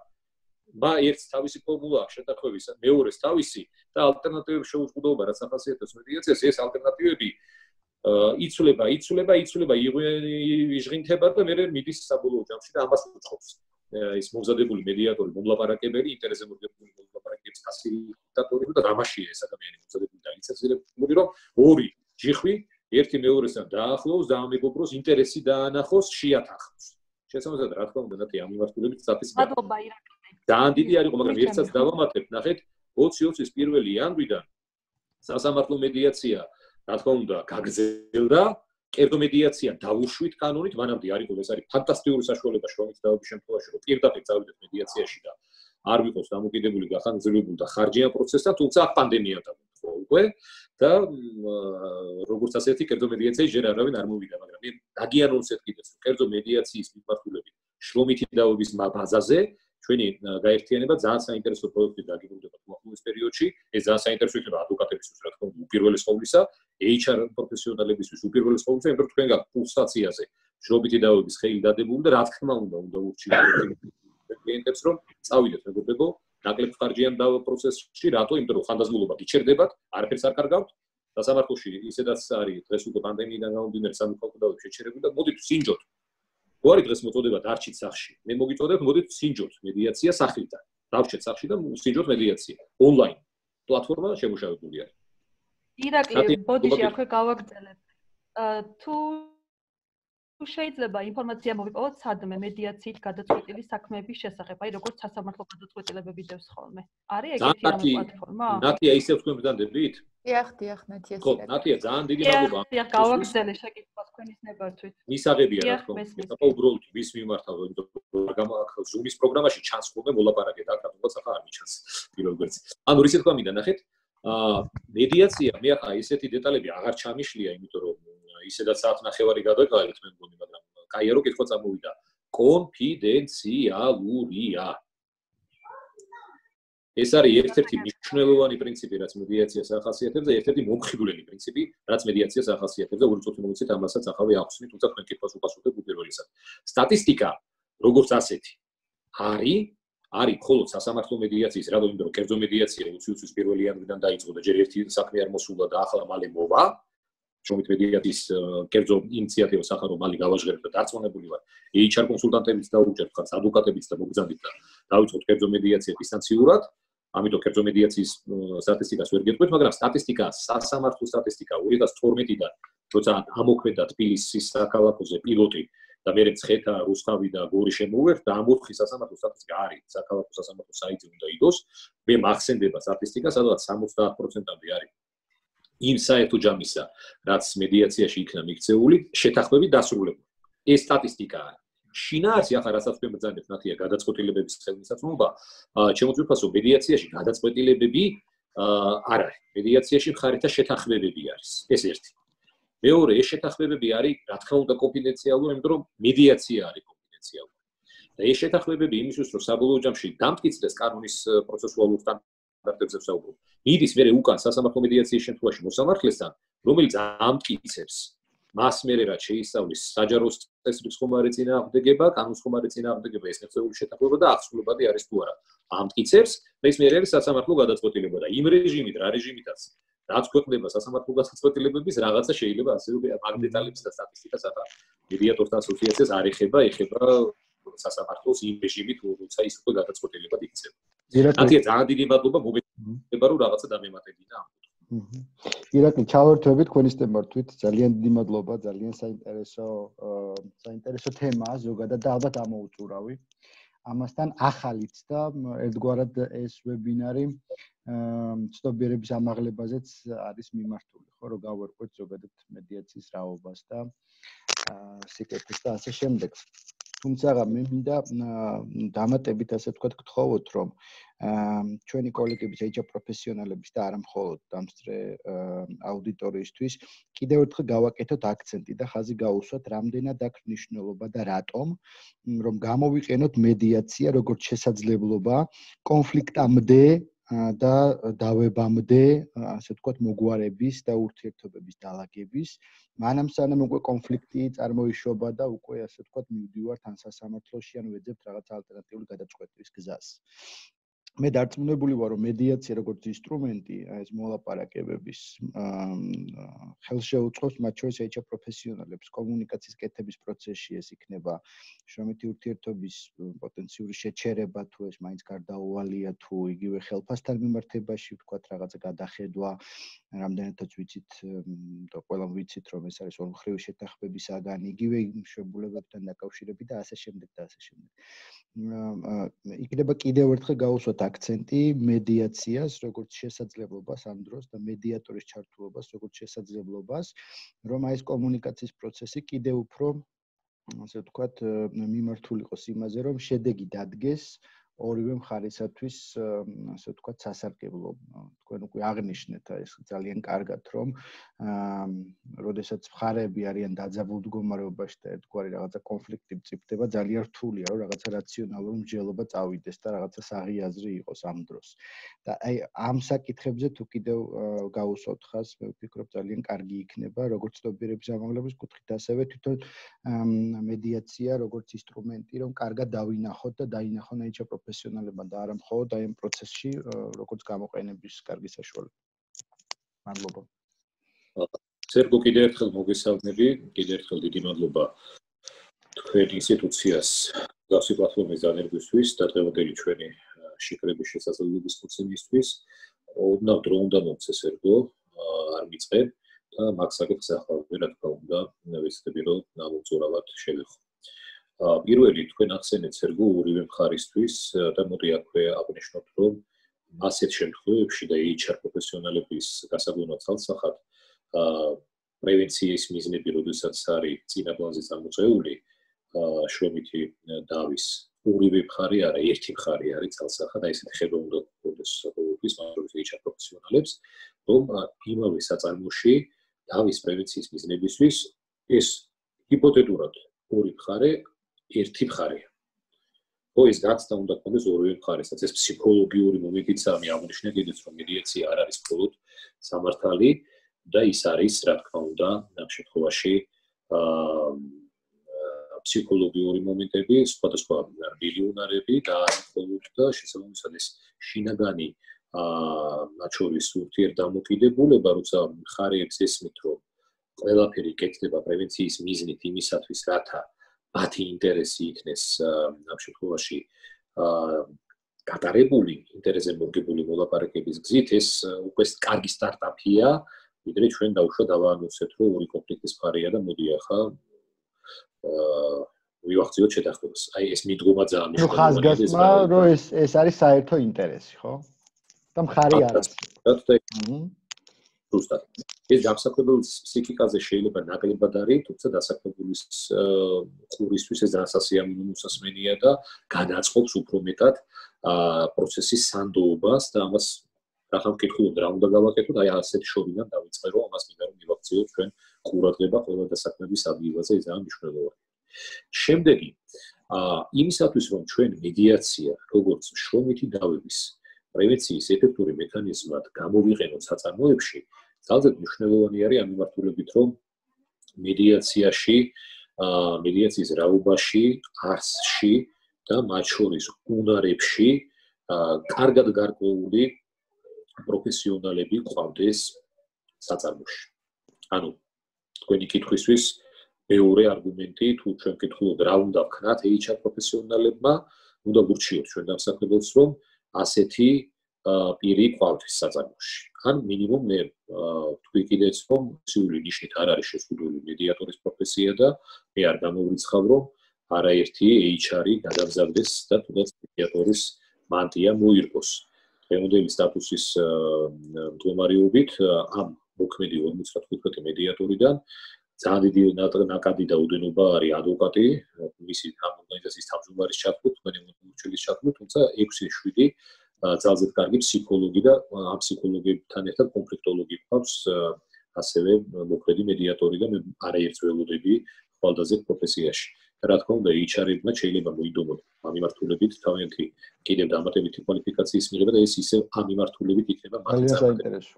ერთს თავისი ფორმულა აქვს შეთანხმების, მეორეს თავისი და ალტერნატივები შეუწყუდაობა რაც ახასიათებს მედიაციას, ეს ალტერნატივები იცვლება, იჟღინთება და მე მიდის საბოლოო ჯამში და ამას უწყობს. ის მომზადებული მედიატორი, მომლაპარაკებელი, ინტერესზე მორგებული მომლაპარაკების ფასილიტატორი და რამაშია ეს ადამიანი მომზადებული და ლიცენზირებული, რომ ორი ჯიხვი ერთი მეორესთან დაახლოს და ამეგობროს ინტერესი დაანახოს, შეათანხმოს. შესაბამისად, რა თქმა უნდა, ნათი ამ მიმართულებით სტატისტიკა. მადლობა ირაკლი. ძალიან დიდი არ იყო, მაგრამ ერთსაც დავამატებ, ნახეთ, 2020-ის 1 იანვრიდან სასამართლო მედიაცია, რა თქმა უნდა, გაგრძელდა, კერძო მედიაცია დავუშვით კანონით, მანამდე არ იყო, ეს არის ფანტასტიკური საშუალება შრომით დავების შემთხვევაში, რომ პირდაპირ წავიდეთ მედიაციაში და არ ვიყოს დამოკიდებული გახანგრძლივებული და ხარჯიან პროცესთან, თუმცა პანდემია დაგვიწყო უკვე და როგორც ასეთი კერძო მედიაციაში ჯერ არავინ არ მოვიდა, მაგრამ მე დაგიანონსეთ კიდეც, რომ კერძო მედიაციის მიმართულებით შრომითი დავების ბაზაზე ჩვენი გაერთიანება ძალიან საინტერესო პროექტი დაგიბრუნდება მოახდინოს პერიოდში. ეს ძალიან საინტერესო იქნება ადვოკატებისთვის, რა თქმა უნდა, უპირველეს ყოვლისა, HR პროფესიონალებისთვის უპირველეს ყოვლისა, იმიტომ რომ თქვენ გაქვთ პულსაციაზე შრომითი დავების ხელი დადებული და რა თქმა უნდა ურჩიოთ კლიენტებს, რომ წავიდეთ მეგობრებო, ნაკლებ ხარჯიან დავა პროცესში, რატო? იმიტომ რომ ხანდაზმულობა გიჩერდებათ, არაფერს არ კარგავთ. სასამართლოში ისედაც არის დღეს უკვე პანდემიიდან გამომდინარე სამოქალაქო დავები შეჩერებული და მოდით სინჯოთ. თუ არის დღეს მოწოდება დარჩით სახში. მე მოგიწოდებ, მოდით სინჯოთ მედიაცია სახლიდან. დავრჩეთ სახში და სინჯოთ მედიაცია. ონლაინ პლატფორმა შემოშავებული არის. ირაკლი, ბოდიში აქვე გავაგრძელებ. თუ შეიძლება ინფორმაცია მოვიპოვოთ სადმე მედიაციით გადაწყვეტილი საქმეების შესახებ, აი როგორც სასამართლო გადაწყვეტილებები დევს ხოლმე. არის ეგეთი პლატფორმა? ნათია, ისევ თქვენ ბრძანდებით? დიახ, ნათია. ხო, ნათია, ძალიან დიდი მადლობა. დიახ, გავაგრძელე შეკითხვა თქვენის ნებართვით. მისაღებია რა თქმა უნდა. ეხლა უბრალოდ ვის მიმართავ, იმიტომ რომ Zoom-ის პროგრამაში ჩანს ხოლმე მოლაპარაკე და აქ თუნდაც ახლა არ მიჩანს პირველ გვერდზე. ანუ ისე თქვა მინდა ნახეთ, მედიაცია მე ახლა ესეთი დეტალები აღარ ჩამიშლია, იმიტომ რომ ისედაც 1.5 გადაგავალეთ მე მგონი, მაგრამ კაია რომ კითხვა წამოვიდა. კონფიდენციალურია. ეს არის ერთ-ერთი მნიშვნელოვანი პრინციპი, რაც მედიაციას ახასიათებს და ერთ-ერთი მომხიბვლელი პრინციპი, რაც მედიაციას ახასიათებს და ორი წუთი მომიცეთ ამასაც ახავე ახსნით, თუმცა თქვენ კითხვას უპასუხებ უპირველესად. სტატისტიკა, როგორც ასეთი, არის მხოლოდ სასამართლო მედიაციის, რადგან იმიტომ რომ კერძო მედიაცია უცის პირველი იანვრიდან დაიწყო და ჯერ ერთი საქმე არ მოსულა და ახლა მალე მოვა. შრომით მედიაციის კერძო ინიციატივა სახარო მალე გავაჟღერებ და დარწმუნებული ვარ. HR კონსულტანტებიც დაუჭერთ ხართ, ადვოკატებიც და მოგზავნით და დავიწყოთ კერძო მედიაცია დისტანციურად. ამიტომ კერძო მედიაციის სტატისტიკას ვერ გეტყვით, მაგრამ სტატისტიკა, სასამართლო სტატისტიკა 2012-დან, როცა ამოქმედა თბილისის საქალაქოზე პილოტი და მე მცხეთა, რუსთავი და გორი შემოვერთ და ამ 4 სასამართლო სტატისტიკა არის, საქალაქო სასამართლო საიტზე უნდა იყოს, მე მახსენდება სტატისტიკა, სადაც 70%-ამდე არის იმ საერთო ჯამისა, რაც მედიაციაში იქნა მიქცეული, შეთანხმებით დასრულებული. ეს სტატისტიკა არის. შინაარსი ახლა რასაც მე მბრძანებ ნახია გადაწყვეტილებების ხელმისაწვდომობა, ჩემოწმებით ვფასო მედიაციაში გადაწყვეტილებები არ არის. მედიაციაში მხარეთა შეთანხმებები არის. ეს ერთი. მეორე, ეს შეთანხმებები არის, რა თქმა უნდა, კონფიდენციალური, იმიტომ რომ მედიაცია არის კონფიდენციალური. და ეს შეთანხმებები იმისთვის, რომ საბოლოო ჯამში დამტკიცდეს კანონის პროცესუალურ სტანდარტებზე ვსაუბრობ. მიდის მერე უკან სასამართლო მედიაციის შემთხვევაში მოსამართლესთან, რომელიც ამტკიცებს მას მერე რაც შეისწავლის საჯარო წესრიგის ხომარი წინააღმდეგება, კანონის ხომარი წინააღმდეგება, ეს ნებისმიერი შეთანხმება და აღსრულებადი არის თუ არა. ამტკიცებს და ის მერე არის სასამართლო გადაწყვეტილება და იმ რეჟიმით, რა რეჟიმითაც რაც ქვეყნდება სასამართლო გადაწყვეტილებების რაღაცა შეიძლება ასე რომ მაგ დეტალებს და სტატისტიკას ახლა მედიატორთა ასოციაციას არ ეხება სასამართლოს იმ რეჟიმით, როცა ის უკვე გადაწყვეტილება იქცევა. ნათია ძალიან დიდი მადლობა მოგესალმება რომ რაღაცა დამემატებინა ამ ირაკლი ჩავერთვებით თქვენი სტემართვით ძალიან დიდი მადლობა ძალიან საინტერესო თემაა ზოგადად და ალბათ ამოუწურავი ამასთან ახალიც და ერთგვარად ეს ვებინარი ცნობიერების ამაღლებაზეც არის მიმართული ხო რომ გავერკვეთ ზოგადად მედიაციის რაობას და სიკეთეს და ასე შემდეგ თუმცა მე მინდა დამატებით ასე ვთქვათ გთხოვოთ რომ ჩვენი კოლეგების HR პროფესიონალების და არა მხოლოდ დამსწრე აუდიტორიისთვის კიდევ ერთხელ გავაკეთოთ აქცენტი და ხაზი გაუსვათ რამდენად აქვს მნიშვნელობა და რატომ რომ გამოვიყენოთ მედიაცია როგორც შესაძლებლობა კონფლიქტამდე და დავებამდე ასე ვთქვათ მოგვარების და ურთიერთობების დალაგების მანამ სანამ უკვე კონფლიქტი წარმოიშობა და უკვე ასე ვთქვათ მივდივართ ან სასამართლოში ან ვეძებთ რაღაც ალტერნატიული გადაწყვეტის გზას მე დარწმუნებული ვარ რომ მედიაცია როგორც ინსტრუმენტი ეს მოლაპარაკებების ხელშეუწყობს მათ შორის HR პროფესიონალებს კომუნიკაციის კეთების პროცესში ეს იქნება შრომითი ურთიერთობის პოტენციური შეჩერება თუ ეს მაინც გარდაუვალია თუ იგივე ხელფასთან მიმართებაში ვთქვათ რაღაცა გადახედვა რამდენადაც ვიცით და ყველამ ვიცით რომ ეს არის ორმხრივი შეთანხმების საგანი იგივე მშობლებებთან დაკავშირებით და ასე შემდეგ და ასე შემდეგ იქნება კიდევ ერთხელ გაუსვათ აქცენტი მედიაციას როგორც შესაძლებლობას ამ დროს და მედიატორის ჩართულობას როგორც შესაძლებლობას რომ აი ეს კომუნიკაციის პროცესი კიდევ უფრო ასე ვთქვათ მიმართული იყოს იმაზე რომ შედეგი დადგეს ორივე მხარისათვის ასე ვთქვათ სასარგებლო თქვენ უკვე აღნიშნეთ ეს ძალიან კარგად რომ როდესაც მხარეები არიან დაძაბულ მდგომარეობაში და ერთგვარი რაღაცა კონფლიქტი მწიფდება ძალიან რთულია რომ რაღაცა რაციონალური მსჯელობა წავიდეს და რაღაცა საღი აზრი იყოს ამ დროს და აი ამ საკითხებზე თუ კიდევ გაუსვათ ხაზს მე ვფიქრობ ძალიან კარგი იქნება როგორც ცნობიერების ამაღლების კუთხით ასევე თვითონ მედიაცია როგორც ინსტრუმენტი რომ კარგად დავინახოთ და დაინახონ HR პროფესიონალებმა და არა მხოლოდ აი ამ პროცესში როგორც გამოყენების კარგი საშუალება. მადლობა. სერგო კიდევ ერთხელ მოგესალმები, კიდევ ერთხელ დიდი მადლობა თქვენ ინსტიტუციას გასი პლატფორმის დანერგვისთვის და დღევანდელი ჩვენი შეკრების შესაძლებლობის მოცემისთვის. ოდნავ დრო უნდა მომცე სერგო, არ მიწყებ და მაგ საკითხს ახლა რა თქმა უნდა ვეცდები რომ ამოწურავად შევეხო. პირველი თქვენ ახსენეთ სერგო ორივე მხარისთვის და მოდი აქვე აღნიშნოთ რომ ასეთ შემთხვევებში და HR პროფესიონალების გასაგონად ცალსახად პრევენციის მიზნები როდესაც არის წინა პლანზე წამოწეული შრომითი დავის ორივე მხარე არა, ერთი მხარე არის ძალსახად, აი ესეთი ხედვა უნდა გქონდეს ყოველთვის მაგალითად HR პროფესიონალებს, რომ იმავე საწარმოში დავის პრევენციის მიზნებისთვის ეს ჰიპოთეტურად ორი მხარე ერთი მხარეა. ხო, ეს გაცდა უნდა გქონდეს ორივე მხარესაც, ეს ფსიქოლოგიური მომენტიცაა, მე აღნიშნე კიდეც რომ მედიაცია არ არის მხოლოდ სამართალი და ის არის, რა თქმა უნდა, ამ შემთხვევაში ფსიქოლოგიური მომენტები, სხვადასხვა მილიონარები და მხოლოდ და შესაბამისად ეს შინაგანი მათ შორის ურთიერთდამოკიდებულება, როცა მხარეებს ესმით, რომ ყველაფერი კეთდება პრევენციის მიზნით იმისათვის, რათა მათი ინტერესი იქნეს ამ შემთხვევაში გატარებული, ინტერესზე მორგებული მოლაპარაკების გზით, ეს უკვე კარგი სტარტაპია, ვიდრე ჩვენ დავუშვათ დავაანონსეთ, რომ ორი კონფლიქტის მხარეა და მოდი ახლა ვივახციოთ შეთანხმებას. აი ეს მიდგომა ძალიან მნიშვნელოვანია. ხაზგასმა, რომ ეს არის საერთო ინტერესი, ხო? და მხარი არის. ზუსტად. ეს დამსახურებლის ფსიქიკაზე შეიძლება ნაკლებად არის, თუმცა დასაქმებულის ყურისთვის ეს ძალიან სასიამოვნო მოსასმენია და განაწყობს უფრო მეტად პროცესის სანდოობას და ამას რახან ვკითხულობ რა უნდა გავაკეთოთ, აი ასეთი შორიდან დავიწყე რომ ამას მინდა რომ მივაქციოთ ჩვენ ყურადღება ყველა დასაქმების ადგილაზე, ეს ძალიან მნიშვნელოვანია. შემდეგი, იმისათვის რომ ჩვენ მედიაცია, როგორც შრომითი დავების პრევენციის ეფექტური მექანიზმად გამოვიყენოთ საწარმოებში, ძალზედ მნიშვნელოვანი არის ამ მიმართულებით, რომ მედიაციაში, მედიაციის რაობაში, არსში და მათ შორის უნარებში კარგად გარკვეული პროფესიონალები ყავდეს საწარმოში. ანუ თქვენი კითხვისთვის მეორე არგუმენტი, თუ ჩვენ ვკითხულობთ რა უნდა ვქნათ HR პროფესიონალებმა, უნდა ვურჩიოთ ჩვენ დამსახურებელს, რომ ასეთი პირი ყავდეს საწარმოში. ან მინიმუმ მე თქვი კიდეც, რომ სიული ნიშნით არ არის შეზღუდული მედიატორის პროფესია და მე არ გამოვრიცხავ, რომ არაერთი HR-ი გადაგზავდეს და თუნდაც მედიატორის მანტია მოირგოს. დღევანდელი სტატუსის მდგომარეობით ამ მოქმედი 55 მედიატორიდან ძალიან დიდი ნაკადი და უდენობა არის ადვოკატი, მისი ორგანიზაციის თავმჯდომარის ჩათვლით, თქვენი მორჩილის ჩათვლით, თუმცა 6-7 ძალზედ კარგი ფსიქოლოგი და ამ ფსიქოლოგებთან ერთად კონფლიქტოლოგი ყავს, ასევე მოქმედი მედიატორი და მე არაერთს ველოდები ხვალდაზე პროფესიაში. რა თქმა უნდა, HR-ებმა შეიძლება მოიდომოთ ამ მიმართულებით თავიანთი კიდევ დამატებითი კვალიფიკაციის მიღება და ეს ისევ ამ მიმართულებით იქნება მათი საინტერესო.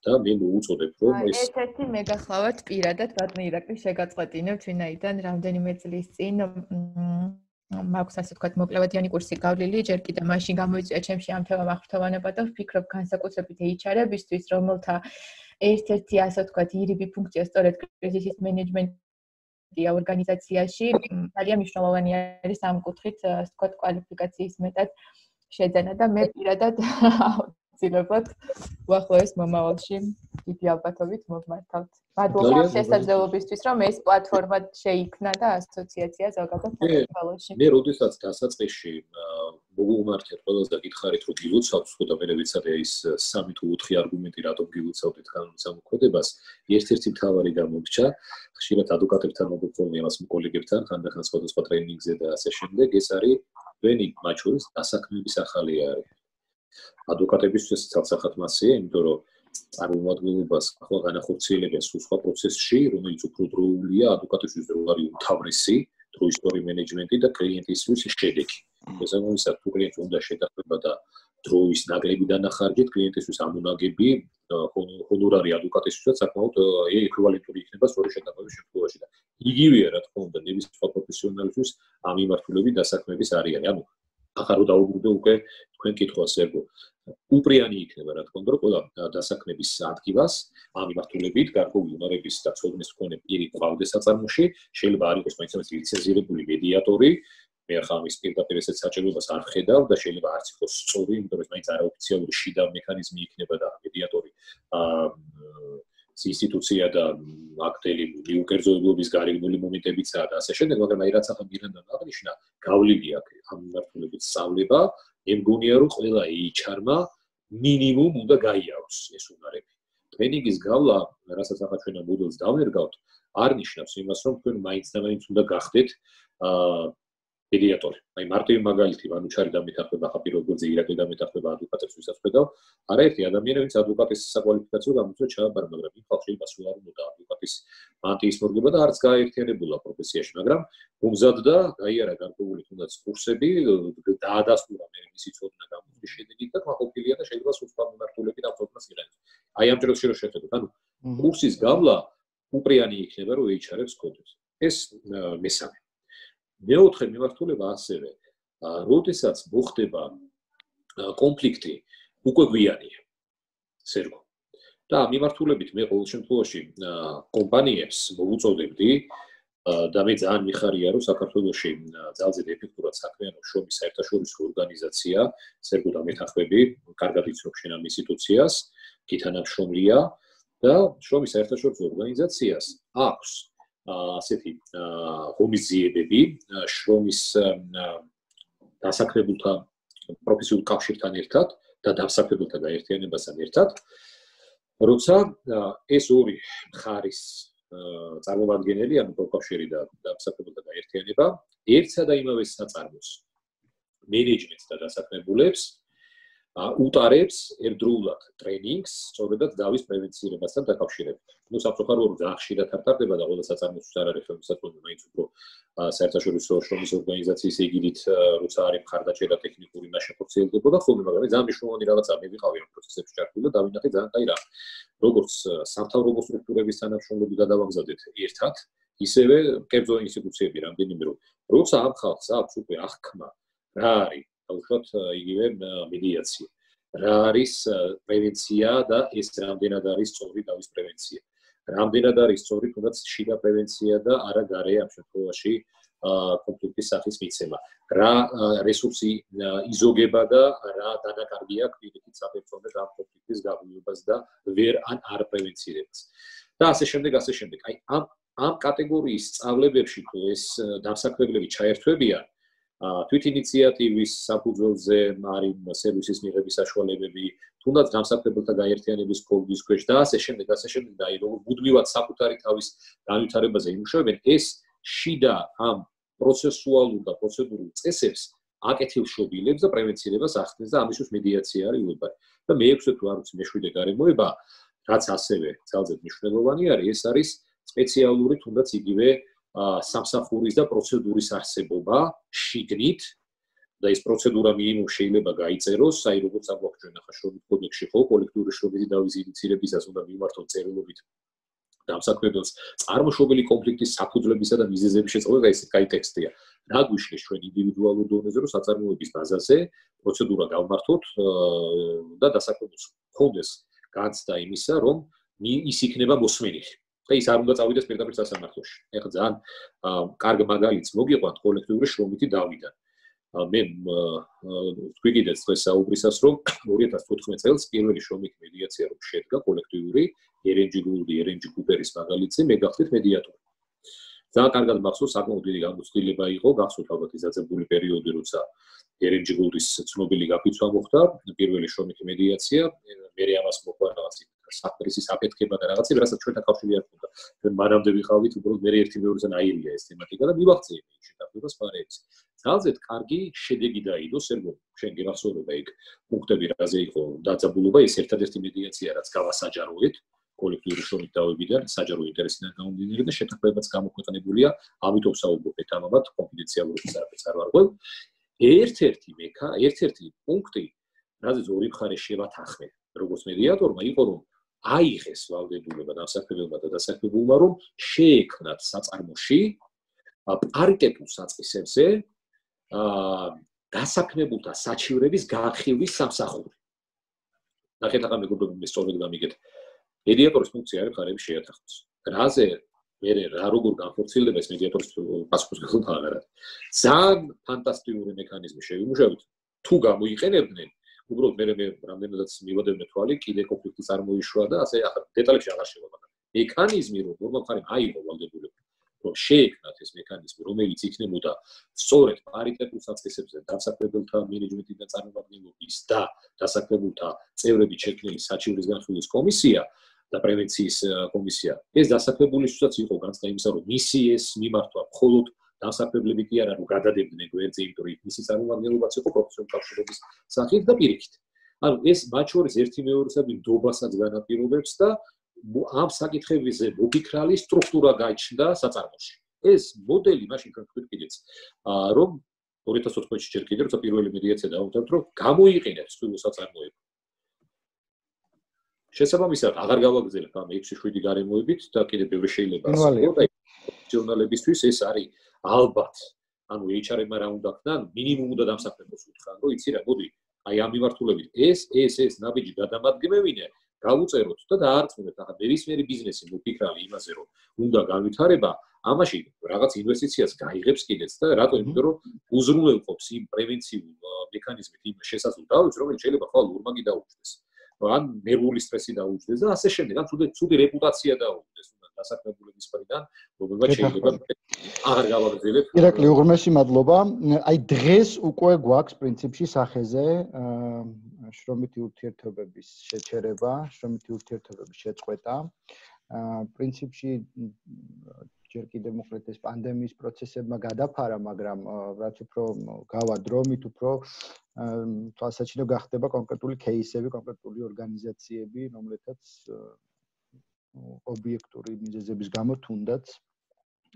და მე მოუწოდებ, რომ ეს ერთ-ერთი მე გახლავთ პირადად ბატონი ირაკლი შეგაწყვეტინებთ, ვინაიდან რამდენიმე წლის წინ მაქვს ასე ვთქვათ მოკლევადიანი კურსი გავლილი, ჯერ კიდევ მაშინ გამოიწვია ჩემში ამ თემამ აღფრთოვანება და ვფიქრობ განსაკუთრებით HR-ებისთვის, რომელთა ერთ-ერთი ასე ვთქვათ ირიბი ფუნქცია სწორედ კრიზისის მენეჯმენტია ორგანიზაციაში, ძალიან მნიშვნელოვანი არის ამ კუთხით ასე ვთქვათ კვალიფიკაციის მეტად შეძენა და მე პირადად ცდილობთ უახლოეს მომავალში დიდი ალბათობით მოვმართავთ. მადლობა შესაძლებლობისთვის, რომ ეს პლატფორმა შეიქმნა და ასოციაცია ზოგადად საქართველოში. მე როდესაც დასაწყისში მოვუმართეთ ყველას და გითხარით, რომ გილოცავთ, ხო და მე ვიცადე ის 3 თუ 4 არგუმენტი, რატომ გილოცავთ კანონის ამოქმედებას, ერთ-ერთი მთავარი გამოგჩა, ხშირად ადვოკატებთან მოგწონი ამას კოლეგებთან, ხანდახან სხვადასხვა ტრეინინგზე და ასე შემდეგ, ეს არის თქვენი მათ შორის დასაქმების ახალი არის. ადვოკატებისთვის ცალსახად მასია, იმიტომ რომ წარმომადგენლობას ახლა განახორციელებენ სხვა პროცესში, რომელიც უფრო დროულია, ადვოკატისთვის დრო არის უმთავრესი, დროისტორი მენეჯმენტი და კლიენტისთვის შედეგი. შესაბამისად, თუ კლიენტს უნდა შეთანხმება და დროის ნაკლები დანახარჯეთ, კლიენტისთვის ამონაგები, ჰონორარი ადვოკატისთვისაც საკმაოდ ეკვივალენტური იქნება სწორი შეთანხმების შემთხვევაში და იგივეა, რა თქმა უნდა, ნებისმიერ სხვა პროფესიონალისთვის ამ მიმართულებით დასაქმების არიანი. ანუ ახლა რო დაუბრუნდე უკვე თქვენ კითხვას ერგო უპრიანი იქნება რა თქმა უნდა რომ ყველა დასაქმების ადგილას ამ მიმართულებით გარკვეული უნარების და ცოდნის მქონე პირი ყავდეს საწარმოში შეიძლება არ იყოს მაინც ლიცენზირებული მედიატორი მე ახლა ამის პირდაპირ ესეც საჭიროებას არ ხედავ და შეიძლება არც იყოს სწორი იმიტომ რომ მაინც არაოფიციალური შიდა მექანიზმი იქნება და მედიატორი ინსტიტუცია და აქტელი მიუკერძოებების გარეგნული მომენტებიცაა და ასე შემდეგ, მაგრამ აი რაც ახლა მირენდამ აღნიშნა, გავლილი აქვს ამ მიმართულებით სწავლება, მე მგონია რომ ყველა HR-მა მინიმუმ უნდა გაიაროს ეს უნარები. ტრენინგის გავლა, რასაც ახლა ჩვენ ამ მოდელს დავერგავთ, არ ნიშნავს იმას, რომ თქვენ მაინც და მაინც უნდა გახდეთ მედიატორი. აი მარტივი მაგალითი ვანუჩარი დამეთახმება ხა პირველ გვერდზე ირაკლი დამეთახმება ადვოკატებს ვისაც ხედავ. არაერთი ადამიანი ვინც ადვოკატის საკვალიფიკაციო გამოწვევა ჩააბარა, მაგრამ იმ ხალხში მასულა არ უნდა ადვოკატის მანტიის მორგება და არც გააერთიანებულა პროფესიაში, მაგრამ უმზადდა, გაიარა გარკვეული თუნდაც კურსები, დაადასტურა მე მისი ცოდნა გამოწვევის შედეგით და გაყოფილია და შეიძლება სულსა მიმართულებით ამ ცოდნას იღებს. აი ამ ჯერში რო შევხედოთ, ანუ კურსის გავლა უპრიანი იქნება, რომ HR-ებს გქონდეს. ეს მესამე. მეოთხე მიმართულება ასევე, როდესაც მოხდება კონფლიქტი, უკვე გვიანია. სერგო. და ამ მიმართულებით მე ყოველ შემთხვევაში კომპანიებს მოვუწოდებდი და მე ძალიან მიხარია, რომ საქართველოში ძალზედ ეფექტურად საქმიანობს შრომის საერთაშორისო ორგანიზაცია, სერგო და მეთახმები, კარგად იცნობ შენ ამ ინსტიტუციას, გითანამშრომლია და შრომის საერთაშორისო ორგანიზაციას აქვს ასეთი ღონისძიებები შრომის დასაქმებულთა პროფესიულ კავშირთან ერთად და დასაქმებულთა გაერთიანებასთან ერთად, როცა ეს ორი მხარის წარმომადგენელი, ანუ პროფკავშირი და დასაქმებულთა გაერთიანება, ერთსა და იმავე საწარმოს მენეჯმენტს და დასაქმებულებს უტარებს ერთდროულად ტრენინგს, სწორედად დავის პრევენცირებასთან დაკავშირებით. ნუ სამწუხაროდ ძალიან ხშირად არ ტარდება და ყველა საწარმოც არ არის ხელმისაწვდომი, მაინც უფრო საერთაშორისო შრომის ორგანიზაციის ეგიდით, როცა არის მხარდაჭერა ტექნიკური ნაშეხორციელდებოდა ხოლმე, მაგრამ ძალიან მნიშვნელოვანი რაღაცა მე ვიყავი ამ პროცესებში ჩართული და დავინახე ძალიან კაი რამ. როგორც სამთავრობო სტრუქტურების თანამშრომლები გადავამზადეთ ერთად, ისევე კერძო ინსტიტუციები რამდენიმე რომ როცა ამ ხალხს აქვს უკვე აღქმა, რა არის უშუალოდ იგივე მედიაცია. რა არის პრევენცია და ეს რამდენად არის სწორი დავის პრევენცია. რამდენად არის სწორი თუნდაც შიდა პრევენცია და არა გარე ამ შემთხვევაში კონფლიქტის სახის მიცემა. რა რესურსი იზოგება და რა დანაკარგი აქვს პირიქით საფერწონედ ამ კონფლიქტის გაღვივებას და ვერ არ პრევენცირებას. და ასე შემდეგ. აი ამ კატეგორიის სწავლებებში თუ ეს დამსაქმებლები ჩაერთვებიან თვით ინიციატივის საფუძველზე არის სერვისის მიღების საშუალებები, თუნდაც დამსაქმებელთა გაერთიანების კოდის ქვეშ და ასე შემდეგ და აი როგორ მუდმივად საკუთარი თავის განვითარებაზე იმუშავებენ, ეს შიდა ამ პროცესუალურ და პროცედურულ წესებს აკეთილშობილებს და პრევენცირებას ახდენს და ამისთვის მედიაცია არის უებარი. და მე-6 თუ არ ვიცი მე-7 გარემოება, რაც ასევე ძალზედ მნიშვნელოვანი არის, ეს არის სპეციალური თუნდაც იგივე სამსახურის და პროცედურის არსებობა შიგნით და ეს პროცედურა მინიმუმ შეიძლება გაიწეროს, აი როგორც აგვაქვს ჩვენ ახლა შრომის კოდექსში ხო, კოლექტიური შრომის დავის ინიციირებისას უნდა მიმართოთ წერილობით დამსაქმებელს წარმოშობილი კონფლიქტის საფუძვლებისა და მიზეზების შეწყვეტა, ეს კაი ტექსტია. რა გვიშლის ჩვენ ინდივიდუალურ დონეზე, რომ საწარმოების ბაზაზე პროცედურა გავმართოთ და დასაქმებელს ხონდეს განცდა იმისა, რომ ის იქნება მოსმენილი. და ის არ უნდა წავიდეს პირდაპირ სასამართლოში. ეხლა ძალიან კარგ მაგალითს მოგიყვანთ კოლექტიური შრომითი დავიდან. მე თქვი კიდეც დღეს საუბრისას, რომ 2014 წელს პირველი შრომითი მედიაცია რომ შედგა კოლექტიური ერენჯი გულდი, ერენჯი კუპერის მაგალითზე მე გახდით მედიატორი. ძალიან კარგად მახსოვს, საკმაოდ დიდი გამოცდილება იყო, გახსოვთ ალბათ ის დაძაბული პერიოდი, როცა ერენჯი გულდის ცნობილი გაფიცვა მოხდა, პირველი შრომითი მედიაცია, მე ამას მოყვა რაღაც საფრისის აფეთქება და რაღაცა, რასაც ჩვენთან კავშირი არ ჰქონდა. ჩვენ მანამდე ვიყავით, უბრალოდ მე ერთი მეორესთან აირია ეს თემატიკა და მივახცე იმ შეთანხმებას ფარებს. ძალზედ კარგი შედეგი დაიდო, სერგო, შენ გახსოვდება იქ პუნქტები რაზე იყო დაძაბულობა, ეს ერთადერთი მედიაცია, რაც გავასაჯაროეთ კოლექტიური შრომით დავებიდან, საჯარო ინტერესიდან გამომდინარე და შეთანხმებაც გამოქვეყნებულია, ამიტომ საუბრობ ამათ კონფიდენციალურობის არაფერს არ ვარღვევ. ერთ-ერთი პუნქტი, რაზეც ორი მხარე შევათანხმე, როგორც მედიატორმა, იყო რომ აიღეს ვალდებულება დამსაქმებელმა და დასაქმებულმა, რომ შეექმნათ საწარმოში პარიტეტულ საწყისებზე დასაქმებულთა საჩივრების განხილვის სამსახური. ნახეთ ახლა მეგობრებო, მე სწორედ გამიგეთ. მედიატორის ფუნქცია არის მხარეების შეათანხმოს. რაზე მე რა როგორ განხორციელდება ეს მედიატორის პასუხისმგებლობა არა. ძალიან ფანტასტიკური მექანიზმი შევიმუშავეთ. თუ გამოიყენებდნენ, უბრალოდ მე რამდენადაც მივადებდნენ თვალი, კიდე კონფლიქტი წარმოიშვა და ასე ახლა დეტალებში აღარ შევაბადა. მექანიზმი რომ მხარემ აიღო ვალდებულება, რომ შეექმნათ ეს მექანიზმი, რომელიც იქნებოდა სწორედ პარიტეტულ საწყისებზე დასაქმებელთა მენეჯმენტიდან წარმომადგენლობის და დასაქმებულთა წევრებით შექმნილი საჩივრის განხილვის კომისია და პრევენციის კომისია. ეს დასაქმებულისთვისაც იყო განცდა იმისა, რომ მისი ეს მიმართვა მხოლოდ დასაქმებლები კი არა, რომ გადადებდნენ გვერდზე, იმიტომ რომ მისი წარმომადგენლობაც იყო პროფესიონალური კავშირების სახით და პირიქით. ანუ ეს მათ შორის ერთი მეორესადმი ნდობასაც განაპირობებს და ამ საკითხებზე მოფიქრალი სტრუქტურა გაიჩნდა საწარმოში. ეს მოდელი მაშინ თქვით კიდეც, რომ 2014 წელს ჯერ კიდევ როცა პირველი მედიაცია დაუთავთ, რომ გამოიყენებს თვითონ საწარმოები. შესაბამისად, აღარ გავაგრძელებ ამ 6-7 გარემოებით და კიდევ ბევრი შეიძლება ასწავლო და პროფესიონალებისთვის ეს არის ალბათ. ანუ HR-მა რა უნდა ხდან, მინიმუმ უნდა დამსახურებას უთხრან, რომ იცი რა, მოდი, აი ამ მიმართულებით ეს ნაბიჯი გადამადგმევინე, გავუწეროთ და დაარწმუნეთ ახლა ნებისმიერი ბიზნესი მოფიქრალი იმაზე, რომ უნდა განვითარება, ამაში რაღაც ინვესტიციას გაიღებს კიდეც და რატო? იმიტომ რომ უზრუნველყოფს იმ პრევენციულ მექანიზმით იმ შესაძლო დავით, რომელიც შეიძლება ხვალ ორმაგი დაუჭდეს. ან ნერვული სტრესი დაუჭდეს და ასე შემდეგ, ან ცუდი რეპუტაცია დაუჭდეს დასაქმებულების მხრიდან, რომელმაც შეიძლება აღარ გავაგრძელებ. ირაკლი, უღრმესი მადლობა. აი დღეს უკვე გვაქვს პრინციპში სახეზე შრომითი ურთიერთობების შეჩერება, შრომითი ურთიერთობების შეწყვეტა. პრინციპში ჯერ კიდევ მოკლედ ეს პანდემიის პროცესებმა გადაფარა, მაგრამ რაც უფრო გავა დრო, მით უფრო თვალსაჩინო გახდება კონკრეტული кейსები, კონკრეტული ორგანიზაციები, რომლეთაც ობიექტური მიზეზების გამო თუნდაც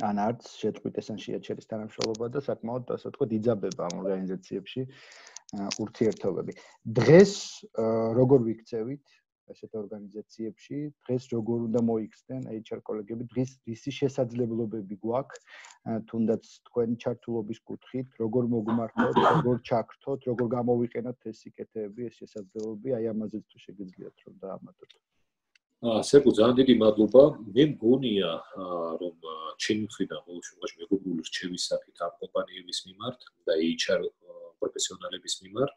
ან არც შეწყვიტეს ან შეაჩერეს თანამშრომლობა და საკმაოდ ასე ვთქვათ იძაბება ამ ორგანიზაციებში ურთიერთობები. დღეს როგორ ვიქცევით ასეთ ორგანიზაციებში, დღეს როგორ უნდა მოიქცნენ HR კოლეგები, დღეს რისი შესაძლებლობები გვაქვს, თუნდაც თქვენი ჩართულობის კუთხით, როგორ მოგმართოთ, როგორ ჩაგრთოთ, როგორ გამოვიყენოთ ეს სიკეთეები, ეს შესაძლებლობები, აი ამაზეც თუ შეგიძლიათ რომ დაამატოთ. სერგო, ძალიან დიდი მადლობა. მე მგონია, რომ ჩემი მხრიდან ყოველ შემთხვევაში მეგობრული რჩევის სახით ამ კომპანიების მიმართ და HR პროფესიონალების მიმართ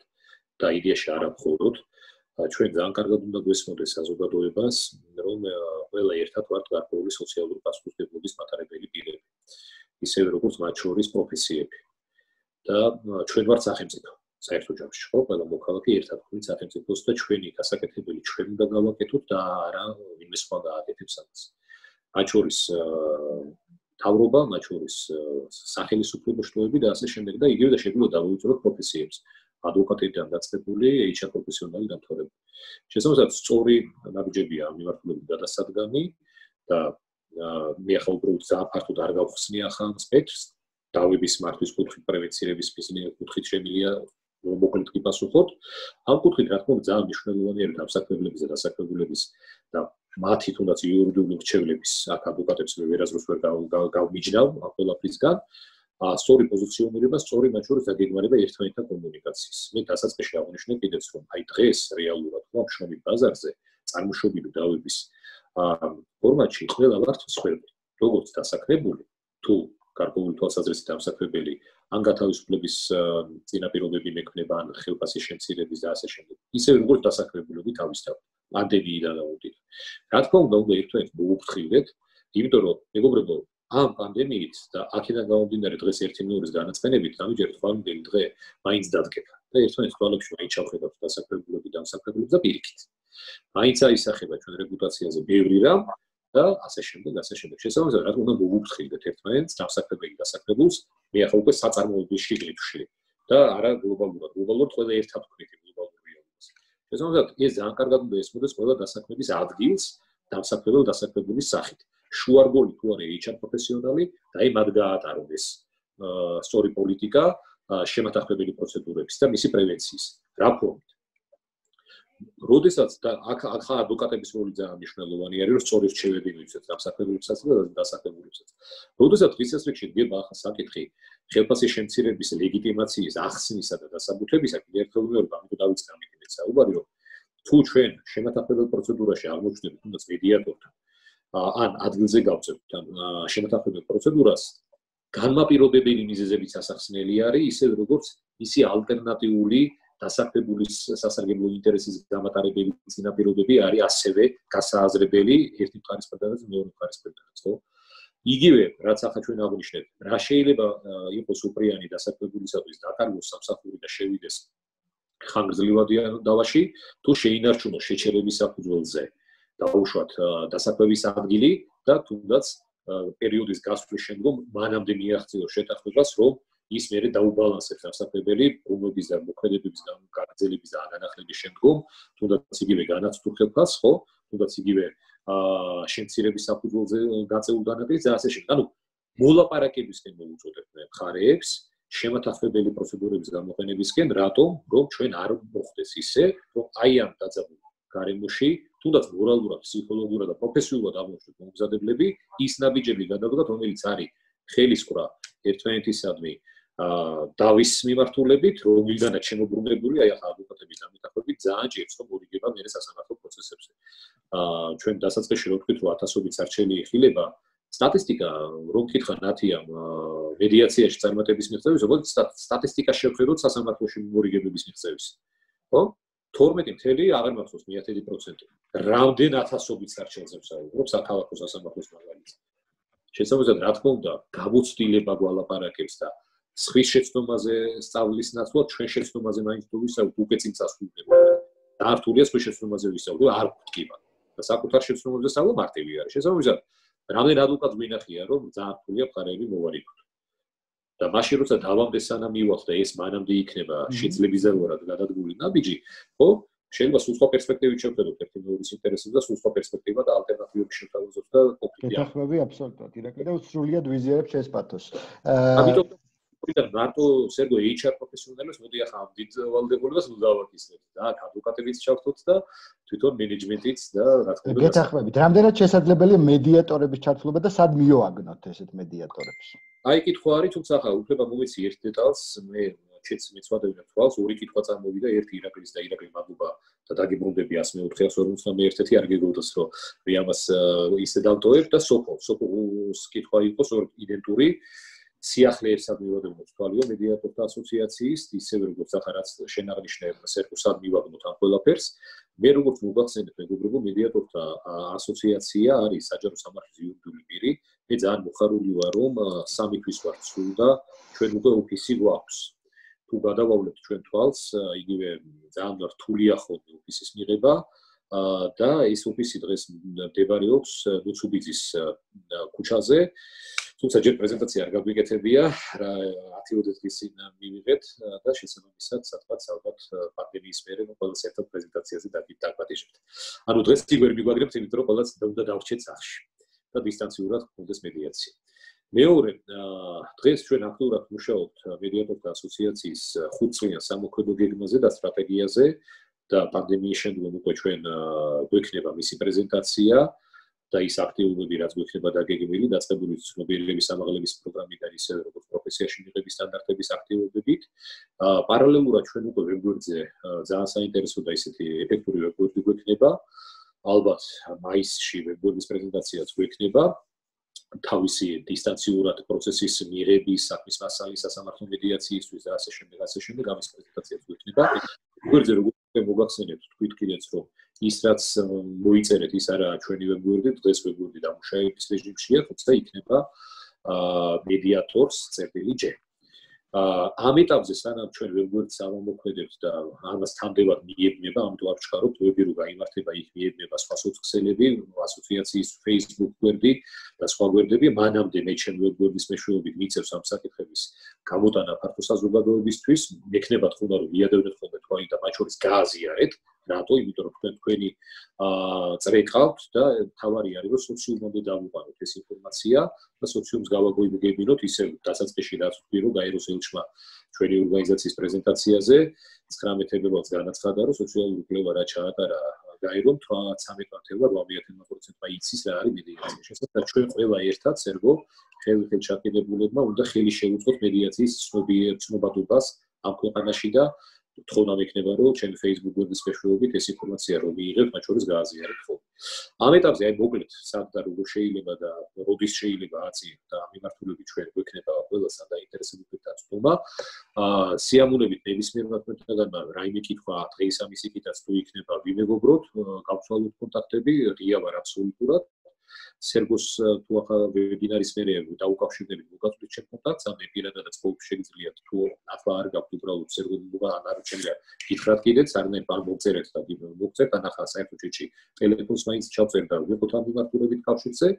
და იდეაში არა მხოლოდ ჩვენ ძალიან კარგად უნდა გვესმოდეს საზოგადოებას, რომ ყველა ერთად ვართ გარკვეული სოციალური პასუხისმგებლობის მატარებელი პირები, ისევე როგორც მათ შორის პროფესიები. და ჩვენ ვართ სახელმწიფო. საერთო ჯამში ხო, ყველა მოქალაქე ერთად გვით სახელმწიფოს და ჩვენი გასაკეთებელი ჩვენ უნდა გავაკეთოთ და არა ვინმე სხვა გააკეთებს ამას. მათ შორის თავრობა, მათ შორის სახელმწიფო შტოები და ასე შემდეგ და იგივე და შეგვიძლია დავუწიოთ პროფესიებს. ადვოკატებიდან დაწყებული HR პროფესიონალი დამთავრებული. შესაბამისად, სწორი ნაბიჯებია ამ მიმართულებით გადასადგამი და მე ახლა უბრალოდ ძალიან ფართოდ არ გავხსნი ახლა ამ სპექტრს. დავების მართვის კუთხით, პრევენცირების კუთხით შემილია მოკლედ კი პასუხობ. ამ კუთხით რა თქმა უნდა ძალიან მნიშვნელოვანია რომ დასაქმებლების და დასაქმებულების და მათი თუნდაც იურიდიული მრჩევლების აქ ადვოკატებს მე ვერასდროს ვერ გავმიჯნავ ამ ყველაფრისგან. სწორი პოზიციონირება, სწორი მათ შორის დაგეგმარება ერთმანეთთან კომუნიკაციის. მე დასაწყისში აღნიშნე კიდეც რომ აი დღეს რეალურად ხომ შრომით ბაზარზე წარმოშობილი დავების ფორმატში ყველა ვართ მსხვერპლი. როგორც დასაქმებული, თუ გარკვეული თვალსაზრისით დამსაქმებელი, ან გათავისუფლების წინაპირობები მექნება, ან ხელფასის შემცირების და ასე შემდეგ. ისევე როგორც დასაქმებულები თავისთავად პანდემიიდან დაუდით. რა თქმა უნდა, უნდა ერთმანეთს მოუფრთხილდეთ, იმიტომ რომ მეგობრებო, ამ პანდემიით და აქედან გამომდინარე დღეს ერთი მეორის განაცხენებით, ამიჯერთ ხვალინდელი დღე მაინც დადგება და ერთმანეთს თვალებში მაინც ჩავხედავთ დასაქმებულები და დამსაქმებელებს და პირიქით. მაინც აისახება ჩვენ რეპუტაციაზე ბევრი რამ და ასე შემდეგ, ასე შემდეგ. შესაბამისად, რა თქმა უნდა, მოუფრთხილდეთ ერთმანეთს, დამსაქმებელი დასაქმებულს, მე ახლა უკვე საწარმოების შიგნებში და არა გლობალურად. გლობალურად ყველა ერთად ვქნით გლობალურ რეალობას. შესაბამისად, ეს ძალიან კარგად უნდა ესმოდეს ყველა დასაქმების ადგილს დამსაქმებელ დასაქმებულის სახით. შუარგოლი თუ არის HR პროფესიონალი და აი მათ გაატარონ ეს სწორი პოლიტიკა შემათახმებელი პროცედურების და მისი პრევენციის. რა ფორმით? როდესაც და აქ ადვოკატების როლი ძალიან მნიშვნელოვანი არის, რომ სწორი რჩევები მივცეთ დამსაქმებელებსაც და დასაქმებულებსაც. როდესაც დღის რიგში დგება ახლა საკითხი ხელფასის შემცირების ლეგიტიმაციის ახსნისა და დასაბუთებისა, კიდევ ერთხელ ვიმეორებ, ამიტომ დავიწყე ამით საუბარი, რომ თუ ჩვენ შემათახმებელ პროცედურაში აღმოჩნდებით თუნდაც მედიატორთან ან ადგილზე გავწევთ შემოთანხმებელ პროცედურას, განმაპირობებელი მიზეზებიც ასახსნელი არის, ისე როგორც ისი ალტერნატიული დასაქმებულის სასარგებლო ინტერესის გამატარებელი წინაპირობები არის ასევე გასააზრებელი ერთი მხარის მხრიდან და მეორე მხარის მხრიდან, ხო? იგივე, რაც ახლა ჩვენ აღვნიშნეთ, რა შეიძლება იყოს უპრიანი დასაქმებულისათვის დაკარგოს სამსახური და შევიდეს ხანგრძლივად დავაში, თუ შეინარჩუნოს შეჩერების საფუძველზე. დაუშვათ დასაქმების ადგილი და თუნდაც პერიოდის გასვლის შემდგომ მანამდე მიაღწიოს შეთანხმებას, რომ ის მერე დაუბალანსებს სასწავლებელი გუნდების და მოქმედებების გაგრძელების და განახლების შემდგომ, თუნდაც იგივე განაცდუხებას, ხო? თუნდაც იგივე შემცირების საფუძველზე გაწეულ განაკლისს და ასე შემდეგ. ანუ მოლაპარაკებისკენ მოუწოდებთ მხარეებს შემათანხმებელი პროცედურების გამოყენებისკენ, რატომ? რომ ჩვენ არ მოხდეს ისე, რომ აი ამ დაძაბულ გარემოში, თუნდაც მორალურად, ფსიქოლოგიურად და პროფესიულად აღმოჩნდეთ მომზადებლები, ის ნაბიჯები გადავდგათ, რომელიც არის ხელისყრა ერთმანეთისადმი დავის მიმართულებით, რომელიდანაც შემოbrunებული, აი ახლა ადვოკატების დამეთანხმებით ძალიან ჭირს, რომ მორიგება მერე სასამართლო პროცესებზე. ჩვენ დასაწყისში რო ვთქვით, რომ ათასობით სარჩელი იხილება, სტატისტიკა რომ კითხა ნათია მედიაციაში წარმატების მიღწევის, როგორც სტატისტიკა შევხედოთ სასამართლოში მორიგებების მიღწევის. ხო? 12 აღარ მახსოვს 10%. რამდენ ათასობით სარჩელზე ვსაუბრობ საქალაქო სასამართლოს მაგალითად. შესაბამისად, რა თქმა უნდა, გამოცდილება გვალაპარაკებს და სხვის შეცდომაზე სწავლის ნაცვლად ჩვენ შეცდომაზე მაინც თუ ვისაუბრებთ, უკვე წინ წასულდება. დართულია სხვის შეცდომაზე ვისაუბრებთ, არ გვტკივა. და საკუთარ შეცდომებზე სწავლა მარტივი არის. შესაბამისად, რამდენ ადვოკატს გვინახია, რომ ძალიან რთულია მხარეები მოვარიკოთ. და მაშინ როცა დავამდეს სანამ მივალთ და ეს მანამდე იქნება შეძლებისდაგვარად გადადგმული ნაბიჯი, ხო? შეიძლება სულ სხვა პერსპექტივით შევხედოთ ერთი მეორის ინტერესებს და სულ სხვა პერსპექტივა და ალტერნატივები შევთავაზოთ და კონფლიქტი. გეთანხმები აბსოლუტურად. ირაკლი და სრულიად ვიზიარებ შენს პათოს. ამიტომ მარტო სერგო HR პროფესიონალებს მოდი ახლა ამ დიდ ვალდებულებას დავაკისრებთ და ადვოკატებიც ჩავთოთ და თვითონ მენეჯმენტიც და რა თქმა უნდა გეთანხმებით. რამდენად შესაძლებელია მედიატორების ჩართულობა და სად მიოაგნოთ ესეთ მედიატორებს? აი კითხვა არის, თუმცა ახლა უფლება მომეცი ერთ დეტალს, მე მეცვადებია თვალს, ორი კითხვა წარმოვიდა, ერთი ირაკლის და ირაკლი მაგუბა და დაგიბრუნდები 104-41 არ გეგოდეს, რომ რიამას ისე დავტოვებ და სოფოს კითხვა იყოს იდენტური სიახლეებსად მივაგნოთ თვალიო მედიატორთა ასოციაციის, ისევე როგორც ახლა რაც შენ აღნიშნე, სერგოსად მივაგნოთ ამ ყველაფერს. მე როგორც მოგახსენებ, მეგობრებო, მედიატორთა ასოციაცია არის საჯარო სამართლის იურიდიული პირი. მე ძალიან მოხარული ვარ, რომ 3 თვის ვართ სულ და ჩვენ უკვე ოფისი გვაქვს. თუ გადავავლებთ ჩვენ თვალს, იგივე ძალიან რთულია ხოლმე ოფისის მიღება და ეს ოფისი დღეს მდებარეობს ლუცუბიძის ქუჩაზე. თუმცა ჯერ პრეზენტაცია არ გაგვიკეთებია, 10-20 დღის წინ მივიღეთ და შესაბამისად სადღაც ალბათ პანდემიის მერე ყველას ერთად პრეზენტაციაზე დაგვატიჟებთ. ანუ დღეს კი ვერ მიგვაგრებთ, იმიტომ რომ ყველას უნდა დავრჩეთ სახლში და დისტანციურად გქონდეს მედიაცია. მეორე, დღეს ჩვენ აქტიურად მუშაობთ მედიატორთა ასოციაციის 5 წლიან სამოქმედო გეგმაზე და სტრატეგიაზე და პანდემიის შემდგომ უკვე ჩვენ გვექნება მისი პრეზენტაცია და ის აქტიობები, რაც გვექნება დაგეგმილი, დაწყებული ცნობიერების ამაღლების პროგრამიდან ისევე როგორც პროფესიაში მიღების სტანდარტების აქტიობებით. პარალელურად ჩვენ უკვე ვებგვერდზე ძალიან საინტერესო და ისეთი ეფექტური ვებგვერდი გვექნება. ალბათ მაისში ვებგვერდის პრეზენტაციაც გვექნება. თავისი დისტანციურად პროცესის მიღების, საქმის მასალის, სასამართლო მედიაციისთვის და ასე შემდეგ ამის პრეზენტაციაც გვექნება. ვებგვერდზე როგორც მოგახსენებთ, თქვით კიდეც რომ ის რაც მოიწერეთ, ის არაა ჩვენი ვებგვერდი, დღეს ვებგვერდი დამუშავების რეჟიმშია, თუმცა იქნება mediators.j. ამ ეტაპზე სანამ ჩვენ ვებგვერდს ავამოქმედებთ და ამას თანდებად მიებნება, ამიტომ არ ვჩქარობთ, ვები რო გაიმართება, იქ მიებნება სხვა სოციალები, ასოციაციის Facebook გვერდი და სხვა გვერდები, მანამდე მე ჩემ ვებგვერდის მეშვეობით მიწევს ამ საკითხების გამოტანა ფართო საზოგადოებისთვის, მექნებათ ხომ რომ მიადევნეთ ხოლმე თქვენი და მათ შორის გააზიარეთ, რატო? იმიტომ რომ თქვენი წრეყავთ და თავარი არის რომ სოციუმამდე დავუყაროთ ეს ინფორმაცია და სოციუმს გავაგვიგებინოთ ისე დასაწყისში რაც ვთქვი რომ გაეროს ელჩმა ჩვენი ორგანიზაციის პრეზენტაციაზე 19 ფებრუარს განაცხადა რომ სოციალური კვლევა რა ჩაატარა გაერომ 13%-8% იცის რა არის მედიაცია. შესაძლოა ჩვენ ყველა ერთად სერგო ხელით ჩაკიდებულებმა უნდა ხელი შევუწყოთ მედიაციის ცნობადობას ამ ქვეყანაში და თხოვნა მექნება რომ ჩემი Facebook გვერდის მეშვეობით ეს ინფორმაცია რომ მიიღებთ, მათ შორის გააზიარებთ ხოლმე. ამ ეტაპზე აი მოკლედ სად და როგორ შეიძლება და როდის შეიძლება აწიოთ და ამ მიმართულებით ჩვენ გვექნება ყველასა და ინტერესებითაც დაცვა. სიამოვნებით ნებისმიერ მოქმედებთან რაიმე კითხვა დღეს ამის იქითაც თუ იქნება ვიმეგობროთ, გავცვალოთ კონტაქტები, ღია ვარ აბსოლუტურად. სერგოს თუ ახლა ვებინარის მერე დაუკავშირდებით მოგაწვდით ჩემ კონტაქტს, ან პირადადაც ყოველთვის შეგიძლიათ თუ ახლა არ გაქვთ უბრალოდ სერგოს არ შემიძლია გითხრათ კიდეც, არნაირ არ მოგწერეთ და მოგწერთ, ან ახლა საერთოდ ჩეჩი ტელეფონს მაინც ჩავწერთ და ვიყოთ ამ მიმართულებით კავშირზე.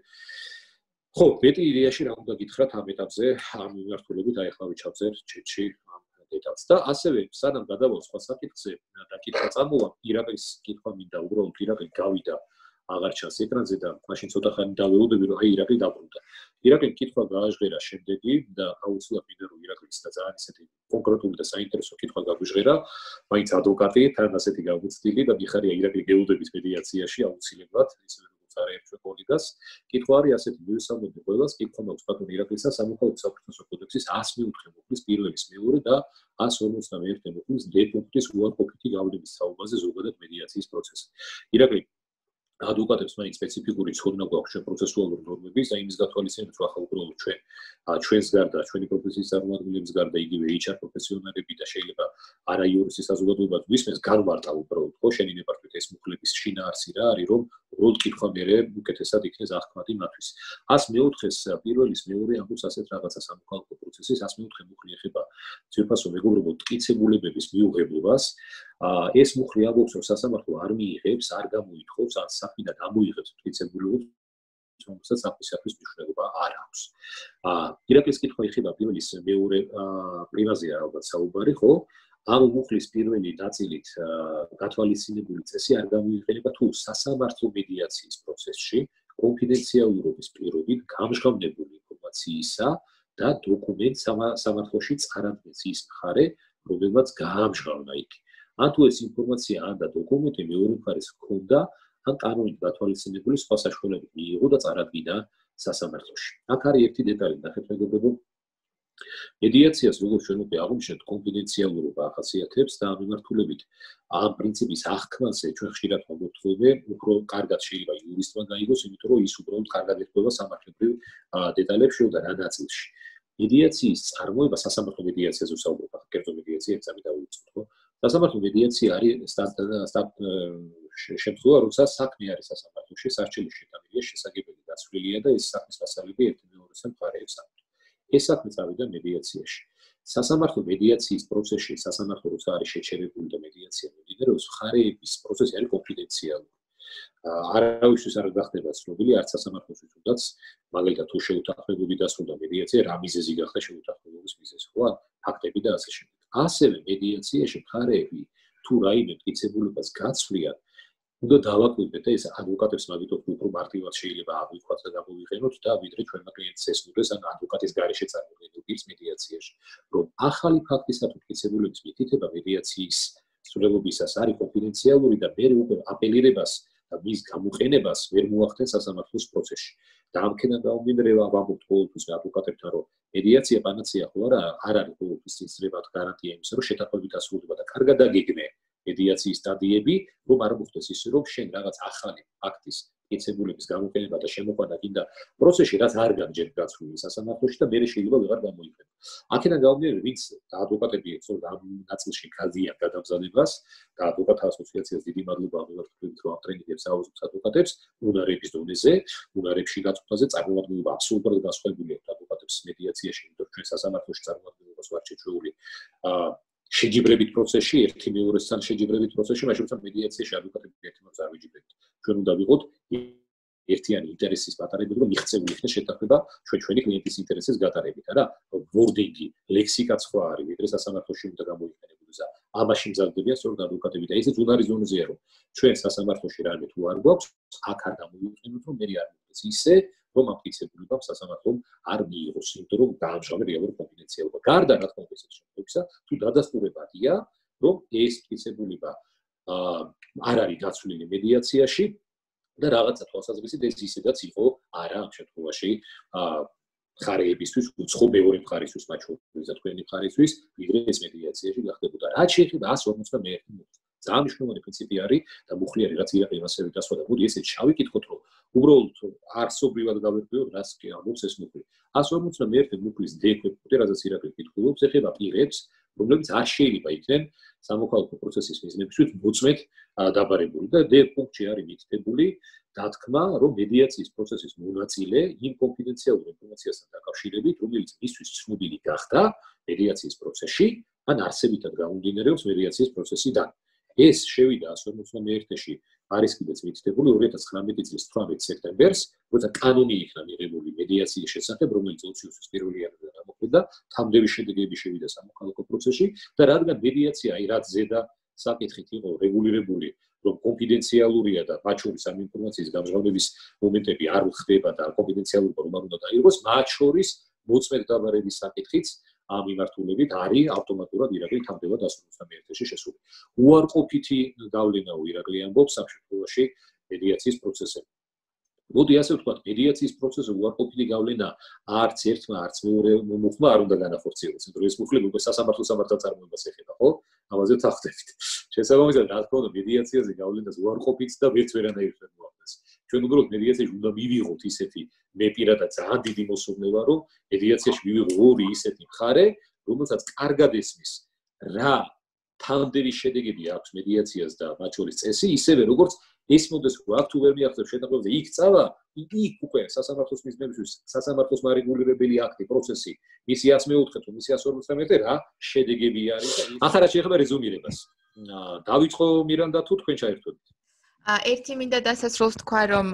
ხო, მეტი იდეაში რა უნდა გითხრათ ამ ეტაპზე, ამ მიმართულებით აი ახლა ვიჩავწერ ჩეთში ამ ეტაპს და ასევე სანამ გადავალ სხვა საკითხზე და კითხვა წამოვა, ირაყის კითხვა მინდა უბრალოდ ირაყი გავიდა აღარ ჩანს ეკრანზე და მაშინ ცოტა ხანი დავეუდები რომ აი ირაყი დაბრუნდა. ირაყი კითხვა გააჟღერა შემდეგი და აუცილებლად მინდა რომ ირაყის და ძალიან ისეთი კონკრეტული და საინტერესო კითხვა გაგვიჟღერა, მაინც ადვოკატი თან ასეთი გავუცდილი და მიხარია ირაყი გეუდების მედიაციაში აუცილებლად ისე არაერთი კოლეგას კითხვა არის ასეთი მივესალმები ყველას კითხვა მაქვს ბატონ ირაკლისა სამოქალაქო საფრთხო კოდექსის 104 მუხლის პირველის მეორე და 151 მუხლის D პუნქტის უარყოფითი გავლენის საუბარზე ზოგადად მედიაციის პროცესი. ირაკლი ადვოკატებს მაინც სპეციფიკური ცოდნა გვაქვს ჩვენ პროცესუალურ ნორმების და იმის გათვალისწინებით რომ ახლა უბრალოდ ჩვენს გარდა ჩვენი პროფესიის წარმომადგენლების გარდა იგივე HR პროფესიონალები და შეიძლება არა იურისტის საზოგადოებაც გვისმენს განმარტა უბრალოდ ხო შენი ნებართვით ეს მუხლების შინაარსი რა არის რომ უბრალოდ კითხვა მერე უკეთესად იქნეს აღქმადი მათთვის 104-ს პირველის მეორე ამბობს ასეთ რაღაცა სამოქალაქო პროცესის 104 მუხლი ეხება ძირფასო მეგობრებო ტკიცებულებების მიუღებლობას ეს მუხლი ამბობს რომ სასამართლო არ მიიღებს არ გამოითხოვს ან საქმიდან ამოიღებს ტკიცებულებებს რომელსაც საფისაფის მნიშვნელობა არ აქვს. ირაკლის კითხვა ეხება პირველის მეორე პრივაზია ალბათ საუბარი, ხო? ამ მუხლის პირველი ნაწილით გათვალისწინებული წესი არ გამოიყენება თუ სასამართლო მედიაციის პროცესში კონფიდენციალურობის პირობით გამჟღავნებული ინფორმაციისა და დოკუმენტ სამართლოში წარადგენს ის მხარე, რომელმაც გაამჟღავნა იქ. ან თუ ეს ინფორმაცია ან და დოკუმენტი მეორე მხარეს ჰქონდა ან კანონით გათვალისწინებული სხვა საშუალებით მიიღო და წარადგინა სასამართლოში. აქ არის ერთი დეტალი, ნახეთ მეგობრებო. მედიაციას როგორც ჩვენ უკვე აღვნიშნეთ, კონფიდენციალურობა ახასიათებს და ამ მიმართულებით ამ პრინციპის აღქმაზე ჩვენ ხშირად მოგვთხოვე, უფრო კარგად შეიძლება იურისტმა გაიგოს, იმიტომ რომ ის უბრალოდ კარგად ეხება სამართლებრივ დეტალებს შევდა რა ნაწილში. მედიაციის წარმოება სასამართლო მედიაციაზე ვსაუბრობ, ახლა კერძო მედიაცია ეგზამი დავიწყოთ, ხო? სასამართლო მედიაცია არის შემთხვევა, როცა საქმე არის სასამართლოში, სარჩელი შეტანილია, შესაძლებელი დაცვლილია და ეს საქმის მასალები ერთი მეორესთან მხარეებს აქვთ. ეს საქმე წავიდა მედიაციაში. სასამართლო მედიაციის პროცესში სასამართლო როცა არის შეჩერებული და მედიაცია მიმდინარეობს, მხარეების პროცესი არის კონფიდენციალური. არავისთვის არ გახდება ცნობილი, არც სასამართლოსთვის თუნდაც, მაგალითად თუ შეუთანხმებები დასრულდა მედიაცია, რა მიზეზი გახდა შეუთანხმებების მიზეზი, ხო? ფაქტები და ასე შემდეგ. ასევე მედიაციაში მხარეები თუ რაიმე მტკიცებულებას გაცვლიან, უნდა დავაკვირდეთ და ეს ადვოკატებს მაგითო უფრო მარტივად შეიძლება აღვიქვათ და გამოვიყენოთ და ვიდრე ჩვენმა კლიენტს ესმოდეს ან ადვოკატის გარეშე წარმოქმნილ მედიაციაში, რომ ახალი ფაქტისა თუ მტკიცებულების მითითება მედიაციის სრულობისას არის კონფიდენციალური და მე უკვე აპელირებას და მის გამოყენებას ვერ მოახდენ სასამართლოს პროცესში. და ამქენა დაუმინრევა ვამბობთ ყოველთვის ადვოკატებთან, რომ მედიაცია პანაცეა ხო არა, არ არის ყოველთვის წინსწრებად გარანტია იმისა, რომ შეთანხმებით დასრულდება და კარგად აგეგმე მედიაციის სტადიები, რომ არ მოხდეს ისე, რომ შენ რაღაც ახალი ფაქტის მტკიცებულების გამოყენება და შემოყვანა გინდა პროცესში, რაც არ გამჯერდა გაცვლილი სასამართლოში და მე შეიძლება ვეღარ გამოიყენო. აქედან გამომდინარე, ვინც ადვოკატები ეცნობა ამ ნაწილში გაზიან გადამზადებას და ადვოკატთა ასოციაციას დიდი მადლობა მივართმევთ, რომ ტრენინგებს აუზობს ადვოკატებს უნარების დონეზე, უნარებში გაწყვეტაზე წარმომადგენლობა აბსოლუტურად განსხვავებული აქვს ადვოკატებს მედიაციაში, იმიტომ რომ ჩვენ სასამართლოში წარმომადგენლობას ვარ შეჩეული შეჯიბრებით პროცესში, ერთი მეორესთან შეჯიბრებით პროცესში, მაშინ როცა მედიაციაში ადვოკატები ერთი მეორეს არ ვიჯიბრებთ. ჩვენ უნდა ვიყოთ ერთიანი ინტერესის პატარებელი, რომ მიღწეული იქნეს შეთანხმება ჩვენი კლიენტის ინტერესის გატარებით, არა? ვორდინგი, ლექსიკაც სხვა არის, ვიდრე სასამართლოში უნდა გამოიყენებოდეს. ამაში მზადდებიან სწორედ ადვოკატები და ესეც უნარის ზონეზეა, რომ ჩვენ სასამართლოში რამე თუ არ გვაქვს, აქ არ გამოიყენოთ, რომ მე არ მოხდეს ისე, რომ ამ მტკიცებულებამ სასამართლომ არ მიიღოს, იმიტომ რომ დაამჟღავნა რეალური კონფიდენციალობა. გარდა რა თქმა უნდა ესეთ შემთხვევებისა, თუ დადასტურებადია, რომ ეს მტკიცებულება არ არის გაცვლილი მედიაციაში და რაღაცა თვალსაზრისით ეს ისედაც იყო არა ამ შემთხვევაში მხარეებისთვის, უცხო მეორე მხარისთვის, მათ შორის თქვენი მხარისთვის, ვიდრე ეს მედიაციაში გახდებოდა. რაც შეეხება 151 მუხლს, ძალიან მნიშვნელოვანი პრინციპი არის და მუხლი არის, რაც ირაკლი მასევით ასვა და მოდი ესეც შევიკითხოთ, რომ უბრალოდ არსობრივად გავერკვიოთ, რას კი ამბობს ეს მუხლი. 151 მუხლის დეკვეპუტი, რასაც ირაკლი კითხულობს, ეხება პირებს, რომლებიც არ შეიძლება იქნენ სამოქალაქო პროცესის მიზნებისთვის მოწმედ დაბარებული და D პუნქტში არის მითითებული დათქმა, რომ მედიაციის პროცესის მონაწილე იმ კონფიდენციალურ ინფორმაციასთან დაკავშირებით, რომელიც მისთვის ცნობილი გახდა მედიაციის პროცესში, ან არსებითად გამომდინარეობს მედიაციის პროცესიდან. ეს შევიდა 151-ში არის კიდეც მითითებული 2019 წლის 18 სექტემბერს, როცა კანონი იქნა მიღებული მედიაციის შესახებ, რომელიც 2020 წლის 1 იანვრიდან გამოხდა, თამდები შედეგები შევიდა სამოქალაქო პროცესში და რადგან მედიაცია რაც ზედა საკითხით იყო რეგულირებული, რომ კონფიდენციალურია და მათ შორის ამ ინფორმაციის გამჟღავნების მომენტები არ ხდება და კონფიდენციალურობა რომ არ უნდა დაიღოს, მათ შორის მოწმედ დაბარების საკითხიც ამ მიმართულებით არის ავტომატურად ირაკლი თამდება დასრულებასთან ერთში შესული. უარყოფითი გავლენაო ირაკლი ამბობს ამ შემთხვევაში მედიაციის პროცესზე. მოდი ასე ვთქვათ, მედიაციის პროცესზე უარყოფითი გავლენა არც ერთმა, არც მეორე მუხმა არ უნდა განახორციელოს, იმიტომ რომ ეს მუხლები უკვე სასამართლო წარმოებას ეხება, ხო? ამაზე ვთანხმდებით. შესაბამისად, რა თქმა უნდა, მედიაციაზე გავლენას უარყოფით და ვერც ვერანაირ ვერ მოახდენს. ჩვენ უბრალოდ მედიაციაში უნდა მივიღოთ ისეთი მე პირადად ძალიან დიდი მოსურნელა, რომ მედიაციაში მივიღო ორი ისეთი მხარე, რომელსაც კარგად ესმის რა თანდელი შედეგები აქვს მედიაციას და მათ შორის წესი, ისევე როგორც ეს მოდეს რომ აქ თუ ვერ მიაღწევ შეტყობებზე იქ წავა, იქ უკვე სასამართლოს მიზნებისთვის სასამართლოს მარეგულირებელი აქტი, პროცესი, მისი 104 თუ მისი 143 რა შედეგები არის და ახლა რა შეეხება რეზუმირებას. დავიწყო მირანდა თუ თქვენ ჩაერთვებით? ერთი მინდა დასასრულს თქვა, რომ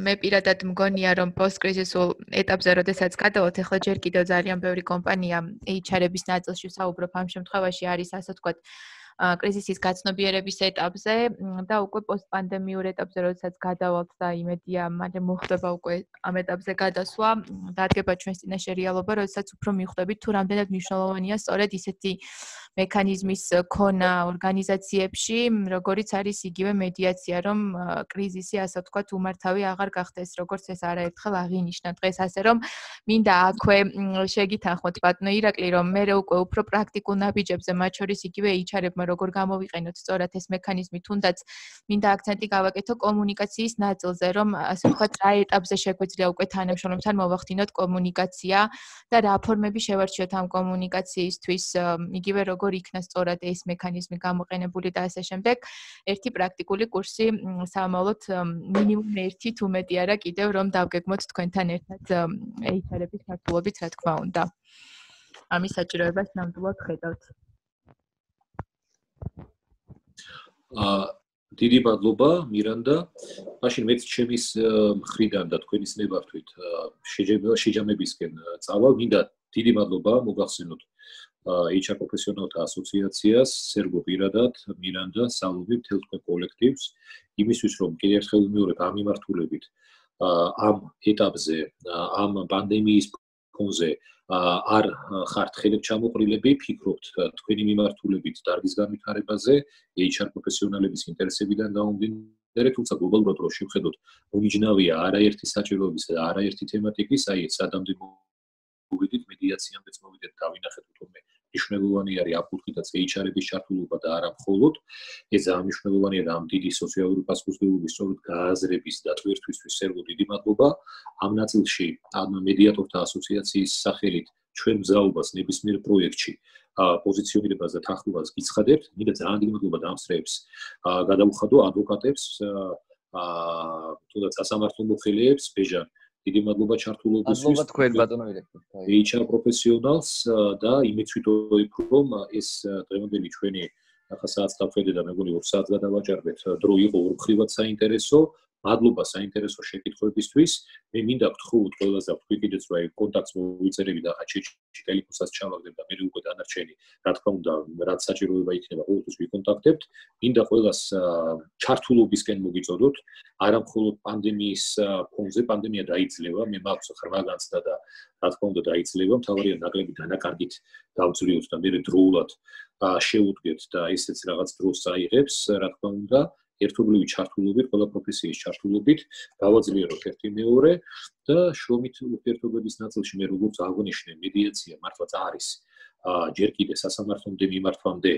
მე პირადად მგონია, რომ პოსტკრიზისულ ეტაპზე, როდესაც გადავალთ, ახლა ჯერ კიდევ ძალიან ბევრი კომპანია HR-ების ნაწილში ვსაუბრობ ამ შემთხვევაში არის, ასე ვთქვათ, კრიზისის გაცნობიერების ეტაპზე და უკვე პოსტპანდემიურ ეტაპზე, როდესაც გადავალთ და იმედია, მალე მოხდება უკვე ამ ეტაპზე გადასვლა, დადგება ჩვენს წინაშე რეალობა, როდესაც უფრო მიხვდებით თუ რამდენად მნიშვნელოვანია სწორედ ისეთი მექანიზმის ქონა ორგანიზაციებში, როგორიც არის იგივე მედიაცია, რომ კრიზისი, ასე ვთქვათ, უმართავი აღარ გახდეს, როგორც ეს არაერთხელ აღინიშნა დღეს, ასე რომ მინდა აქვე შეგითანხმოთ ბატონო ირაკლი, რომ მე უკვე უფრო პრაქტიკულ ნაბიჯებზე, მათ შორის იგივე HR-ებმა როგორ გამოვიყენოთ სწორად ეს მექანიზმი, თუნდაც მინდა აქცენტი გავაკეთო კომუნიკაციის ნაწილზე, რომ ასე ვთქვათ, რა ეტაპზე შეგვიძლია უკვე თანამშრომლებთან მოვახდინოთ კომუნიკაცია და რა ფორმები შევარჩიოთ ამ კომუნიკაციისთვის, იგივე როგორ იქნა სწორად ეს მექანიზმი გამოყენებული და ასე შემდეგ. ერთი პრაქტიკული კურსი სამომავლოდ მინიმუმ ერთი თუ მეტი არა კიდევ რომ დავგეგმოთ თქვენთან ერთად HR-ების ქართულობით, რა თქმა უნდა. ამის საჭიროებას ნამდვილად ხედავთ. დიდი მადლობა მირანდა. მაშინ მეც ჩემის მხრიდან და თქვენის ნებართვით შეჯამებისკენ წავალ. მინდა დიდი მადლობა მოგახსენოთ HR პროფესიონალთა ასოციაციას, სერგო პირადად, მირანდა, სალომი, მთელ თქვენ კოლექტივს, იმისთვის რომ კიდევ ერთხელ ვიმეორებ ამ მიმართულებით ამ ეტაპზე, ამ პანდემიის ფონზე არ ხართ ხელებ ჩამოყრილები, ფიქრობთ თქვენი მიმართულებით დარგის განვითარებაზე, HR პროფესიონალების ინტერესებიდან გამომდინარე, თუმცა გლობალურად რო შევხედოთ, უმნიშვნელოვანია არაერთი საჭიროებისა და არაერთი თემატიკის, აი ეს სადამდე მოვიდით მედიაციამდეც მოვიდეთ, დავინახეთ თუმე მნიშვნელოვანი არის აკუთვნითაც HR-ების ჩართულობა და არა მხოლოდ ეს ძალიან მნიშვნელოვანია და ამ დიდი სოციალური პასუხისმგებლობის სწორედ გააზრების და ტვირთვისთვის სერგო დიდი მადლობა. ამ ნაწილში ამ მედიატორთა ასოციაციის სახელით ჩვენ მზაობას ნებისმიერ პროექტში პოზიციონირებას და თანხმობას გიცხადებთ. მინდა ძალიან დიდი მადლობა დამსწრეებს, გადავუხადო ადვოკატებს, თუნდაც სასამართლო მოხელეებს, ბეჟან დიდი მადლობა ჩართულობისთვის. მადლობა თქვენ ბატონო ირაკლი. HR პროფესიონალს და იმეც ვიტყოდი, რომ ეს დღევანდელი ჩვენი ახლა საათს დავხედე და მეგონი 2 საათს გადავაჭარბეთ. დრო იყო ორმხრივად საინტერესო. მადლობა საინტერესო შეკითხვებისთვის. მე მინდა გთხოვოთ ყველას და ვთქვი კიდეც რომ აი კონტაქტს მოვიწერები და ახლა ტელეფონსაც ჩავაგდებ და მე უკვე დანარჩენი რა თქმა უნდა რაც საჭიროება იქნება ყოველთვის ვიკონტაქტებთ. მინდა ყველას ჩართულობისკენ მოგიწოდოთ. არა მხოლოდ პანდემიის ფონზე, პანდემია დაიძლევა, მე მაქვს ხრმა განცდა და რა თქმა უნდა დაიძლევა, მთავარია ნაკლები დანაკარგით დავძლიოთ და მე დროულად შეუდგეთ და ესეც რაღაც დროს აიღებს, რა თქმა უნდა. ერთობლივი ჩართულობით, ყველა პროფესიის ჩართულობით გავაძლიეროთ ერთი მეორე და შრომით ურთიერთობების ნაწილში მე როგორც აღვნიშნე, მედიაცია მართლაც არის ჯერ კიდევ სასამართლომდე მიმართვამდე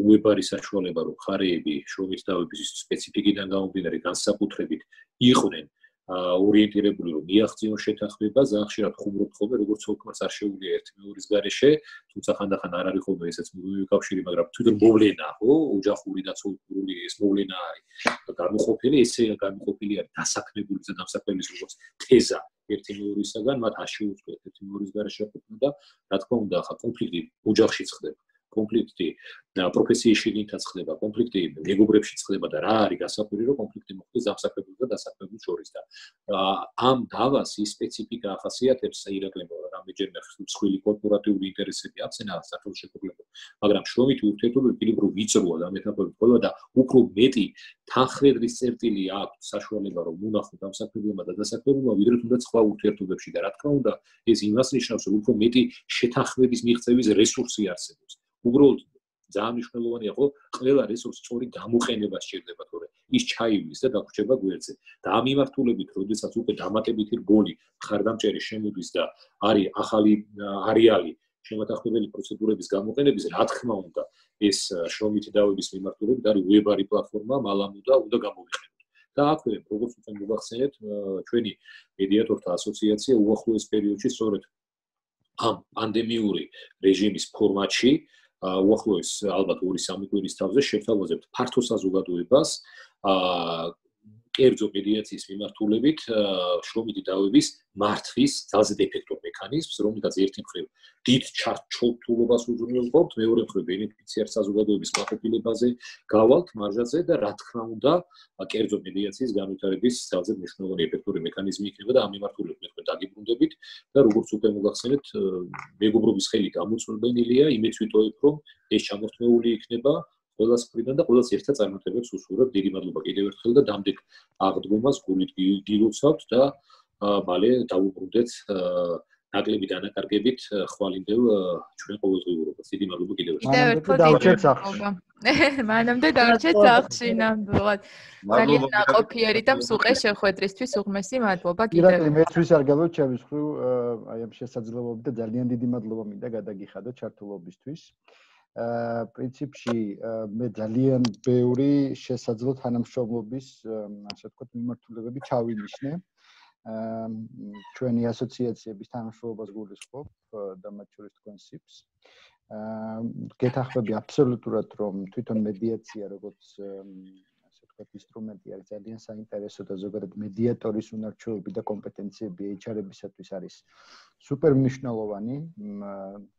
უებარი საშუალება, რომ მხარეები შრომით დავების სპეციფიკიდან გამომდინარე განსაკუთრებით იყვნენ ორიენტირებული, რომ მიაღწიონ შეთანხმება, ძალიან ხშირად ხუმრობთ ხოლმე, როგორც თქოს არ შეუძლია ერთი მეორის გარეშე, თუმცა ხანდახან არ არის ხოლმე ესეც მიკავშირი, მაგრამ თვითონ მოვლენა, ხო, ოჯახური და ცოლური ეს მოვლენა არის. გამოყოფილი, ესე გამოყოფილი არის დასაქმებული და დამსაქმებლის როგორც თეზა ერთი მეორისაგან, მათ არ შეუძლიათ ერთი მეორის გარეშე ყოფნა და რა თქმა უნდა, ხა კონფლიქტი ოჯახშიც ხდება. კონფლიქტი პროფესიის შიგნითაც ხდება, კონფლიქტი მეგობრებშიც ხდება და რა არის გასაკვირი, რომ კონფლიქტი მოხდეს დამსახურებულ და დასახლებულ შორის და ამ დავას ის სპეციფიკა ახასიათებს ირაკლი რამდენჯერმე მსხვილი კორპორატიული ინტერესები აქვს ენა საქართველოს შეგულებულ, მაგრამ შრომითი ურთიერთობები პირდაპირ ვიწროა და მეტაφορით ყველა და უფრო მეტი თანხმედრის წერტილი აქვს საშუალება რომ უნახოთ დამსახურებულმა და დასახლებულმა ვიდრე თუნდაც სხვა ურთიერთობებში და რა თქმა უნდა ეს იმას ნიშნავს რომ უფრო მეტი შეთანხმების მიღწევის რესურსი არსებობს. უბრალოდ ძალიან მნიშვნელოვანია ხო ყველა რესურსს სწორი გამოყენება სჭირდება თორე ის ჩაივლის და დაგვრჩება გვერდზე და ამ მიმართულებით როდესაც უკვე დამატებითი რგოლი მხარდამჭერი შემოდის და არის ახალი არეალი შემოთანხმებელი პროცედურების გამოყენების რა თქმა უნდა ეს შრომითი დავების მიმართულებით არის ვებარი პლატფორმა მალამუ და უნდა გამოვიყენოთ და აქვე როგორც უკვე მოგახსენეთ ჩვენი მედიატორთა ასოციაცია უახლოეს პერიოდში სწორედ ამ პანდემიური რეჟიმის ფორმატში უახლოეს ალბათ 2-3 კვირის თავზე შევთავაზებთ ფართო საზოგადოებას კერძო მედიაციის მიმართულებით შრომითი დავების მართვის ძალზე ეფექტურ მექანიზმს, რომელსაც ერთი მხრივ დიდ ჩართულობას უზრუნველყოფთ, მეორე მხრივ ბენეფიციარ საზოგადოების კმაყოფილებაზე გავალთ მარჟაზე და რა თქმა უნდა, კერძო მედიაციის განვითარების ძალზე მნიშვნელოვანი ეფექტური მექანიზმი იქნება და ამ მიმართულებით მე თქვენ დაგიბრუნდებით და როგორც უკვე მოგახსენეთ, მეგობრობის ხელი გამოწვევენილია, იმეც ვიტოვებ, რომ ეს ჩამორთმეული იქნება ყველას მხრიდან და ყველას ერთად წარმატებებს უსურვებ. დიდი მადლობა კიდევ ერთხელ და დამდეგ აღდგომას გულით გილოცავთ და მალე დავუბრუნდეთ ნაკლები დანაკარგებით ხვალინდელ ჩვენ ყოველდღიურობას. დიდი მადლობა კიდევ ერთხელ. დავჭერთ სახლში. მანამდე დავჭერთ სახლში ნამდვილად. ძალიან ნაყოფიერი და მსუყე შეხვედრისთვის უღმესი მადლობა კიდევ. ირაკლი მეთვის არ გაბოლოთ ჩემს მხრივ აი ამ შესაძლებლობებით და ძალიან დიდი მადლობა მინდა გადაგიხადოთ ჩართულობისთვის. პრინციპში მე ძალიან ბევრი შესაძლო თანამშრომლობის ასე ვთქვათ მიმართულებები ჩავინიშნე ჩვენი ასოციაციების თანამშრომლობას გულისხმობ და მათ შორის თქვენ SIPS გეთახმები აბსოლუტურად რომ თვითონ მედიაცია როგორც ასე ვთქვათ ინსტრუმენტი არის ძალიან საინტერესო და ზოგადად მედიატორის უნარჩვევები და კომპეტენციები HR-ებისათვის არის სუპერ მნიშვნელოვანი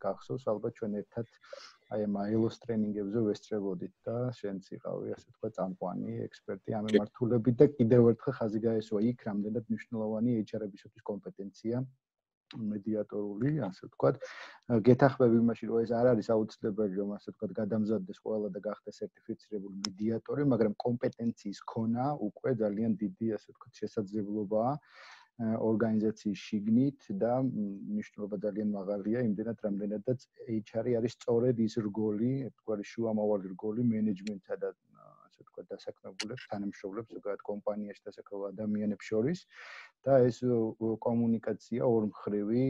გახსოვს ალბათ ჩვენ ერთად აი ამ ILO-ს ტრენინგებზე ვესწრებოდით და შენც იყავი ასე ვთქვათ წამყვანი ექსპერტი ამ მიმართულებით და კიდევ ერთხელ ხაზი გაესვა იქ რამდენად მნიშვნელოვანი HR-ებისათვის კომპეტენცია მედიატორული ასე ვთქვათ გეთახმები იმაში რომ ეს არ არის აუცილებელი რომ ასე ვთქვათ გადამზადდეს ყველა და გახდეს სერტიფიცირებული მედიატორი მაგრამ კომპეტენციის ქონა უკვე ძალიან დიდი ასე ვთქვათ შესაძლებლობაა ორგანიზაციის შიგნით და მნიშვნელობა ძალიან მაღალია იმდენად რამდენადაც HR-ი არის სწორედ ის რგოლი, ერთგვარი შუამავალი რგოლი მენეჯმენტსა და ასე ვთქვათ დასაქმებულებს, თანამშრომლებს ზოგადად კომპანიაში დასაქმებულ ადამიანებს შორის და ეს კომუნიკაცია ორმხრივი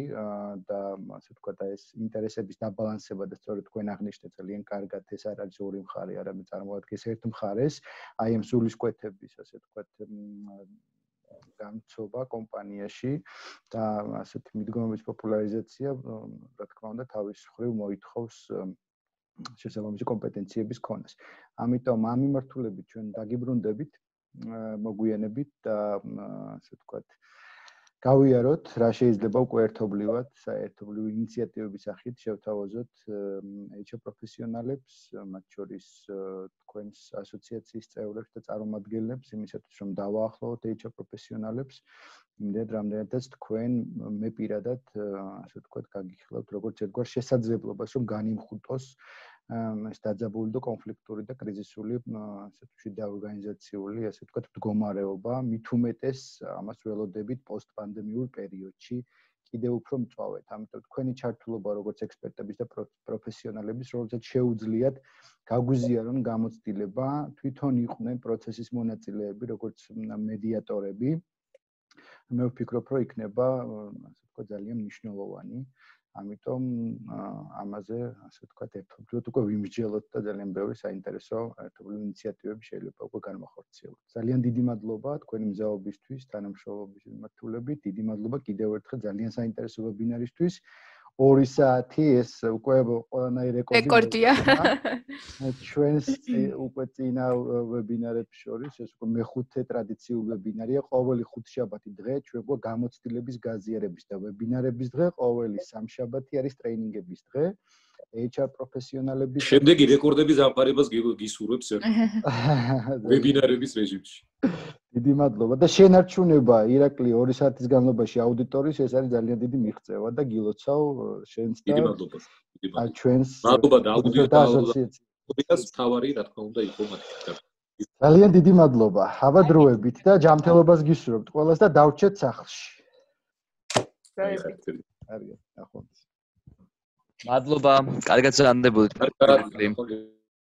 და ასე ვთქვათ ეს ინტერესების დაბალანსება და სწორედ თქვენ აღნიშნეთ ძალიან კარგად ეს არ არის ორი მხარე, არამედ წარმოადგენს ერთ მხარეს, აი ამ სულისკვეთების ასე ვთქვათ გამცობა კომპანიაში და ასეთი მიდგომების პოპულარიზაცია, რა თქმა უნდა, თავის მხრივ მოითხოვს შესაბამისი კომპეტენციების ქონას. ამიტომ ამ მიმართულებით ჩვენ დაგიბრუნდებით, მოგვიანებით და ასე ვთქვათ, გავიაროთ, რა შეიძლება უკვე ერთობლივად, საერთობლივი ინიციატივების სახით შევთავაზოთ HR პროფესიონალებს, მათ შორის თქვენს ასოციაციის წევრებს და წარმომადგენლებს, იმისათვის რომ დავაახლოვოთ HR პროფესიონალებს, იმდენად რამდენადაც თქვენ მე პირადად, ასე ვთქვათ, გაგიხილავთ როგორც ერთგვარ შესაძლებლობას, რომ განიმხუტოს ეს დაძაბული და კონფლიქტური და კრიზისული ასე ვთქვათ და ორგანიზაციული ასე ვთქვათ მდგომარეობა მით უმეტეს ამას ველოდებით პოსტპანდემიურ პერიოდში კიდევ უფრო მწვავედ. ამიტომ თქვენი ჩართულობა როგორც ექსპერტების და პროფესიონალების როლზეც შეუძლიათ გაგვიზიარონ გამოცდილება თვითონ იყვნენ პროცესის მონაწილეები როგორც მედიატორები. მე ვფიქრობ, რომ იქნება ასე ვთქვათ ძალიან მნიშვნელოვანი. ამიტომ ამაზე ასე ვთქვათ ერთობლივად უკვე ვიმსჯელოთ და ძალიან ბევრი საინტერესო ერთობლივი ინიციატივები შეიძლება უკვე განმახორციელოთ. ძალიან დიდი მადლობა თქვენი მზაობისთვის, თანამშრომლობის მიმართულებით. დიდი მადლობა კიდევ ერთხელ ძალიან საინტერესო ვებინარისთვის. 2 საათი ეს უკვე ყველანაირ რეკორდია. ჩვენს უკვე წინა ვებინარებს შორის ეს უკვე მეხუთე ტრადიციული ვებინარია. ყოველი ხუთშაბათი დღე ჩვენ უკვე გამოცდილების გაზიარების და ვებინარების დღე, ყოველი სამშაბათი არის ტრეინინგების დღე. HR პროფესიონალები შემდეგი რეკორდების ამყარებას გისურვებს ვებინარების რეჟიმში. დიდი მადლობა და შენარჩუნება ირაკლი 2 საათის განმავლობაში აუდიტორის ეს არის ძალიან დიდი მიღწევა და გილოცავ შენს და დიდი მადლობა. ჩვენს მადლობა და აუდიტორის თავარი რა თქმა უნდა იყო მათი. ძალიან დიდი მადლობა. აბა დროებით და ჯანმრთელობას გისურვებთ ყველას და დავრჩეთ სახლში. კარგად. კარგად, ნახვამდის. მადლობა, კარგად ზანდებოდით.